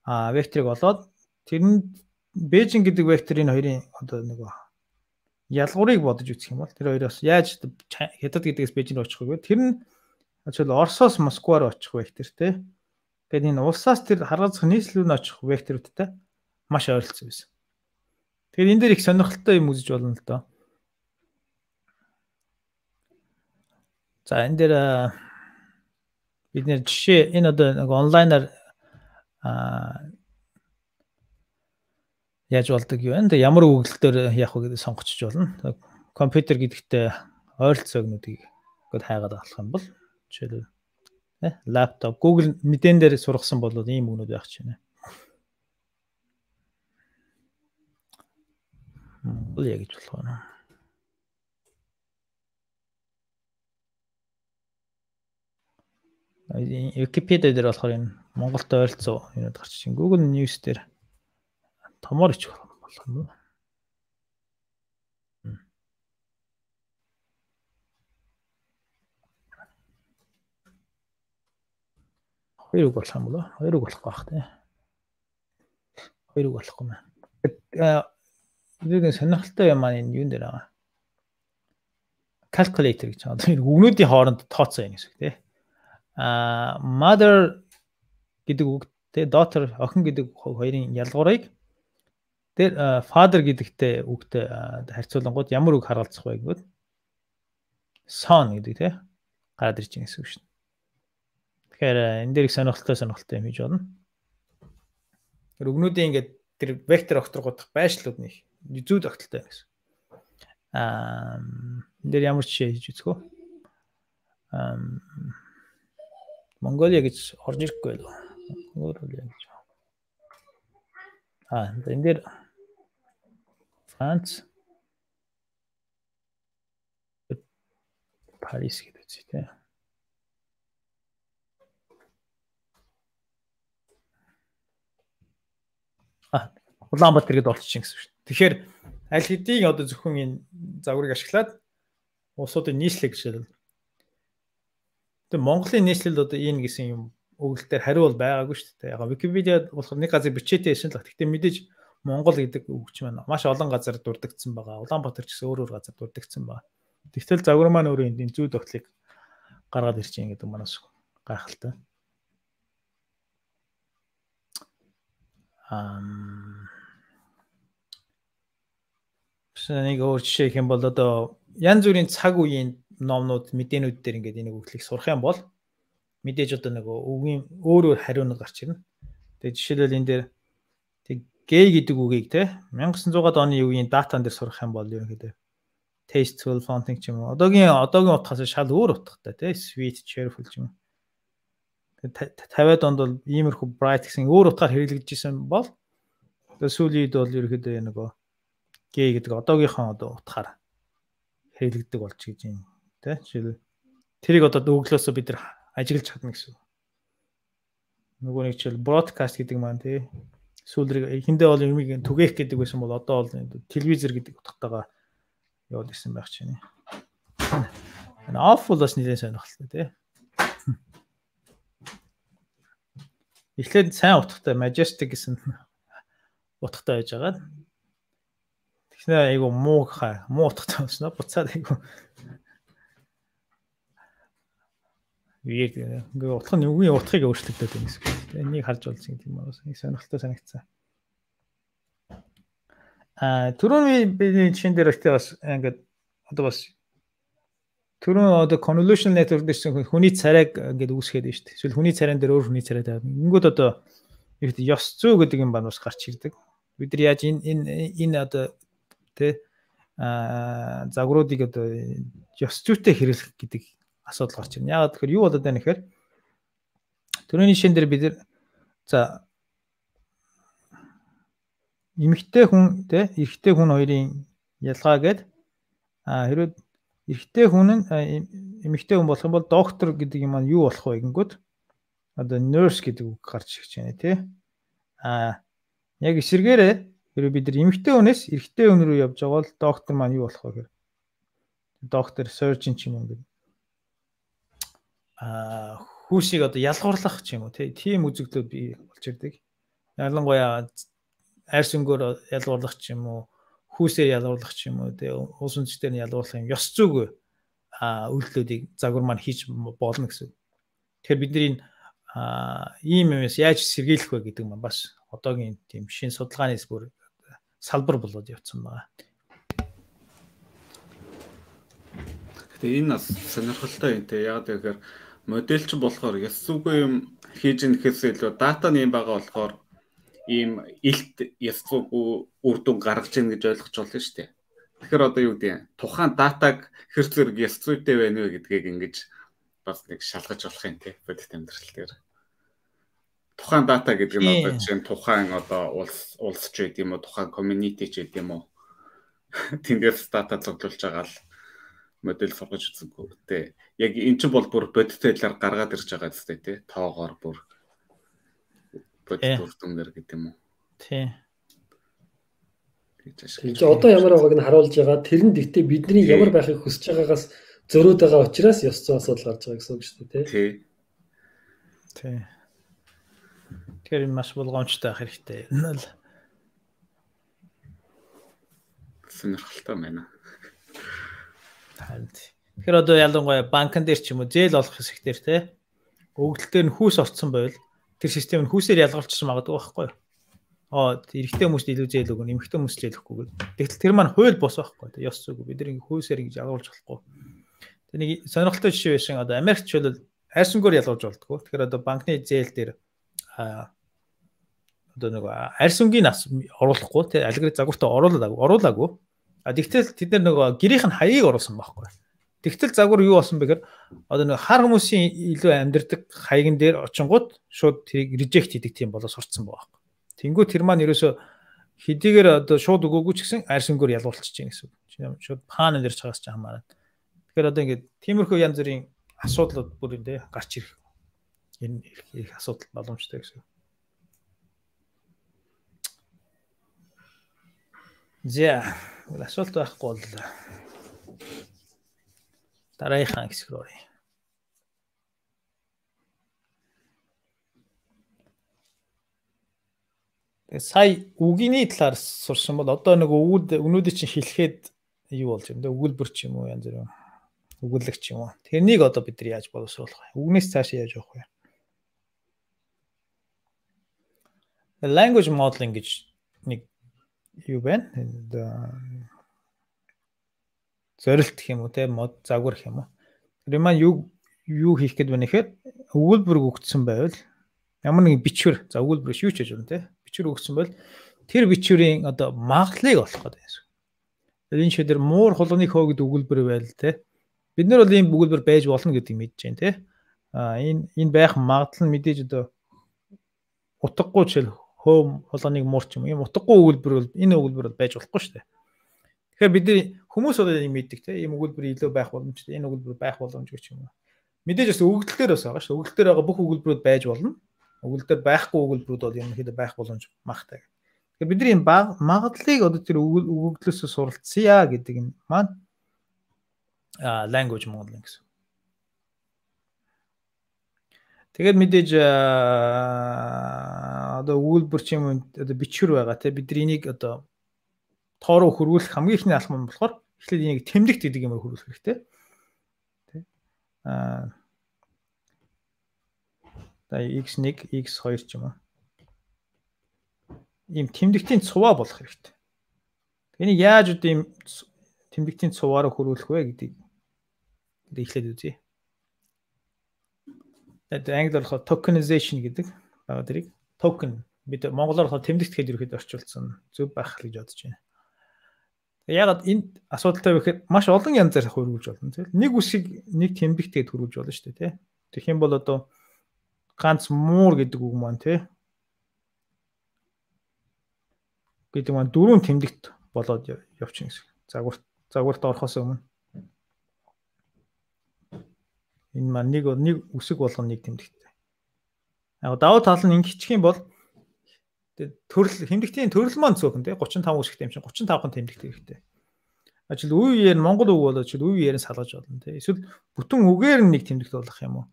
векторыг олоод тэрэнд Бээжин гэдэг векторын хоёрын одоо нөгөө ялгуурыг бодож үзэх юм бол тэр хоёроос яаж хятад гэдгээс Бээжин рүү очих вэ? Тэр нь жишээл Оросоос Москва руу очих вектор те. Тэгээд энэ улсаас тэр харгалзах нийслэл рүү очих векторуудтай маш ойролцоо байсан. Тэгэхээр энэ дээр их сонирхолтой юм үзэж болно л доо. За энэ дээр бид нэр жишээ энэ одоо нэг онлайнаар яаж болдог юу вэ? Ямар өгөгдөлтөөр яах вэ гэдэг сонгочих болно. Компьютер гэдэгтээ ойролцоогнуудыг гээд хайгаад авах юм бол жишээлбэл лаптоп, Google мэдэн дээр сургасан бол ийм өгнүүд байх ч байна. Бол яг гэж болох байна. Википедиа дээр болохоор энэ Монголд ойролцоо юмуд гарч чинь Google News дээр томор ичих болох юм уу? Хоёр үг болох юм болоо? Хоёр үг болохгүй бах тий. Хоёр үг болохгүй маа. Тэгээд сонирхолтой юм маань энэ юун дээр байгаа. Calculator гэж байгаа. Энэ үгнүүдийн хооронд тооцоо юм гэсэн үг тий. Mother гэдэг үгтэй daughter охин гэдэг хоёрын ялгуурыг тэр father гэдэгтэй үгтэй харьцуулангууд ямар үг харгалзах вэ гэвэл son гэдэг тий гараад ирж байгаа гэсэн үг шин. Тэгэхээр энэ дээр их сонирхолтой юм хийж байна. Тэр үгнүүдийн ингээд тэр вектор огторгуудах байшлууд нэг зүү тогтолтой гэсэн. Энэ дээр ямар жишээ хийж үзэх вэ? Монголиа гэж орж ирэхгүй байлоо. Монголиа гэж. Энэ дээр Франц Парис гэдэг үстэй. Улаанбаатар гээд олчихин гэсэн шүү дээ. Тэгэхээр аль хэдийн одоо зөвхөн энэ загварыг ашиглаад улсуудын нийслэл гэж байна. Тэгээ Монголын нийслэл одоо энэ гэсэн юм өгүүлэлтээр хариу бол байгаагүй шүү дээ. Яг Википедиад болохоор нэг газар бичээтэй байсан л. Гэхдээ мэдээж Монгол гэдэг үгч маань маш олон газар дурддагдсан байгаа. Улаанбаатар ч гэсэн өөр газар дурддагдсан байгаа. Тэгтэл загвар маань өөрөө энэ зүй тогтлыг гаргаад ирж байгаа гэдэг манаас гайхалтай. Нэг өөр жишээ гэх юм бол одоо янз бүрийн цаг үеийн номнууд мэдээнүүд дээр ингээд энийг өгөхлийг сурах юм бол мэдээж одоо нэг үгийн өөр хариунууд гарч ирнэ. Тэгээ жишээлбэл энэ дээр тэг гэй гэдэг үгийг те 1900-аад оны үеийн датан дээр сурах юм бол ерөнхийдөө tasteful fountain ч юм уу. Одоогийн утгаас шал өөр утгатай те sweet cheerful ч юм уу. 50-аад онд бол иймэрхүү bright гэсэн өөр утгаар хэрэглэгдэжсэн бол сүүлийн үед бол ерөнхийдөө нөгөө гэй гэдэг одоогийнхоо одоо утгаар хэрэглэгдэг болж гэж юм тий. Жишээл тэрийг одоо өглөөсөө бид нар ажиглаж чадна гэсэн. Нөгөө нэг жишээл broadcast гэдэг маань тий. Сүүлрэг эхэндээ бол юмыг түгээх гэдэг байсан бол одоо бол телевизэр гэдэг утгатайгаа яваад ирсэн байх чинь. Энэ off бол бас нэлээд сонирхолтой тий. Эхлээд сайн утгатай majestic гэсэн утгатай байж байгаа. Тэгснэ айгу муу утгатай болсноо буцаад айгу weird ингээ утга нь үгийн утгыг өөрчлөгдөд байна гэсэн. Энийг харж болсон юм байна. Нэг сонирхолтой санагцсан. Түрүүний бидний жишээн дээр бас ингээд одоо бас түрүүн одоо convolutional network гэсэн хүний царайг ингээд үүсгээд байна шүү дээ. Эсвэл хүний царайн дээр өөр хүний царай тавиад. Ингэнгүүт одоо ёс зүй гэдэг юм байна бас гарч ирдэг. Бид нар яаж энэ одоо тэ загваруудыг одоо ёс зүйтэй хэрэглэх гэдэг асуудал гарч ирнэ. Яагаад тэгэхээр юу болоод байна гэхээр түрүүний жишээн дээр бид за эмэгтэй хүн тэ эрэгтэй хүн хоёрын ялгаа гээд хэрвээ эрэгтэй хүн нь эмэгтэй хүн болох юм бол доктор гэдэг юм маань юу болох вэ гингүүд одоо nurse гэдэг үг гарч ирж байна тий. Яг эсэргээрээ хэрвээ бид нар эмэгтэй хүнээс эрэгтэй хүн рүү явж байгаа бол доктор маань юу болох вэ гэхээр доктор surgeon ч юм уу гэдэг хүүсийг одоо ялгуурлах ч юм уу тийм үзэгдлүүд бий болж ирдэг. Ялангуяа арьс өнгөөр ялгуурлах ч юм уу хүүсээр ялгуурлах ч юм уу уус үндэстээр нь ялгуурлах юм ёс зүйг үйлдэлүүдийг загвар маань хийж болно гэсэн. Тэгэхээр бидний ийм юмс яаж сэргийлэх вэ гэдэг маань бас одоогийн тийм шин судалгаанаас бүр салбар болоод явцсан байна. Тэгээ энэ бас сонирхолтой юм те. Яг тэгэхээр модельч болохоор ёс зүйгүй юм хийж нэхээс илүү датаны юм байгаа болохоор ийм илт ёс зүйгүй үр дүн гаргаж ийн гэж ойлгож болно шүү дээ. Тэгэхээр одоо юу гэдэг тухайн датаг хэр зэрэг ёс зүйтэй байна вэ гэдгийг ингэж бас нэг шалгаж болох юм те. Бодит амьдрал дээр. Тухайн дата гэдэг нь одоо чинь тухайн одоо улс ч гэдэг юм уу, тухайн community ч гэдэг юм уу. Тэндээс дата цуглуулж байгаа л модель сургаж үзэнгүүтэй. Яг эн чинь бол бүр бодит байдлаар гаргаад ирж байгаа зү тий. Тоогоор бүр бодит үр дүнээр гэдэг юм уу. Тий. Тэгээ одоо ямар байгааг нь харуулж байгаа. Тэрэнд ихтэй бидний ямар байхыг хүсэж байгаагаас зөрөөд байгаа учраас ёс зүйн асуудал гарч байгаа гэсэн үг шүү дээ тий. Тий. Тэр маш болгоомжтой байх хэрэгтэй. Энэ л сонирхолтой байна. Тэгэхээр одоо ялангуяа банкн дээр ч юм уу зээл олох хэсэгтэр те өгөгдөлтөөр нь хүүс орцсон байвал тэр систем нь хүүсээр ялгарчсан магадгүй байхгүй юу? Эрэгтэй хүмүүст илүү зээл өгнө, эмэгтэй хүмүүст зээл өгөхгүй гэдэг. Тэгтэл тэр маань хууль бос байхгүй. Ёс зүйг бид нэг хүүсээр ингэж ялгуулж болохгүй. Тэр нэг сонирхолтой жишээ байсан. Одоо Америкч бол арьсангоор ялгуулж болдгоо. Тэгэхээр одоо банкны зээл дээр одоо нэг арьсангийн нас оруулахгүй те алгоритм загвартаа оруулаагүй. Тэгтэл тэд нар нөгөө гэрийнх нь хаяыг оруулсан байхгүй. Тэгтэл загвар юу болсон бэ гэхээр одоо нэг хар хүмүүсийн илүү амьдэрдэг хаягн дээр очингууд шууд тэрийг reject хийдэг тийм болоо сурцсан байгаа байхгүй. Тэнгүү тэр маань ерөөсө хэдийгээр одоо шууд өгөөгүй ч гэсэн арьсангоор ялгуулчих чинь гэсэн үг. Шууд паан дээрч хагас ч хамаарна. Тэгэхээр одоо ингээд тиймэрхүү янз бүрийн асуудлууд бүр энэ гарч ирэх энэ их асуудал боломжтой гэсэн. За асуулт байхгүй бол дараагийнхаа хэсэг рүү оръё. Сая үгний талаар сурсан бол одоо нэг өгнүүдийг чинь хэлэхэд юу болж юм бэ? Өгүүлбэр ч юм уу янз бүр өгүүлэг ч юм уу. Тэрнийг одоо бид нар яаж боловсруулах вэ? Үгнээс цааш яаж явах вэ? Language modeling гэж нэг юу байна? Зорилт гэх юм уу те мод загвар гэх юм уу. Тэр маань юу хийх гээд байна гэхээр өгүүлбэр өгсөн байвал ямар нэгэн бичвэр за өгүүлбэр шүү ч гэж байна те. Бичвэр өгсөн бол тэр бичвэрийн одоо магадлалыг олох гэдэг юм. Энэ шийдэр муур хулганы хөө гэдэг өгүүлбэр байл те. Бид нар бол ийм өгүүлбэр байж болно гэдгийг мэдж байна те. Энэ байх магадлал нь мэдээж одоо утгагүй жишээл хөө хулганыг муурч юм. Ийм утгагүй өгүүлбэр бол энэ өгүүлбэр бол байж болохгүй шүү дээ. Тэгэхээр бид хүмүүс бол ийм мэддэг те. Ийм өгүүлбэр илүү байх боломжтой. Энэ өгүүлбэр байх боломжгүй ч юм уу. Мэдээж бас өгөгдөл дээр бас байгаа шүү. Өгөгдөл дээр байгаа бүх өгүүлбэрүүд байж болно. Өгүүлбэр дээр байхгүй өгүүлбэрүүд бол ерөнхийдөө байх боломж магтай. Тэгэхээр бидний энэ магадлалыг одоо тэр өгөгдлөөс суралцъя гэдэг нь маань language modeling гэсэн. Тэгээд мэдээж одоо өгүүлбэр ч юм одоо бичвэр байгаа те бид энийг одоо тоо руу хөрвүүлэх хамгийн ихний алхам нь болохоор эхлээд энийг тэмдэгт гэдэг юмар хөрвүүлэх хэрэгтэй. Тэ. X1, X2 ч юм уу. Ийм тэмдэгтийн цуваа болох хэрэгтэй. Энийг яаж одоо ийм тэмдэгтийн цуваараа хөрвүүлэх вэ гэдгийг эхлээд үзье. Тэгээд англиар болохоор tokenization гэдэг байгаа дэрийг token бид монголоор болохоор тэмдэгт гэж ерөөд орчуулсан зөв байх гэж бодож байна. Ягаад энэ асуудалтай вэ гэхээр маш олон янзаар хөрвүүлж болно тийм. Нэг үсгийг нэг тэмдэгтэд хөрвүүлж болно шүү дээ тийм. Тэгэх юм бол одоо ганц муур гэдэг үг маань тийм. Гэдэг маань дөрвөн тэмдэгт болоод явчихна гэсэн. Загварт орохоос өмнө энэ маань нэг үсэг болгоно нэг тэмдэгттэй. Яг давуу тал нь ингэчих юм бол төрөл тэмдэгтийн төрөл маань цөөхөн тий 35 үсэгтэй юм чинь 35хан тэмдэгт хэрэгтэй. Ажил үе үеэр монгол үг болоод үе үеэр нь салгаж болно тий. Эсвэл бүтэн үгээр нь нэг тэмдэгт болох юм уу?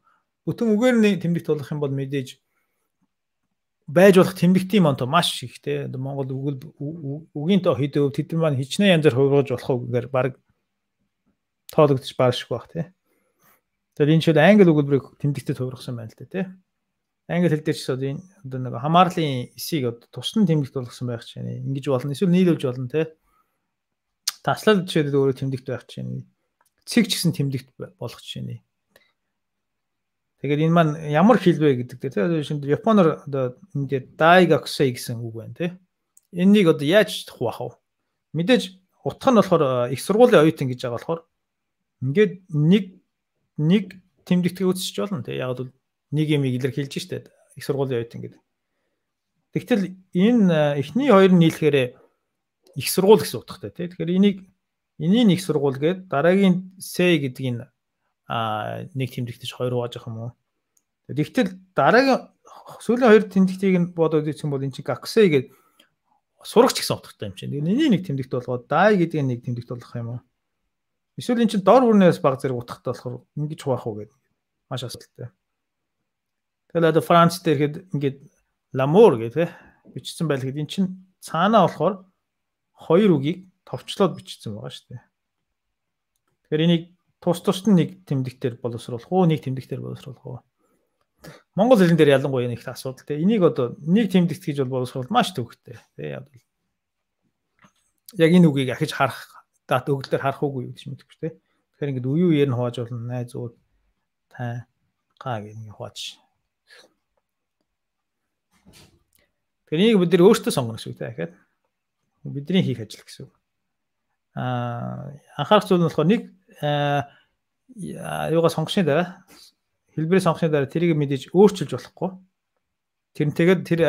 Бүтэн үгээр нь тэмдэгт болох юм бол мэдээж байж болох тэмдэгтийн маань маш их тий. Монгол үгийн тоо хэдэв тэд маань хичнээн янзаар хувиргаж болох үгээр баг тоологдож баашгүй бах тий. Тэгэхээр энэ шил англи өгүүлбэрийг тэмдэгтэд хувиргасан байна л да тий. Англи хэл дээр ч одоо нэг хамаарлын эсийг одоо тусдан тэмдэгт болгосон байх чинь ингэж болно. Эсвэл нийлүүлж болно тий. Таслал жишээд өөрөө тэмдэгт байх чинь цэг ч гэсэн тэмдэгт болох чинь. Тэгээд энэ маань ямар хэл вэ гэдэг тий. Шинэ Японоор одоо ингээд дайгаксэй гэсэн үг байна тий. Энэнийг одоо яаж хуваах вэ? Мэдээж утга нь болохоор их сургуулийн оюутан гэж байгаа болохоор ингээд нэг тэмдэгтээ үүсэж болно тий. Яг бол нэг юм илэрхийлж штэ их сургуулийн оюутан гэдэг. Тэгтэл энэ эхний хоёр нь нийлэхээр их сургууль гэсэн утгатай тий. Тэгэхээр энийг их сургууль гээд дараагийн С гэдгийг нэг тэмдэгтэж хоёр хувааж авах юм уу? Тэгтэл дараагийн сүүлийн хоёр тэмдэгтийг нь бодоод үзсэн бол энэ чинь гаксэй гээд сурагч гэсэн утгатай юм чинь. Энийг нэг тэмдэгт болгоод дай гэдгийг нэг тэмдэгт болгох юм уу? Эсвэл энэ чинь дор бүрнээс баг зэрэг утгатай болохоор ингэж хуваах уу гэдэг маш асуудалтай. Тэгэл одоо Франц дээр хэд ингээд ламур гэдэг бичсэн байл хэд эн чинь цаанаа болохоор хоёр үгийг товчлоод бичсэн байгаа шүү дээ. Тэгэхээр энийг тус нь нэг тэмдэгтээр боловсруулах уу, нэг тэмдэгтээр боловсруулах уу? Монгол хэлэн дээр ялангуяа нэг их асуудал те. Энийг одоо нэг тэмдэгт гэж бол боловсруулах маш төвөгтэй. Тэ яг энэ үгийг ахиж харах дат өгөлдөр харах уугүй гэж мэдгүй шүү дээ. Тэгэхээр ингээд үе үеэр нь хувааж болно. Найзууд тай гаа гэх нэг хувааж. Тэгэхээр энийг бид нэр өөртөө сонгоно гэсэн үг те. Бидний хийх ажил гэсэн үг. Анхаарах зүйл нь болохоор нэг юугаа сонгосны дараа хэлбэрээ сонгосны дараа тэрийг мэдээж өөрчилж болохгүй. Тэрнтэйгээр тэр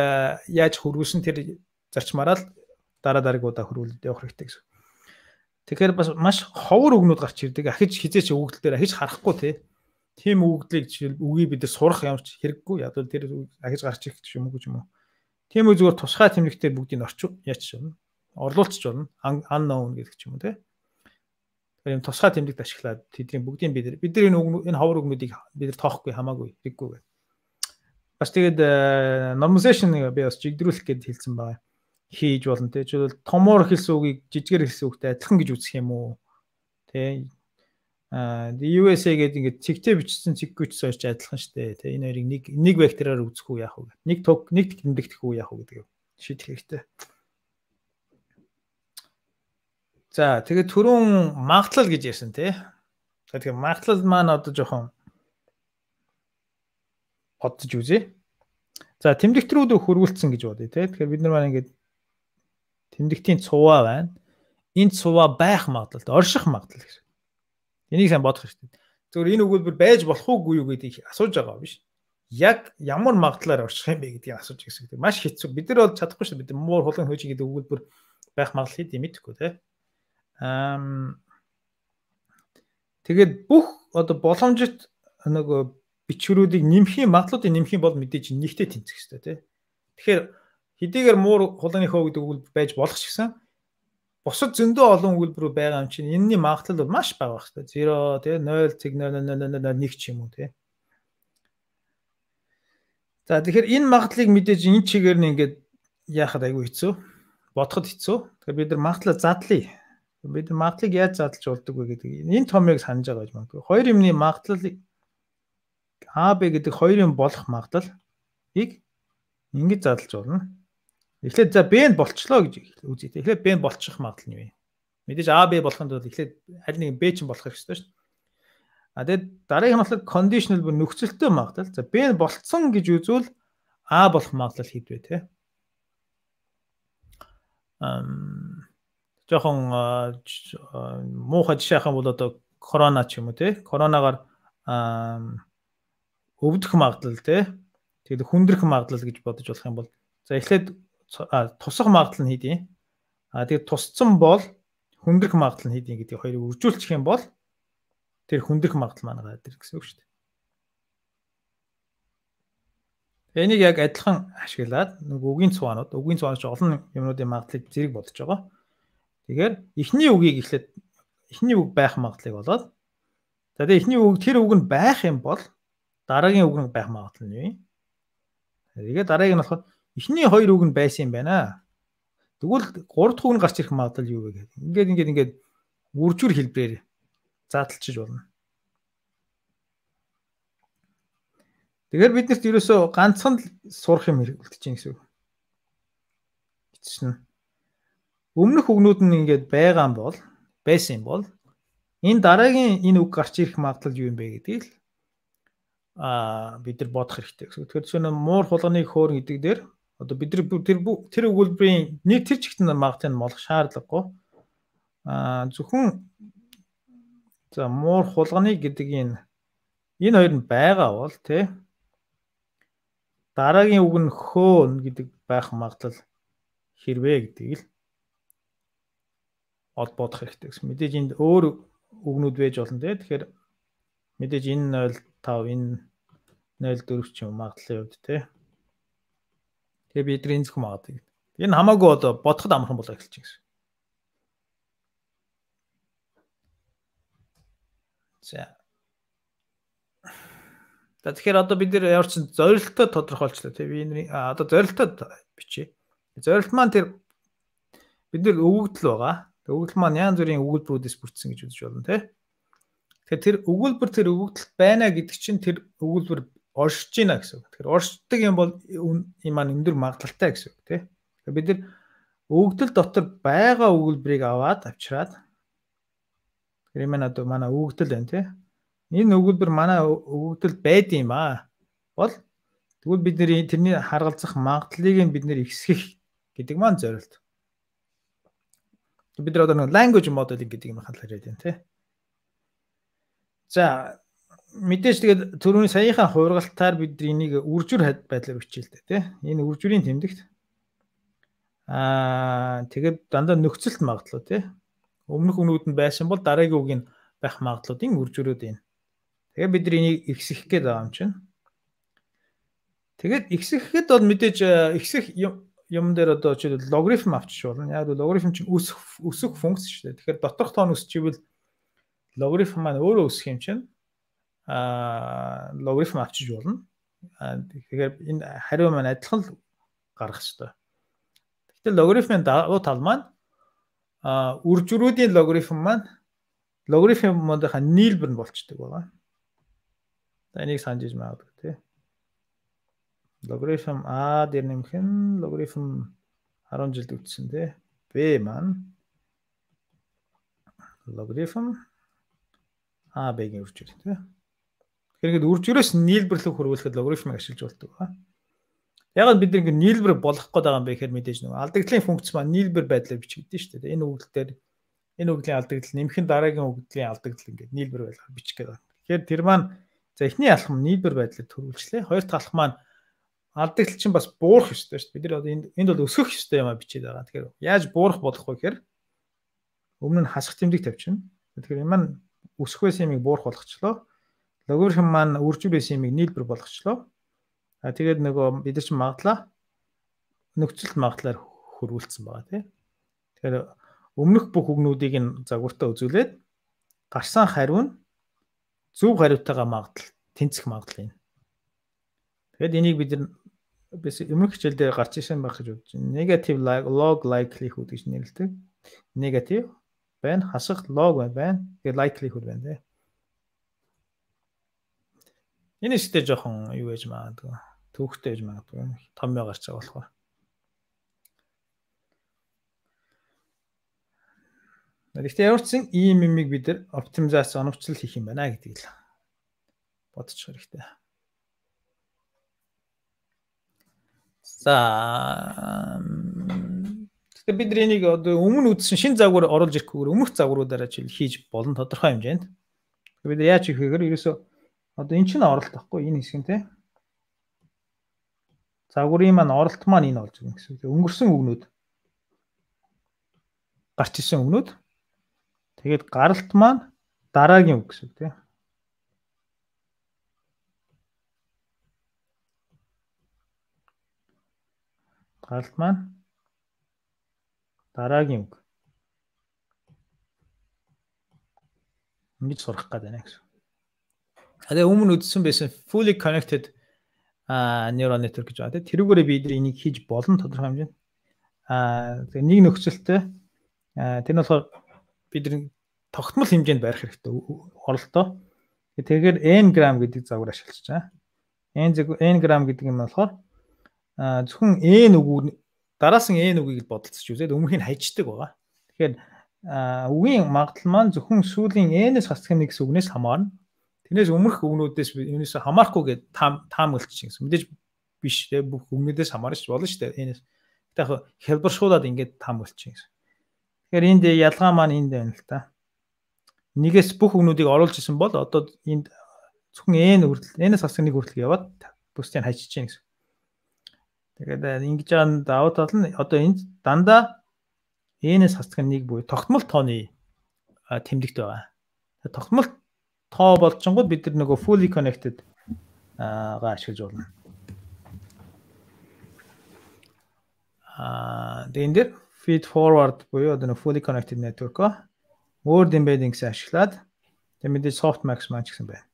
яаж хөрвүүлсэн тэр зарчмаараа л дараагуудаа хөрвүүлээд явах хэрэгтэй гэсэн. Тэгэхээр бас маш ховор үгнүүд гарч ирдэг. Ахиж хизээч өгөгдөл дээр ахиж харахгүй тий. Тийм өгөгдлийг жишээл үгийг бид сурах ямар ч хэрэггүй. Яг л тэр ахиж гарч ирэх юм уу гэж юм уу. Тийм үү зүгээр тусгай тэмдэгтээр бүгдийг орчих яач шивнэ. орлуулчих болно. Unknown гэдэг ч юм уу те. Тэгэхээр юм тусгай тэмдэгт ашиглаад тэдний бүгдийн бид нар энэ ховор үгнүүдийг бид нар тоохгүй хамаагүй хэрэггүй гэх. Бас тэгээд normalization би бас жигдрүүлэх гэж хэлсэн байгаа. Хийж болно те. Жишээлбэл томоор хэлсэн үгийг жижигээр хэлсэн үгтэй адилхан гэж үзэх юм уу? Тэ USA гэдэг ингээд цэгтэй бичсэн цэггүйч сойч адилхан штэ. Тэ энэ хоёрыг нэг вектороор үзэх үү яах вэ? Нэг тэмдэгдэх үү яах вэ гэдэг шийдэх хэрэгтэй. За тэгээд түрүүн магадлал гэж ярьсан тий. Тэгэхээр магадлал маань одоо жоохон бодож үзье. За тэмдэгт рүү хөрвүүлсэн гэж бодъё тий. Тэгэхээр бид нар маань ингээд тэмдэгтийн цуваа байна. Энэ цуваа байх магадлал, орших магадлал гэж. Энийг сайн бодох хэрэгтэй. Зөвхөн энэ өгүүлбэр байж болох уугүй юу гэдгийг асууж байгаа биш. Яг ямар магадлалаар орших юм бэ гэдгийг асууж гэсэн. Маш хэцүү. Бид нар бол чадахгүй шүү. Бид муур хулгай хөөж гэдэг өгүүлбэр байх магадлал хэд юм мэдэхгүй тий. Тэгээд бүх одоо боломжит нөгөө бичвэрүүдийг нэмхийн магадлалыг нэмхийн бол мэдээж нэгтэй тэнцэх хэрэгтэй тий. Тэгэхээр хэдийгээр муур хулгайны хөө гэдэг өгүүлбэр байж болох ч гэсэн бусад зөндөө олон өгүүлбэрүүд байгаа юм чинь энэний магадлал бол маш бага байх хэрэгтэй. 0 тий 0.00001 ч юм уу тий. За тэгэхээр энэ магадлалыг мэдээж энэ чигээр нь ингээд яахад айгүй хэцүү, бодоход хэцүү. Тэгэхээр бид нар магадлал задлаа. Бид нар магадлалыг яаж задлж болдог вэ гэдэг энэ томыг санаж байгаа гэж магадгүй. Хоёр юмны магадлалыг А, Б гэдэг хоёр юм болох магадлалыг ингэж задлж болно. Эхлээд за Б нь болчлоо гэж үзье. Эхлээд Б нь болчих магадлал нь юу вэ? Мэдээж А, Б болохын тулд эхлээд аль нэг Б чинь болох хэрэгтэй шүү дээ. А тэгээд дараагийн нь conditional бүр нөхцөлтэй магадлал. За Б нь болцсон гэж үзвэл А болох магадлал хэд вэ те? Жохон муухай жишээ авах юм бол одоо корона ч юм уу те. Коронагаар өвдөх магадлал те. Тэгээд хүндрэх магадлал гэж бодож болох юм бол за эхлээд тусах магадлал нь хэд юм? Тэгээд тусцсан бол хүндрэх магадлал нь хэд юм гэдгийг хоёрыг үржүүлчих юм бол тэр хүндрэх магадлал маань гараад ирэх гэсэн үг шүү дээ. Энийг яг адилхан ашиглаад нэг үгийн цуваанууд олон юмнуудын магадлалыг зэрэг бодож байгаа. Тэгэхээр эхний үгийг эхлээд эхний үг байх магадлалыг болоод за тэгээд эхний үг тэр үг нь байх юм бол дараагийн үг нь байх магадлал нь юу юм? Тэгээд дараагийн нь болохоор эхний хоёр үг нь байсан юм байна. Тэгвэл 3 дахь үг нь гарч ирэх магадлал юу вэ гэдэг. Ингээд үржүүр хэлбэрээр задлчиж болно. Тэгэхээр биднэрт ерөөсөө ганцхан сурах юм хэрэгтэй гэсэн үг. Эцэс нь өмнөх үгнүүд нь ингээд байгаа юм бол байсан юм бол энэ дараагийн энэ үг гарч ирэх магадлал юу юм бэ гэдгийг бид нар бодох хэрэгтэй гэсэн. Тэгэхээр зөвхөн муур хулганы хөөр гэдэг дээр одоо бид нар тэр өгүүлбэрийн нэг тэр чигтэн магадлалыг молох шаардлагагүй. Зөвхөн за муур хулганы гэдэг энэ хоёр нь байгаа бол тий дараагийн үг нь хөөн гэдэг байх магадлал хэрвээ гэдгийг л бодох хэрэгтэй гэсэн. Мэдээж энд өөр үгнүүд байж болно тий. Тэгэхээр мэдээж энэ 0.5 энэ 0.4 ч юм магадлалын хувьд тий. Тэгээ бид энэ зөвхөн магадгүй. Энэ хамаагүй одоо бодоход амархан болоо эхэлж байгаа гэсэн. За. Тэгэхээр одоо бид нэр ямар ч зорилттой тодорхойлчлаа тий. Би энэ одоо зорилттой бичье. Зорилт маань тэр бид нэр өгөгдөл байгаа. Өгөгдөл маань янз бүрийн өгүүлбэрүүдээс бүрдсэн гэж үзэж болно тий. Тэгэхээр тэр өгүүлбэр тэр өгөгдөлт байна гэдэг чинь тэр өгүүлбэр оршиж байна гэсэн үг. Тэгэхээр оршдог юм бол энэ маань өндөр магадлалтай гэсэн үг тий. Тэгэхээр бид нэр өгөгдөл дотор байгаа өгүүлбэрийг аваад авчираад тэр юм одоо манай өгөгдөл байна тий. Энэ өгүүлбэр манай өгөгдөл байд юм бол тэгвэл бид нэр тэрний харгалзах магадлалыг нь бид нэр ихсгэх гэдэг маань зорилт. Бид нар одоо нэг language modeling гэдэг юм хандлаар яриад байна тий. За мэдээж тэгээд түрүүний саяхан хуургалтаар бид энийг үржүүр байдлаар бичээлтэй тий. Энэ үржүүрийн тэмдэгт тэгээд дандаа нөхцөлт магадлал тий. Өмнөх үгнүүд нь байсан бол дараагийн үг нь байх магадлалын үржүүрүүд энэ. Тэгээд бид энийг ихсэх гээд байгаа юм чинь. Тэгээд ихсэхэд бол мэдээж ихсэх юм дээр одоо жишээлбэл логарифм авчиж болно. Яг логарифм чинь өсөх функц шүү дээ. Тэгэхээр доторх тоо нь өсчихвэл логарифм маань өөрөө өсөх юм чинь логарифм авчиж болно. Тэгэхээр энэ хариу маань адилхан л гарах хэрэгтэй. Гэтэл логарифмын давуу тал маань үржрүүдийн логарифм маань логарифмынхаа нийлбэр нь болчдөг байгаа. За энийг санаж магадгүй тий. Логарифм А дээр нэмэх нь логарифм 10 жилд үтсэн тий. B маань логарифм А Б-гийн үржир тий. Тэгэхээр үржирээс нийлбэрлэх хөрвүүлэхэд логарифмыг ашиглаж болдог ба. Яг бид нэг нийлбэр болгох гээд байгаа юм бэ гэхээр мэдээж нэг алдагдлын функц маань нийлбэр байдлаар бичигдэж шүү дээ. Энэ үгдэлээр энэ үгдлийн алдагдал нэмэх нь дараагийн үгдлийн алдагдал ингээд нийлбэр байдлаар бичих гээд байна. Тэгэхээр тэр маань за эхний алхам нийлбэр байдлаар төрүүлжлээ. Хоёр дахь алхам маань алдагдал чинь бас буурах ёстой шүү дээ. Бид нар одоо энд бол өсгөх ёстой юм а бичээд байгаа. Тэгэхээр яаж буурах болох вэ гэхээр өмнө нь хасах тэмдэг тавьчихна. Тэгэхээр энэ маань өсөх байсан юмыг буурах болгочлоо. Логарифм маань үржир байсан юмыг нийлбэр болгочлоо. Тэгээд нөгөө бид нар чинь магадлаа нөхцөлд магадлаар хөрвүүлсэн байгаа тийм. Тэгэхээр өмнөх бүх үгнүүдийг нь загвартаа үзүүлээд гарсан хариу нь зөв хариутайгаа магадл тэнцэх магадлал юм. Тэгэд энийг бид өмнөх хичээл дээр гарч ирсэн байх гэж бодож байна. Negative log likelihood гэж нэрлэдэг. Negative байна, хасах log байна. Тэгээд likelihood байна тийм. Энэ ихтэй жоохон юу гэж магадгүй. Түүхтэй гэж магадгүй. Томьёо гарч байгаа болохоор. Гэхдээ ямар ч зэн ийм юмыг бид нар оптимизац оновчлол хийх юм байна гэдгийг л бодчих хэрэгтэй. За тэгэхээр бид энийг одоо өмнө үзсэн шин загвар оруулж ирэхгүйгээр өмнөх загваруудаараа хийж болно тодорхой хэмжээнд. Бид яаж хийх вэ гэхээр ерөөсөө одоо эн чинь оролт байхгүй энэ хэсэг нь те. Загварын маань оролт маань энэ болж байгаа гэсэн үг. Өнгөрсөн үгнүүд гарч ирсэн үгнүүд тэгээд гаралт маань дараагийн үг гэсэн үг тийм. Гаралт маань дараагийн үг. Ингэж сурах гэдэг байна гэсэн. Тэгээ өмнө үзсэн байсан fully connected neural network гэж байна. Тэрүүгээрээ бид энийг хийж болно тодорхой хэмжээнд. Тэгээ нэг нөхцөлтэй тэр нь болохоор бид тогтмол хэмжээнд барих хэрэгтэй оролтоо. Тэгэхээр n грамм гэдэг загвар ашиглаж байгаа. n грамм гэдэг юм болохоор зөвхөн n үгүүд дараас нь n үгийг бодолцож үзээд өмнөх нь хайчдаг байгаа. Тэгэхээр үгийн магадлал маань зөвхөн сүүлийн n-ээс хасдаг нэг гэсэн үгнээс хамаарна. Тэрнээс өмнөх үгнүүдээс энэс хамаарахгүй гэдэг таамаглаж гэсэн. Мэдээж биш те бүх үгнүүдээс хамаарч болно шүү дээ. Энэс яг хэлбэршуулаад ингээд таамаглаж гэсэн. Тэгэхээр энд ялгаа маань энд байна л та. Нэгээс бүх үгнүүдийг оруулж исэн бол одоо энд зөвхөн n хүртэл n-ээс хасдаг нэг хүртэл яваад бусдыг хайчиж чинь гэсэн. Тэгээд ингэж байгаа давуу тал нь одоо энд дандаа n-ээс хасдаг нэг буюу тогтмол тооны тэмдэгт байгаа. Тогтмол тоо болчингууд бид нар нөгөө fully connected га ашиглаж болно. Тэгээд энэ дэр feed forward буюу одоо fully connected network word embedding-с ашиглаад тэгээд мэдээж softmax маань ч гэсэн байна.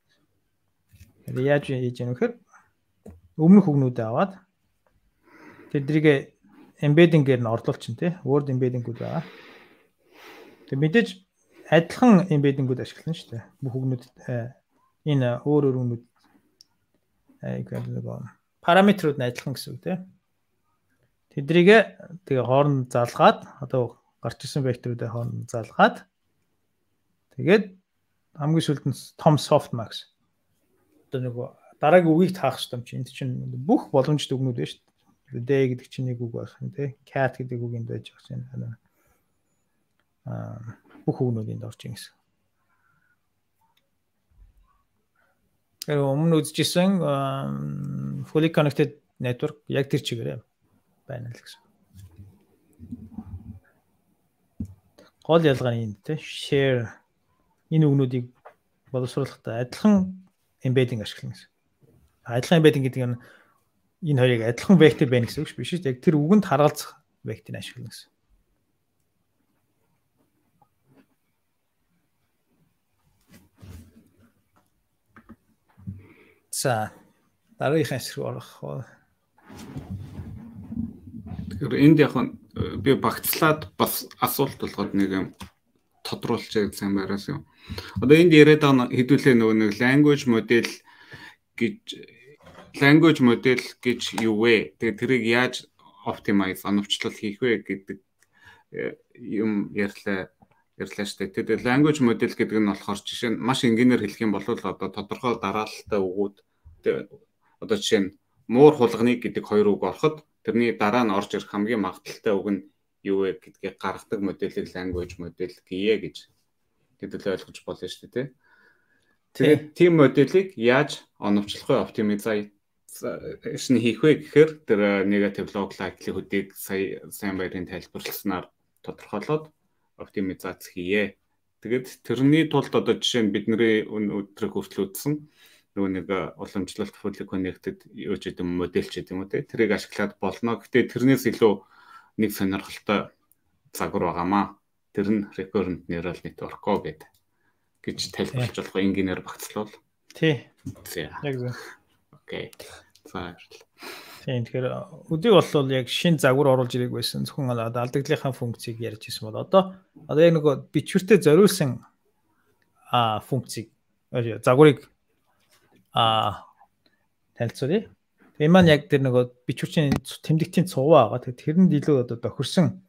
Тэгээд яаж хийж яах вэ гэхээр өмнөх үгнүүдээ аваад тэдрийг embedding-ээр нь орлуулж чинь тий word embedding-үүд байгаа. Тэгээд мэдээж адилхан embedding-үүд ашиглана шүү дээ. Бүх үгнүүд энэ өөр үгнүүд параметрууд нь адилхан гэсэн үг тий. Тэдрийг тэгээ хооронд залгаад одоо гарч ирсэн векторуудыг хооронд залгаад тэгээд хамгийн сүүлд нь том softmax одоо нөгөө дараагийн үгийг таах хэрэгтэй юм чинь энд чинь бүх боломжтой үгнүүд байна шүү дээ. D гэдэг чинь нэг үг байх юм тий. Cat гэдэг үг энд байж байгаа чинь бүх үгнүүд энд орж ийн гэсэн. Тэгэхээр өмнө үзчихсэн fully connected network яг тэр чигээрээ байна л гэсэн. Гол ялгаа нь энд тий share энэ үгнүүдийг боловсруулахдаа адилхан embedding ашиглана гэсэн. Адилхан embedding гэдэг нь энэ хоёрыг адилхан вектор байна гэсэн үг биш үү? Яг тэр үгэнд харгалзах векторыг ашиглана гэсэн. За дараагийнхаа хэсэг рүү орох. Тэгэхээр энд яг би багцлаад бас асуулт болгоод нэг юм тодруулчих сайн байраас юм. Одоо энд яриад байгаа хэдүүлээ нөгөө нэг language model гэж юу вэ? Тэгээ тэрийг яаж optimize оновчлол хийх вэ гэдэг юм ярьлаа штэ. Тэгээд language model гэдэг нь болохоор жишээ нь маш энгийнээр хэлэх юм бол одоо тодорхой дараалалтай үгүүд одоо жишээ нь муур хулганы гэдэг хоёр үг ороход тэрний дараа нь орж ирэх хамгийн магадaltaй үг нь юу вэ гэдгийг гаргадаг моделийг language model гэе гэж хэдүүлээ ойлгож болно шүү дээ. Тэгээд тийм моделийг яаж оновчлох вэ, optimization хийх вэ гэхээр тэр negative log likelihood-ийг сайн баярын тайлбарласнаар тодорхойлоод оптимизац хийе. Тэгээд тэрний тулд одоо жишээ нь бидний өдрөг хүртэл үзсэн нөгөө нэг уламжлалт fully connected юу ч гэдэг модель ч гэдэг юм уу те тэрийг ашиглаад болно. Гэхдээ тэрнээс илүү нэг сонирхолтой загвар байгаамаа. Тэр нь recurrent neural network гэж тайлбарлаж болох энгийнээр багцлал. Тий. Яг зөв. Окей. За. Тийм тэгэхээр өдийг болвол яг шинэ загвар оруулж ирэх байсан. Зөвхөн алдагдлынхаа функцийг ярьж ирсэн бол одоо яг нөгөө бичвэртэй зориулсан функцийг загварыг танилцуулъя. Тэгээ маань яг тэр нөгөө бичвэрчийн тэмдэгтийн цуваа байгаа. Тэгээ тэрэнд илүү одоо тохирсон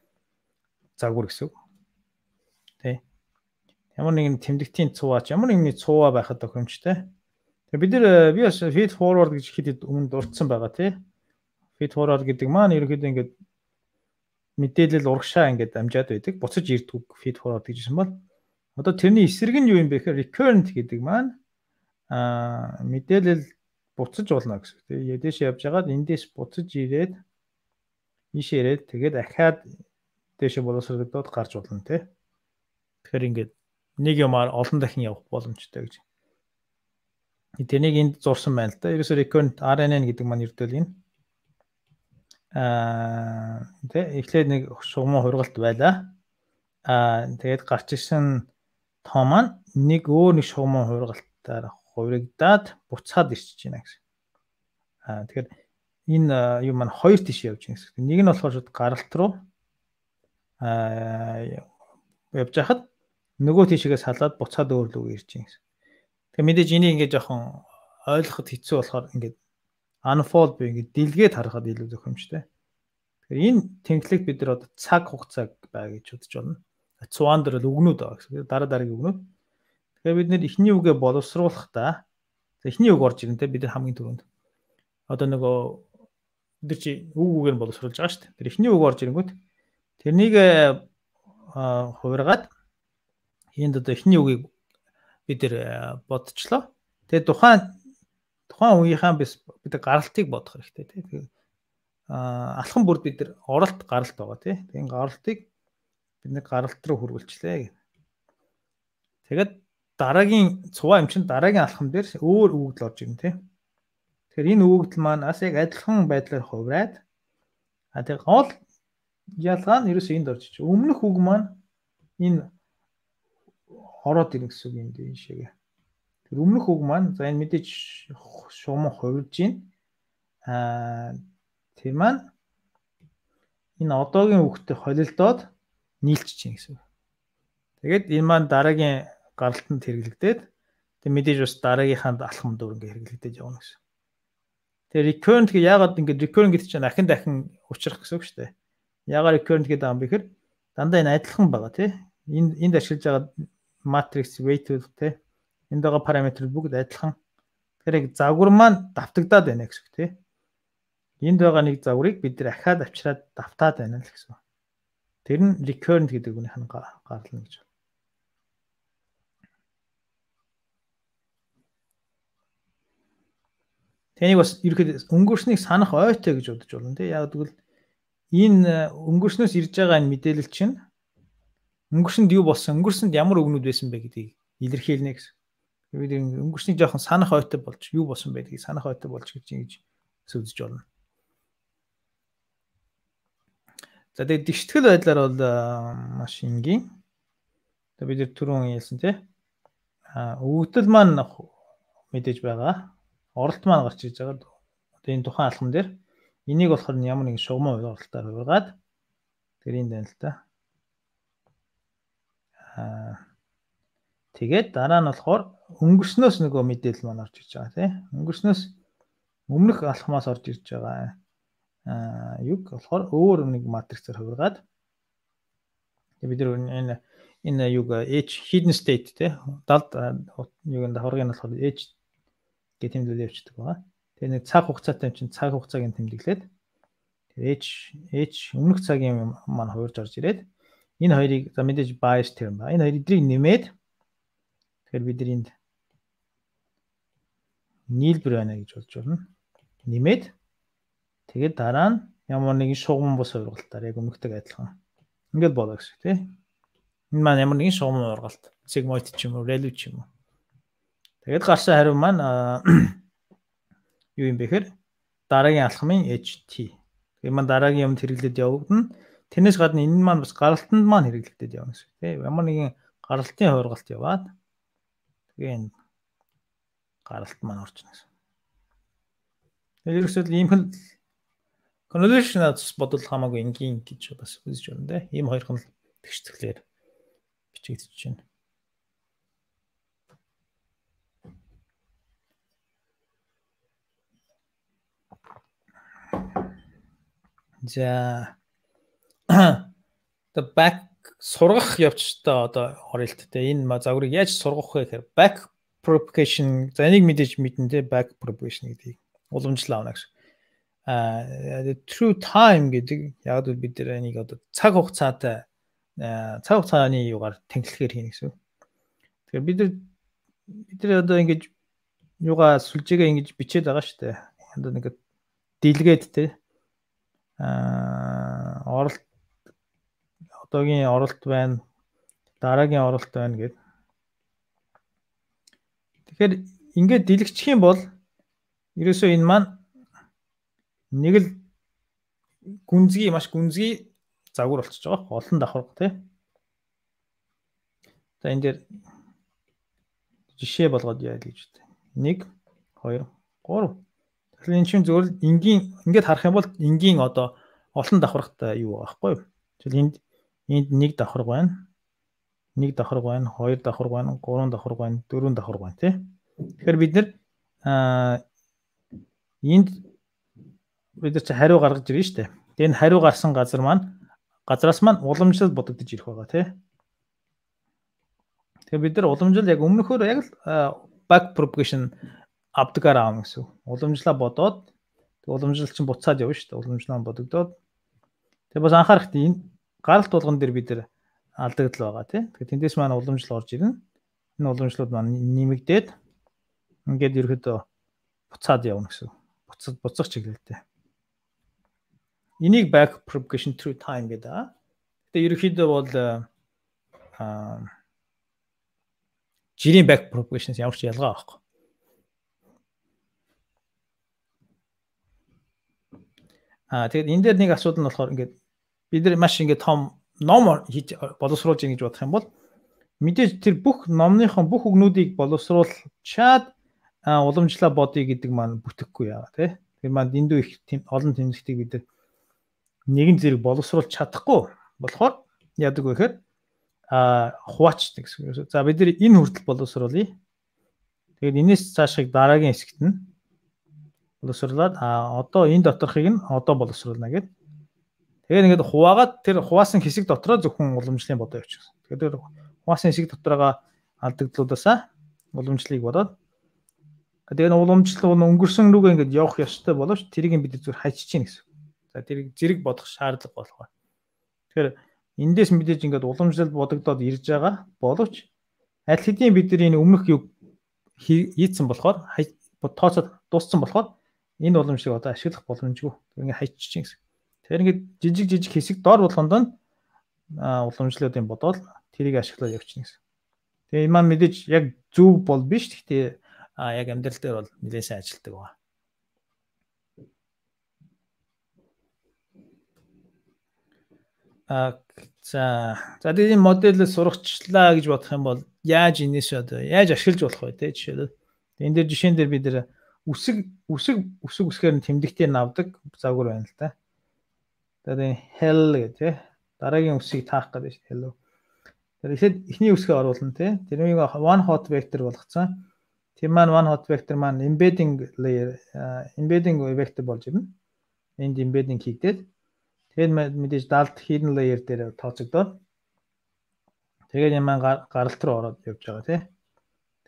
загвар гэсэн үг. Тэ. Ямар нэгэн тэмдэгтийн цуваач ямар нэгний цуваа байхад тохиромжтой. Тэгээ би бас feed forward гэж хэд өмнө дурдсан байгаа тий. Feed forward гэдэг маань ерөнхийдөө ингээд мэдээлэл урагшаа ингээд амжаад байдаг. Буцаж ирдэг feed forward гэжсэн бол одоо тэрний эсрэг нь юу юм бэ гэхээр recurrent гэдэг маань мэдээлэл буцаж болно гэсэн үг тий. Дэш явж байгаад эндээс буцаж ирээд ийшээ ирээд тэгээд дахиад дэше боловсролдоод гарч болно тий. Тэгэхээр ингээд нэг юмар олон дахин явах боломжтой гэж. Тэнийг энд зурсан байна л да. Ерөөсөө recurrent RNN гэдэг маань ердөө энэ тэ эхлээд нэг шугамын хургалт байлаа. Тэгээд гарч ирсэн тоо маань нэг өөр нэг шугамын хургалтаар хувирагдаад буцаад ирчихэж байна гэсэн. Тэгэхээр энэ юм маань хоёр тийш явж байна гэсэн. Нэг нь болохоор шууд гаралт руу явж хахад нөгөө тийшээс халаад буцаад өөр рүү ирж байна гэсэн. Тэгээ мэдээж энийг ингээд жоохон ойлгоход хэцүү болохоор ингээд unfold би ингээд дэлгээд харахад илүү зохимжтой. Тэгэхээр энэ тэнхлэгт бид нар одоо цаг хугацааг бай гэж бодож байна. Цуван дээр л үгнүүд байгаа гэсэн. Дараа дараагийн үгнүүд. Тэгэхээр бид нэр эхний үгээ боловсруулахдаа эхний үг орж ирэн тэ бид нар хамгийн түрүүнд одоо нөгөө бид чи үгээр нь боловсруулж байгаа шүү дээ. Тэр эхний үг орж ирэнгүүт тэрнийг хувиргаад энд одоо эхний үгийг бид нэр бодчихлоо. Тэгээ тухайн үеийнхаа бид гаралтыг бодох хэрэгтэй тий. Алхан бүр бид нар оролт гаралт байгаа тий. Тэгээ гаралтыг бид нэг гаралт руу хөрвүүлчлээ. Тэгээд дараагийн цуваа юм чинь дараагийн алхам дээр өөр үгдэл орж ирнэ тий. Тэгэхээр энэ үгдэл маань бас яг адилхан байдлаар хувраад тэгээ гол ялгаа нь ерөөсөө энд орж ич. Өмнөх үг маань энэ ороод ирнэ гэсэн үг юм дээ шигээ. Тэр өмнөх үг маань за энэ мэдээж шугам хувирж байна. Тэр маань энэ одоогийн үгтэй холилдоод нийлчихэж байна гэсэн үг. Тэгээд энэ маань дараагийн гаралтанд хэрэглэгдээд тэг мэдээж бас дараагийнханд алхам дүр ингээ хэрэглэгдэж явна гэсэн. Тэгээ recurrent гэ яагаад ингээ recurrent гэдэг чинь дахин учрах гэсэн үг шүү дээ. Яагаад recurrent гэдэг юм бэ гэхээр дандаа энэ адилхан байгаа тий. Энд ашиглаж байгаа matrix weight тий. Энд байгаа параметр бүгд адилхан. Тэгэхээр яг загвар маань давтагдаад байна гэсэн үг тий. Энд байгаа нэг загварыг бид нэр ахаад авчираад давтаад байна л гэсэн. Тэр нь recurrent гэдэг үгнийх нь гарлна гэж. Тэнийг бас ерөөхдөө өнгөрснийг санах ойтой гэж бодож болно тий. Яг тэгвэл энэ өнгөрснөөс ирж байгаа энэ мэдээлэл чинь өнгөрсөнд юу болсон, өнгөрсөнд ямар үгнүүд байсан бэ гэдгийг илэрхийлнэ гэсэн. Бид өнгөрснийг жоохон санах ойтой болж юу болсон байдгийг санах ойтой болж гэж үзэж болно. За тэгээд дэгштгэл байдлаар бол маш энгийн. Тэгээд бид түрүүн хэлсэн тий. Өгөгдөл маань мэдээж байгаа. Оролт маань гарч ирж байгаа. Одоо энэ тухайн алхам дээр энийг болохоор ямар нэгэн шугамын оролтоор хувиргаад тэр энэ байна л да. Тэгээд дараа нь болохоор өнгөрснөөс нөгөө мэдээлэл маань орж ирж байгаа тий. Өнгөрснөөс өмнөх алхмаас орж ирж байгаа юг болохоор өөр нэг матрицээр хувиргаад бид нар энэ юг H hidden state те далд юунд давхаргын болохоор H гэх тэмдэглэл явчихдаг байгаа. Тэгээ нэг цаг хугацаатай чинь цаг хугацааг нь тэмдэглээд H өмнөх цагийн маань хувирж орж ирээд энэ хоёрыг за мэдээж bias term ба энэ хоёр эдрийг нэмээд тэгэхээр бид энд нийлбэр байна гэж болж байна. Нэмээд тэгээд дараа нь ямар нэгэн шугам бус ургалтаар яг өмнөхтэйг адилхан. Ингээд болоо гэсэн тий. Энэ маань ямар нэгэн шугам ургалт, sigmoid ч юм уу, ReLU ч юм уу. Тэгээд гарсан хариу маань юу юм бэ гэхээр дараагийн алхмын HT. Тэгээд маань дараагийн юмд хэрэглээд явагдана. Тэрнээс гадна энэ маань бас гаралтанд маань хэрэглэгдээд явна гэсэн тий. Ямар нэгэн гаралтын хуургалт яваад тэгээ энэ гаралт маань орж ирнэ гэсэн. Тэгээд ерөөсөө ийм хэл convolutional бодол хамаагүй энгийн гэж бас үзэж байна те. Ийм хоёрхан тэгштэглээр бичигдэж байна. За the back сургах явцтай одоо оролт те. Энэ загварыг яаж сургах вэ гэхээр back propagation за энийг мэдээж мэднэ те back propagation гэдгийг уламжлал авна гэсэн. True time гэдэг яг л бид нар энийг одоо цаг хугацааны югаар тэнхлэхээр хийнэ гэсэн. Тэгэхээр бид нар одоо ингэж юугаа сүлжээгээ ингэж бичээд байгаа шүү дээ. Одоо нэг дэлгээд те оролт одоогийн оролт байна, дараагийн оролт байна гэд. Тэгэхээр ингээд дэлгэчих юм бол ерөөсөө энэ маань нэг л маш гүнзгий загвар болчихж байгаа. Олон давхарга тий. За энэ дээр жишээ болгоод яа гэж байна. 1 2 3. Тэгэхээр энэ чинь зөвхөн энгийн ингээд харах юм бол энгийн одоо олон давхаргатай юу байгаа байхгүй юу? Энд 1 давхарга байна. 1 давхарга байна, 2 давхарга байна, 3 давхарга байна, 4 давхарга байна тий. Тэгэхээр бид нар энд бид нар чи хариу гаргаж ирнэ шүү дээ. Тэгээ энэ хариу гарсан газраас маань уламжлал бодогдож ирэх байгаа тий. Тэгээ бид нар уламжлал яг өмнөхөөр яг л back propagation авдгаар аавна гэсэн. Уламжлаа бодоод тэгээ уламжлал чинь буцаад явна шүү дээ. Уламжлал бодогдоод тэгээ бас анхаарах энэ гаралт болгон дээр бид нар алдагдал байгаа тий. Тэгээ тэндээс маань уламжлал орж ирнэ. Энэ уламжлууд маань нэмэгдээд ингээд ерөөдөө буцаад явна гэсэн. Буцах чиглэлтэй. Энийг back propagation through time гэдэг. Тэгээ ерөөхдөө бол жирийн back propagation-с ямар ч ялгаа байхгүй. Тэгээд энэ дээр нэг асуудал нь болохоор ингээд бид нар маш ингээд том ном хийж боловсруулж ийн гэж бодох юм бол мэдээж тэр бүх номныхон бүх үгнүүдийг боловсруулчаад уламжлаа бодъё гэдэг маань бүтэхгүй яа тий. Тэр маань дэндүү их олон тэмцэлтийг бид нар нэгэн зэрэг боловсруулж чадахгүй болохоор яадаг вэ гэхээр хуваачдаг гэсэн. За бид нар энэ хүртэл боловсруулъя. Тэгээд энэс цаашиг дараагийн хэсэгт нь боловсруулад одоо энэ доторхыг нь одоо боловсруулна гэдэг. Тэгээд ингээд хуваагаад тэр хуваасан хэсэг дотроо зөвхөн уламжлалын бодоо явуучихсан. Тэгээд хуваасан хэсэг дотроогоо алдагдлуудаасаа уламжлалыг бодоод тэгээд уламжлал өнгөрсөн рүүгээ ингээд явах ёстой боловч тэрийг бид зүгээр хайчиж чинь гэсэн. За тэрийг зэрэг бодох шаардлага болох. Тэгэхээр эндээс мэдээж ингээд уламжлал бодогдоод ирж байгаа боловч аль хэдийн бид нар энэ өмнөх юг хийцэн болохоор тооцоод дууссан болохоор энэ уламжлалыг одоо ашиглах боломжгүй. Ингээд хайчиж чинь гэсэн. Тэр ингээд жижиг хэсэг дор болгонд нь уламжлалуудын бодоод тэрийг ашиглаад явчихна гэсэн. Тэгээ энэ маань мэдээж яг зөв бол биш. Гэхдээ яг амьдрал дээр бол нэлээд сайн ажилтдаг байна. За тэгээд энэ модельээ сургачлаа гэж бодох юм бол яаж энэс одоо яаж ашиглаж болох вэ те жишээлбэл энэ дээр жишээн дээр бид нэр үсгээр нь тэмдэгтээр навдаг загвар байна л да. Тэгээд hell гэх те дараагийн үсгийг таах гэдэг шүү hello. Тэгэхээр эхний үсгээ оруулна те. Тэрнийг one hot vector болгоцсон. Тэр маань one hot vector маань embedding layer embedding vector болж ирнэ. Энд embedding хийгдээд тэгээд мэдээж далд hidden layer дээр тооцогдоод тэгээд юм гаралт руу ороод явж байгаа тий.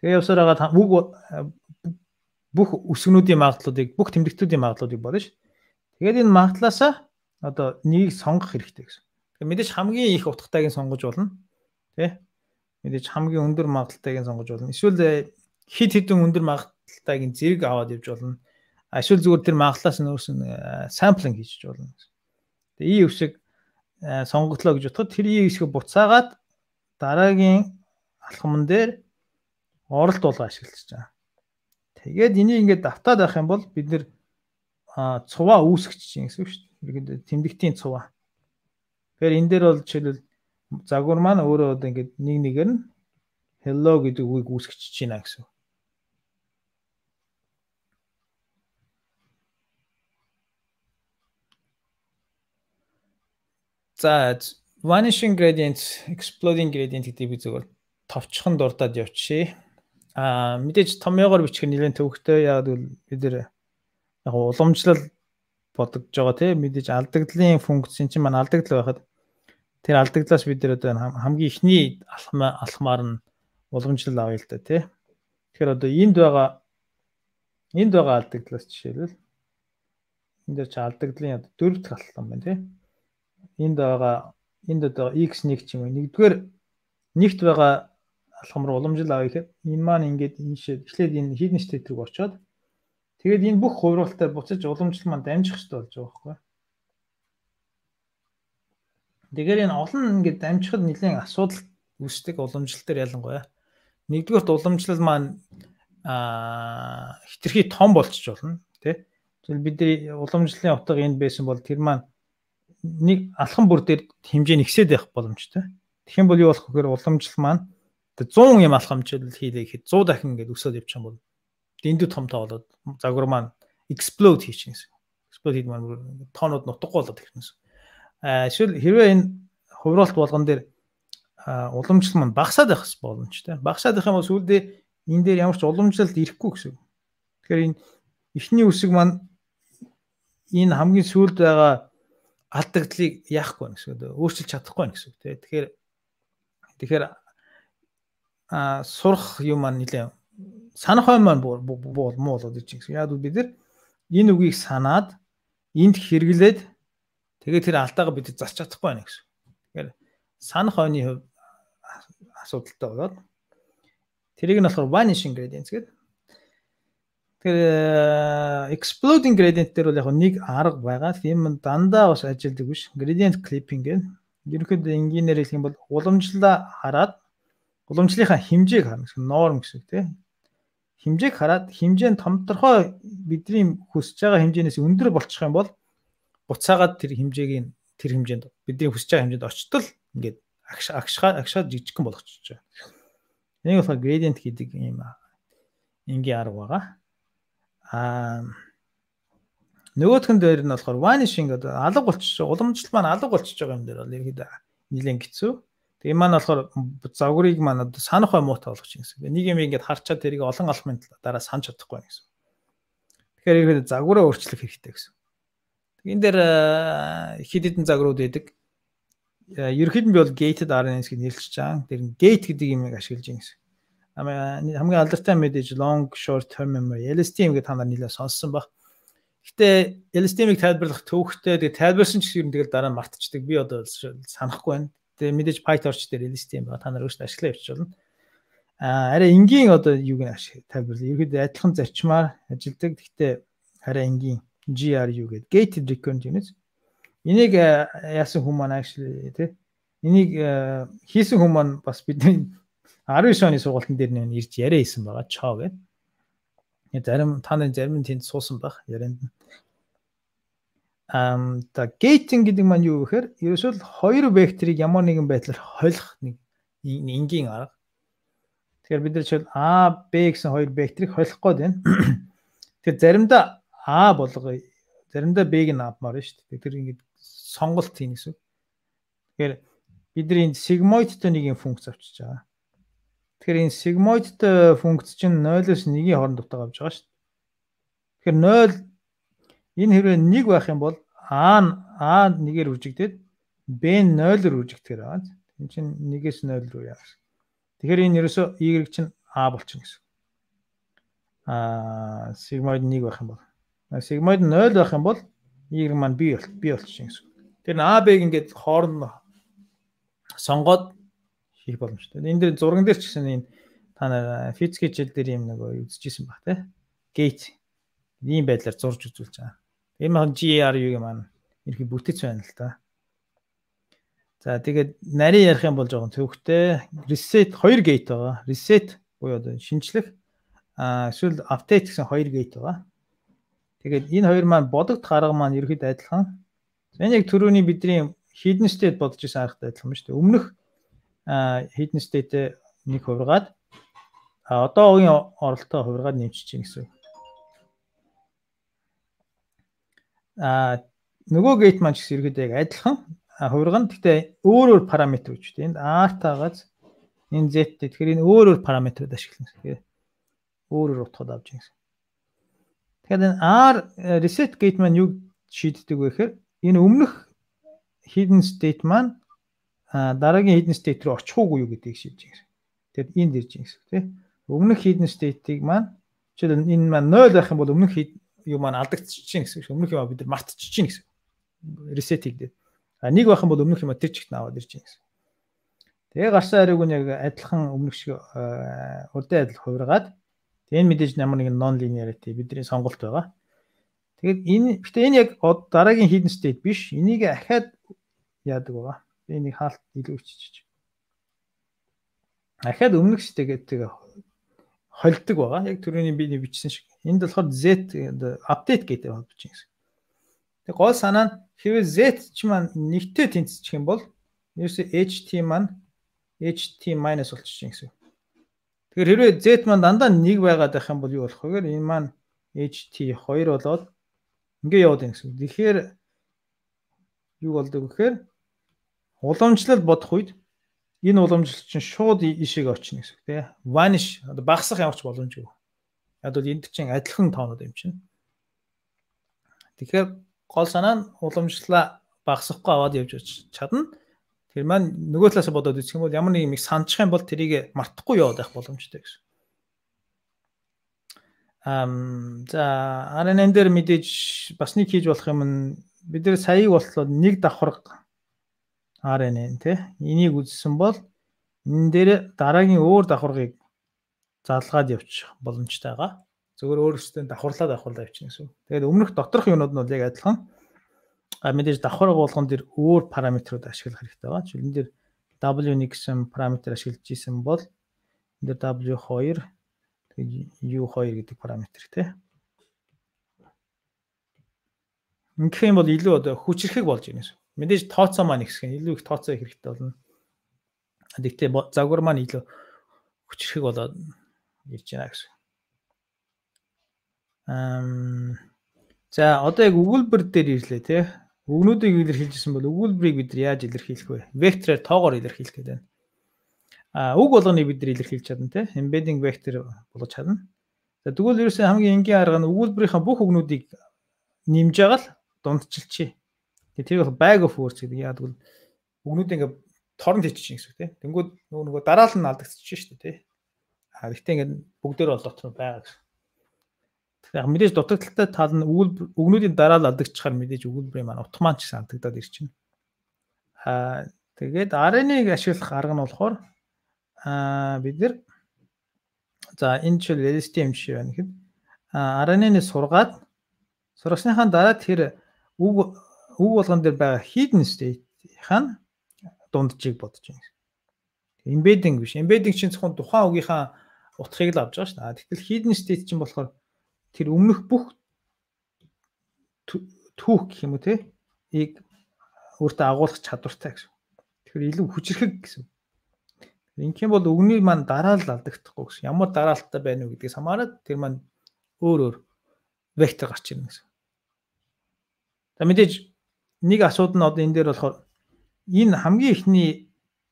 Тэгээд явсаар байгаа бүх үсгнүүдийн магадлалуудыг бүх тэмдэгтүүдийн магадлалуудыг бодно ш. Тэгээд энэ магадлалаасаа одоо нэгийг сонгох хэрэгтэй гэсэн. Тэгээд мэдээж хамгийн их утгатайг нь сонгож болно тий. Мэдээж хамгийн өндөр магадлалтайг нь сонгож болно. Эсвэл хид хідэн өндөр магадлалтайг нь зэрэг аваад явж болно. Эсвэл зүгээр тэр магадлалаас нь өөрс нь самплинг хийж болно гэсэн. Тэгээ и үсэг сонгогдлоо гэж бодоход тэр и үсгийг буцаагаад дараагийн алхамн дээр оролт болго ашиглаж байгаа. Тэгээд энийг ингээд давтаад авах юм бол бид нэр цуваа үүсгэж чинь гэсэн үг шүү дээ. Тэмдэгтийн цуваа. Тэгэхээр энэ дээр бол жишээлбэл загвар маань өөрөө одоо ингээд нэг нэгээр нь hello гэдэг үгийг үүсгэж чинь гэсэн. За vanishing gradient, exploding gradient гэдэг би зөвхөн товчхон дурдаад явчихъя. Мэдээж томьёогоор бичих нь нэлээд төвөгтэй. Яг бол бид нэр яг уламжлал бодогдож байгаа тийм мэдээж алдагдлын функц чинь маань алдагдал байхад тэр алдагдлаас бид нэр одоо хамгийн ихний алхмаар нь уламжлал авъя л да тийм. Тэгэхээр одоо энд байгаа алдагдлаас жишээлбэл энэ дээр чи алдагдлын одоо 4 дахь алхам байна тийм. Энд одоо x1 ч юм уу нэгт байгаа алхам руу уламжлал авъя гэхэд энэ маань ингээд эхлээд энэ hidden state рүү очиод тэгээд энэ бүх хувиргалтаар буцаж уламжлал маань дамжих хэрэгтэй болж байгаа байхгүй. Тэгэхээр энэ олон ингээд дамжихад нэлээд асуудал үүсдэг уламжлал дээр ялангуяа. Нэгдүгээрт уламжлал маань хитрхи том болчих болно тий. Тэгвэл бидний уламжлалын утга энд байсан бол тэр маань нэг алхам бүр дээр хэмжээ нэгсээд байх боломжтой. Тэгэх юм бол юу болох вэ гэхээр уламжлал маань 100 юм алхамжил хийлээ гэхэд 100 дахин ингээд өсөд явчих юм бол дэндүү томтой болоод загвар маань explode хийчих гэсэн. Explode хийх маань тоонууд нутаггүй болоод ирэх гэсэн. Эсвэл хэрвээ энэ хувиргалт болгон дээр уламжлал маань багасаад байх боломжтой. Багасаад байх юм бол сүүлдээ энэ дээр ямар ч уламжлалт ирэхгүй гэсэн. Тэгэхээр энэ эхний үсэг маань энэ хамгийн сүүлд байгаа алдагдлыг яахгүй гэсэн. Өөрчилж чадахгүй гэсэн. Тэгэхээр сурах юм маань нэлээ санах хойно маань муу болоод ирж байгаа. Яг бид нар энэ үгийг санаад энд хэрэглээд тэгээд тэр алдаагаа бид засч чадахгүй байна гэсэн. Тэгэхээр санах хойны хувь асуудалтай болоод тэрийг нь болохоор vanishing gradient гэдэг. Тэгэхээр exploding gradient дээр бол яг нэг арга байгаа. Тийм дандаа бас ажилдаг биш. Gradient clipping гэдэг. Ерөнхийдөө энгийнээр хэлэх юм бол уламжлалаа хараад уламжлалынхаа хэмжээг харна гэсэн норм гэсэн үг тийм. Хэмжээг хараад хэмжээ нь томторхой бидний хүсэж байгаа хэмжээнээс өндөр болчих юм бол буцаагаад тэр хэмжээнд бидний хүсэж байгаа хэмжээнд очтол ингээд агшаад жижигхэн болгочихж байгаа. Энийг болохоор gradient гэдэг юм энгийн арга байгаа. Нөгөөх нь дээр нь болохоор vanishing одоо алга болчихж байгаа. Уламжлал маань алга болчихж байгаа юм дээр бол ерөөдөө нэлээд хэцүү. Тэгээ маань болохоор загварыг маань одоо санах бай муутай болгож гэсэн. Нэг юм ингээд харчаад тэрийг олон алхмын дараа санаж чадахгүй гэсэн. Тэгэхээр ерөөдөө загвараа өөрчлөх хэрэгтэй гэсэн. Энэ дээр хэд хэдэн загварууд байдаг. Ерөнхийд нь би бол gated RNS гэж нэрлэж байгаа. Тэр gate гэдэг юмыг ашиглаж байгаа гэсэн. Хамгийн алдартай мэдээж long short term memory LSTM гэдэг та нар нэлээд сонссон баг. Гэтэ LSTM-ийг тайлбарлах төвхтэй тэгээ тайлбарсан ч гэсэн тэгэл дараа нь мартчихдаг. Би одоо санахгүй байна. Тэгээ мэдээж PyTorch дээр LSTM байгаа. Та нар өөрсдөө ашиглаа явчих болно. Арай энгийн одоо юуг нь тайлбарлая. Ерөөдөө адилхан зарчмаар ажилдаг. Гэхдээ арай энгийн GRU гэдэг gated recurrent units. Энийг яасан хүмүүс маань actually тий. Энийг хийсэн хүмүүс маань бас бидний 19 оны сургалтын дээр нэр ирж яриа хийсэн байгаа. Чоо гэдэг. Зарим та нарын зарим нь тэнд суусан баг ярианд. За gating гэдэг маань юу гэхээр ерөөсөө хоёр векторыг ямар нэгэн байдлаар холих нэг энгийн арга. Тэгэхээр бид нар жишээл A, B гэсэн хоёр векторыг холих гээд байна. Тэгэхээр заримдаа A болгоё, заримдаа B-г нь авмаар шүү дээ. Тэр ингэж сонголт хийн гэсэн. Тэгэхээр бидний энэ sigmoidтой нэг юм функц авчиж байгаа. Тэгэхээр энэ sigmoidтой функц чинь 0-оос 1-ийн хооронд дутаа авч байгаа шүү дээ. Тэгэхээр 0 энэ хэрвээ 1 байх юм бол A 1-ээр үржигдээд B 0-оор үржигдэхээр байгаа. Энэ чинь 1-ээс 0 руу яа гэсэн. Тэгэхээр энэ ерөөсөө Y чинь A болчихно гэсэн. Sigmoid 1 байх юм бол sigmoid 0 байх юм бол Y маань B болчихно гэсэн. Тэр A B-г ингээд хооронд сонгоод хийх боломжтой. Энэ дээр зурган дээр ч гэсэн энэ та нар физик хичээл дээр юм нэг үзчихсэн баг тий. Gate ийм байдлаар зурж үзүүлж байгаа. Энэ маань GRU-г маань ерхий бүтэц байна л та. За тэгээд нарийн ярих юм бол жоохон төвхтэй. Reset 2 gate байгаа. Reset буюу одоо шинжлэх эсвэл update гэсэн 2 gate байгаа. Тэгээд энэ хоёр маань бодогдох арга маань ерөөд адилхан. Энэ яг түрүүний бидний hidden state бодож исэн аргатай адилхан ба шүү дээ. Өмнөх hidden state-тэй нэг хувиргаад одоогийн оролтоо хувиргаад нэмчих чинь гэсэн. Нөгөө gate маань ч гэсэн ерөөд яг адилхан хувирган. Гэхдээ өөр параметр үүж дээ. Энд R-таагаас энэ Z тэгэхээр энэ өөр параметрууд ашиглана. Тэгэхээр өөр утгад авч байгаа. Тэгэхээр энэ R reset gate маань юу шийддэг вэ гэхээр энэ өмнөх hidden state маань дараагийн hidden state руу очих уугүй юу гэдгийг шийдэж байгаа. Тэгэхээр энд ирж байгаа гэсэн тийм. Өмнөх hidden state-ийг маань жишээл энэ маань 0 байх юм бол өмнөх юу маань алдагдчихжин гэсэн. Өмнөх юм бид нар мартчихжин гэсэн. Reset хийгдээд. 1 байх юм бол өмнөх юм тэр чигт аваад ирж байгаа гэсэн. Тэгээ гарсан хариуг нь яг адилхан өмнөх шиг урдын адил хувиргаад энэ мэдээж ямар нэгэн non linearity бидний сонголт байгаа. Тэгээд энэ яг дараагийн hidden state биш. Энийг ахаад яадаг байгаа. Энийг хаалт илүү өччих. Ахаад өмнөх state-гээ холдог байгаа. Яг түрүүний би бичсэн шиг. Энд болохоор Z update гэдэг холбож байгаа гэсэн. Тэг гол санаа нь хэрвээ Z ч маань нэгтэй тэнцчих юм бол ерөөсөө HT маань HT- болчих гэсэн. Тэгэхээр хэрвээ Z маань дандаа 1 байгаад байх юм бол юу болох вэ гэхээр энэ маань HT 2 болоод ингээ яваад байна гэсэн. Тэгэхээр юу болдог вэ гэхээр уламжлал бодох үед энэ уламжлал чинь шууд ишиг очно гэсэн. Тэ vanish одоо багасах ямарч боломжгүй. Яг бол энд чинь адилхан тоонууд юм чинь. Тэгэхээр гол санаа нь уламжлалаа багасахгүй аваад явж чадна. Тэр маань нөгөө талаас бодоод үзэх юм бол ямар нэг юм санджих юм бол тэрийг мартахгүй яваад байх боломжтой гэсэн. За RNN дээр мэдээж бас нэг хийж болох юм нь бид нэр саяг болтлоо нэг давхар RNN тий энийг үзсэн бол энэ дээр дараагийн өөр давхаргыг залгаад явчих боломжтой байгаа. Зөвхөн өөрөөсөө давхарлаад явчихна гэсэн. Тэгээд өмнөх доторх юмнууд нь бол яг адилхан. Мэдээж давхар болгон дээр өөр параметрууд ашиглах хэрэгтэй байгаа. Жишээл энэ дээр W1 гэсэн параметр ашиглаж исэн бол энэ дээр W2 U2 гэдэг параметр тий. Ингэх юм бол илүү одоо хүчрэхэг болж ирнэ. Мэдээж тооцоо маань ихсэх нь илүү их тооцоо хэрэгтэй болно. Гэхдээ загвар маань илүү хүчрэхэг болоод ирж байна гэсэн. За одоо яг өгүүлбэр дээр ирлээ тий. Үгнүүдийг илэрхийлжсэн бол өгүүлбэрийг бид нар яаж илэрхийлэх вэ? Вектороор тоогоор илэрхийлэх гэдэг байна. Үг болгоныг бид нар илэрхийлж чадна тий. Embedding vector болгож чадна. За тэгвэл ерөөсөө хамгийн энгийн арга нь өгүүлбэрийнхаа бүх үгнүүдийг нэмж байгаа л дундчилчихъя. Тэр бол bag of words гэдэг. Яг тэгвэл үгнүүдийг ингээ торон хийчих гэсэн үг тий. Тэнгүүд нөгөө дараал нь алдагдчихж шүү дээ тий. Гэхдээ ингээ бүгдээр бол дотор байгаа гэсэн. Яг мэдээж дутагдaltaй тал нь үгнүүдийн дараа л алдагдчихаар мэдээж өгүүлбэрийн маань автомат ч гэсэн алдагдаад ирчихнэ. Тэгээд RNA-г ашиглах арга нь болохоор бид нар за энэ жишээл LSTM жишээ байна гэхэд RNA-ны сургасныхаа дараа тэр үг болгон дээр байгаа hidden state-ийн дунджийг бодож байна. Embedding биш. Embedding чинь зөвхөн тухайн үгийнхаа утгыг л авч байгаа шүү дээ. Тэгтэл hidden state чинь болохоор тэр өмнөх бүх түүх гэх юм уу те ийг өөртөө агуулгах чадвартай гэсэн. Тэгэхээр илүү хүчрхэг гэсэн. Ингээм бол үгний маань дараалал алдагдахгүй гэсэн. Ямар дараалттай байна уу гэдгээс хамаарат тэр маань өөр вектор гарч ирнэ гэсэн. За мэдээж нэг асуудал нь одоо энэ дээр болохоор энэ хамгийн ихний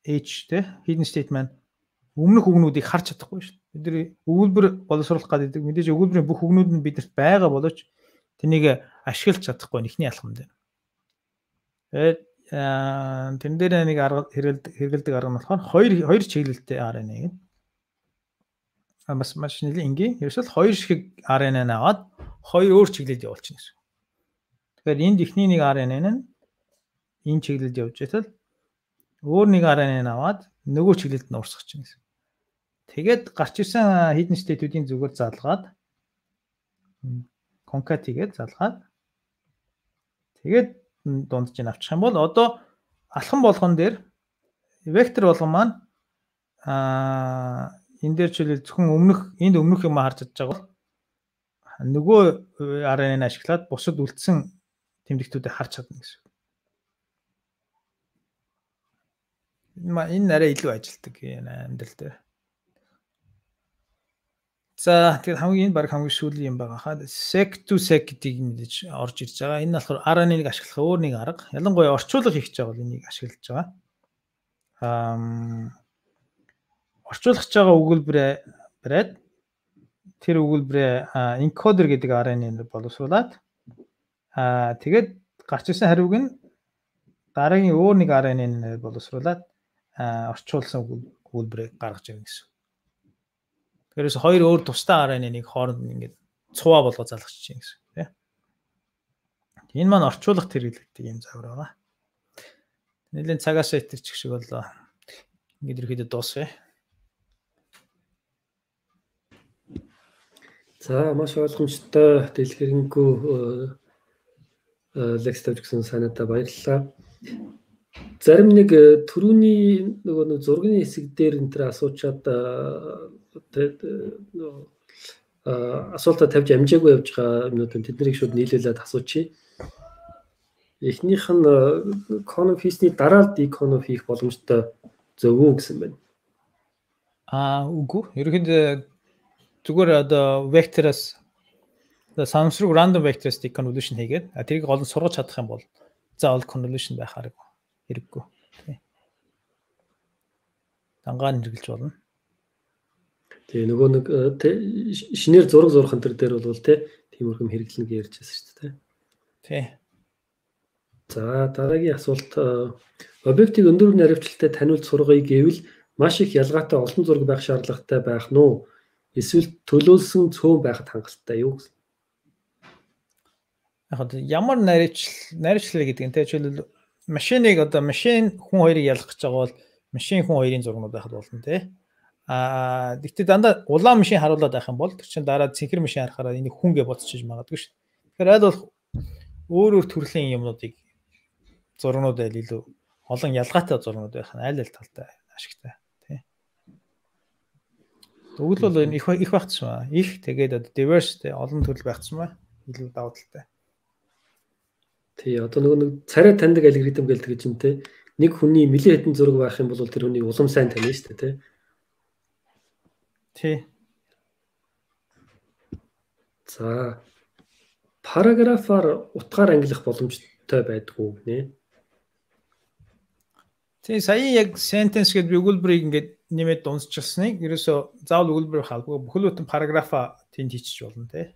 H те hidden state маань өмнөх үгнүүдийг харж чадахгүй шүү. Бидний өгүүлбэр боловсруулах гэдэг мэдээж өгүүлбэрийн бүх үгнүүд нь бидэрт байгаа боловч тэнийг ашиглаж чадахгүй ихний алхам дээр. Тэгээд тэн дээр нэг арга хэрэгэлдэг арга нь болохоор хоёр чиглэлтэй RNA гэдэг. Бас маш нэлийн энгийн. Ерөөсөө хоёр шиг RNA аваад хоёр өөр чиглэлд явуулчихна гэсэн. Тэгэхээр энд ихний нэг RNA нь энэ чиглэлд явж байтал өөр нэг RNA аваад нөгөө чиглэлд нь урсгах чинь гэсэн. Тэгээд гарч ирсэн hidden state-үүдийн зүгээр залгаад concat хийгээд залгаад тэгээд дундж ин авчих юм бол одоо алхам болгон дээр вектор болгон маань энэ дээр чиглэл зөвхөн энд өмнөх юм харж чадж байгаа бол нөгөө RNA-г ашиглаад бусад үлдсэн тэмдэгтүүдийг харж чадна гэсэн. Энэ арай илүү ажилтдаг амьдрал дээр. За тэгээд хамгийн баг хамгийн сүүлийн юм байгаа хаа sec to sec гэдгийг мэдээж орж ирж байгаа. Энэ нь болохоор RNA-г ашиглах өөр нэг арга. Ялангуяа орчуулга хийх гэж байгаа бол энийг ашиглаж байгаа. Орчуулах гэж байгаа өгүүлбэрээ тэр өгүүлбэрээ encoder гэдэг RNA-ээр боловсруулад тэгээд гарч ирсэн хариуг нь дараагийн өөр нэг RNA-ээр боловсруулад орчуулсан өгүүлбэрийг гаргаж ирнэ гэсэн. Тэрээс хоёр өөр тусдаа RNA-ыг хооронд ингээд цуваа болгож залгаж чинь гэсэн тийм. Энэ маань орчуулах хэрэглэгдэх юм загвар байгаа. Нэлийн цагаас итэрчих шиг боллоо. Ингээд ирэхэд дуусгая. За маш ойлгомжтой дэлгэрэнгүй лекц тавьж гисэн санаатай баярлалаа. Зарим нэг түрүүний нөгөө зургийн хэсэг дээр энэ төр асуучаад асуултаа тавьж амжаагүй явж байгаа юмнууд тэднийг шууд нийлүүлээд асуучий. Эхнийх нь конфисний дараа деконф хийх боломжтой зөв үү гэсэн байна. Үгүй. Ерөнхийдөө зүгээр одоо вектороос самсруу random vectors deconvolution хийгээд тэрийг гол нь сургаж чадах юм бол заавал convolution байх хэрэггүй. Дангаар хэрэгжилж болно. Тэгээ нөгөө нэг шинээр зураг зурх энэ дээр бол тиймэрхэм хэрэглэнэ гэж ярьж байсан шүү дээ. Тий. За дараагийн асуулт объектыг өндөр наривчлалтай таниулж сургая гэвэл маш их ялгаатай олон зураг байх шаардлагатай байх нь уу? Эсвэл төлөөлсөн цөөн байхад хангалттай юу гэсэн. Яг ямар наривчлал гэдэг нь жишээлбэл машиныг одоо машин хүн хоёрыг ялгах гэж байгаа бол машин хүн хоёрын зургууд байхад болно тий. Гэхдээ дандаа улаан машин харуулад байх юм бол тэр чинь дараа цэнхэр машин харахаараа энийг хүн гэж бодчихж магадгүй шүү. Тэгэхээр аль болох өөр төрлийн юмнуудыг зургууд айл илүү олон ялгаатай зургууд байх нь аль талтай ашигтай тий. Өгөл бол их байх тусмаа. Их тэгээд одоо diverse олон төрөл байх тусмаа илүү давуу талтай. Тий одоо нөгөө нэг царай таньдаг алгоритм гэлдэг юм те. Нэг хүний нэлээд хэдэн зураг байх юм бол тэр хүний улам сайн таньна шүү дээ те. Тий. За параграфаар утгаар ангилах боломжтой байдгүй гинэ. Тий сая яг sentence гэдэг өгүүлбэрийг ингээд нэмээд дуусчихсныг ерөөсөө заавал өгүүлбэр халбгүй бүхэл бүтэн параграфа тэнд хийчих болно тий.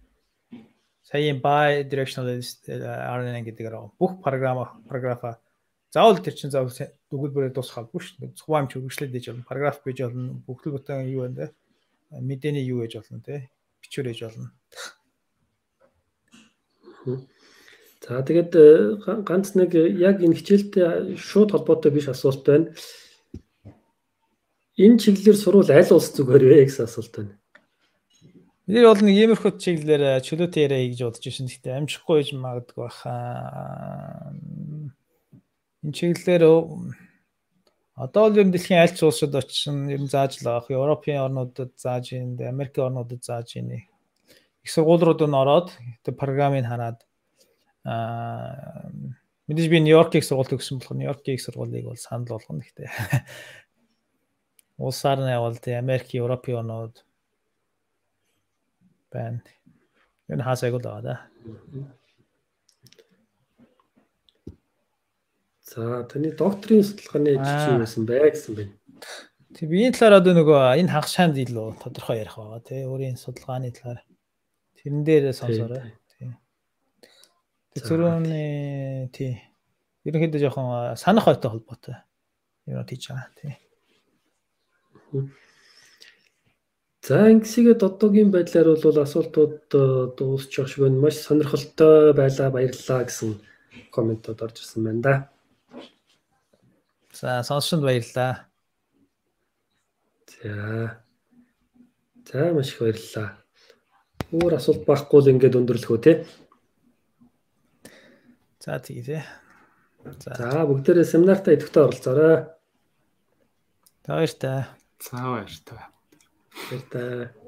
Сая bi-directional RNA гэдэг бүх параграфа заавал тэр чинь заавал өгүүлбэрээр дуусгах халбгүй шүү дээ. Цуваа юм хөргөжлөд дэж болно. Параграф гэж болно. Бүхэл бүтэн юу вэ? Мэдээний юу гэж болно тий. Бичвэр гэж болно. За тэгээд ганц нэг яг энэ хичээлтэй шууд холбоотой биш асуулт байна. Энэ чиглэлээр сурвал аль улс зүгээр вэ гэсэн асуулт байна. Бид бол нэг иймэрхүү чиглэлээр чөлөөтэй яриа хийж бодож байсан. Гэхдээ амжихгүй байж магадгүй баха. Энэ чиглэлээр одоо л ер нь дэлхийн аль ч улсад очсон ер нь зааж л авах. Европын орнуудад зааж ийн, Америкийн орнуудад зааж ийн. Их сургуулиуд нь ороод тэр програмыг хараад Мэдээж би Нью-Йоркийг сургууль төгссөн болохоор Нью-Йоркийг сургуулийг бол санал болгоно гэхдээ. Улсаар нь явал тий Америк, Европын оноод байна. Энэ хаасайг л байгаа да. За таны докторийн судалгааны ажил чи юу байсан бэ гэсэн бэ? Тэг биеийн талаар одоо нөгөө энэ хагас шаанд илүү тодорхой ярих байгаа тий өөрийн судалгааны талаар. Тэрэн дээр сонсоорой. Тий. Тэрүүний тий. Ерөнхийдөө жоохон санах хойтой холбоотой. Юу тийж байгаа тий. За ингэсгээд одоогийн байдлаар бол асуултууд дуусчих шиг байна. Маш сонирхолтой байлаа, баярлалаа гэсэн комментууд орж ирсэн байна да. За сонсонд баярлалаа. За маш их баярлалаа. Өөр асуулт байхгүй л ингээд өндөрлөх үү те. За тийм тий. За бүгдээрээ семинартаа идэвхтэй оролцоорой. Баяртай. За баяртай. Баяртай.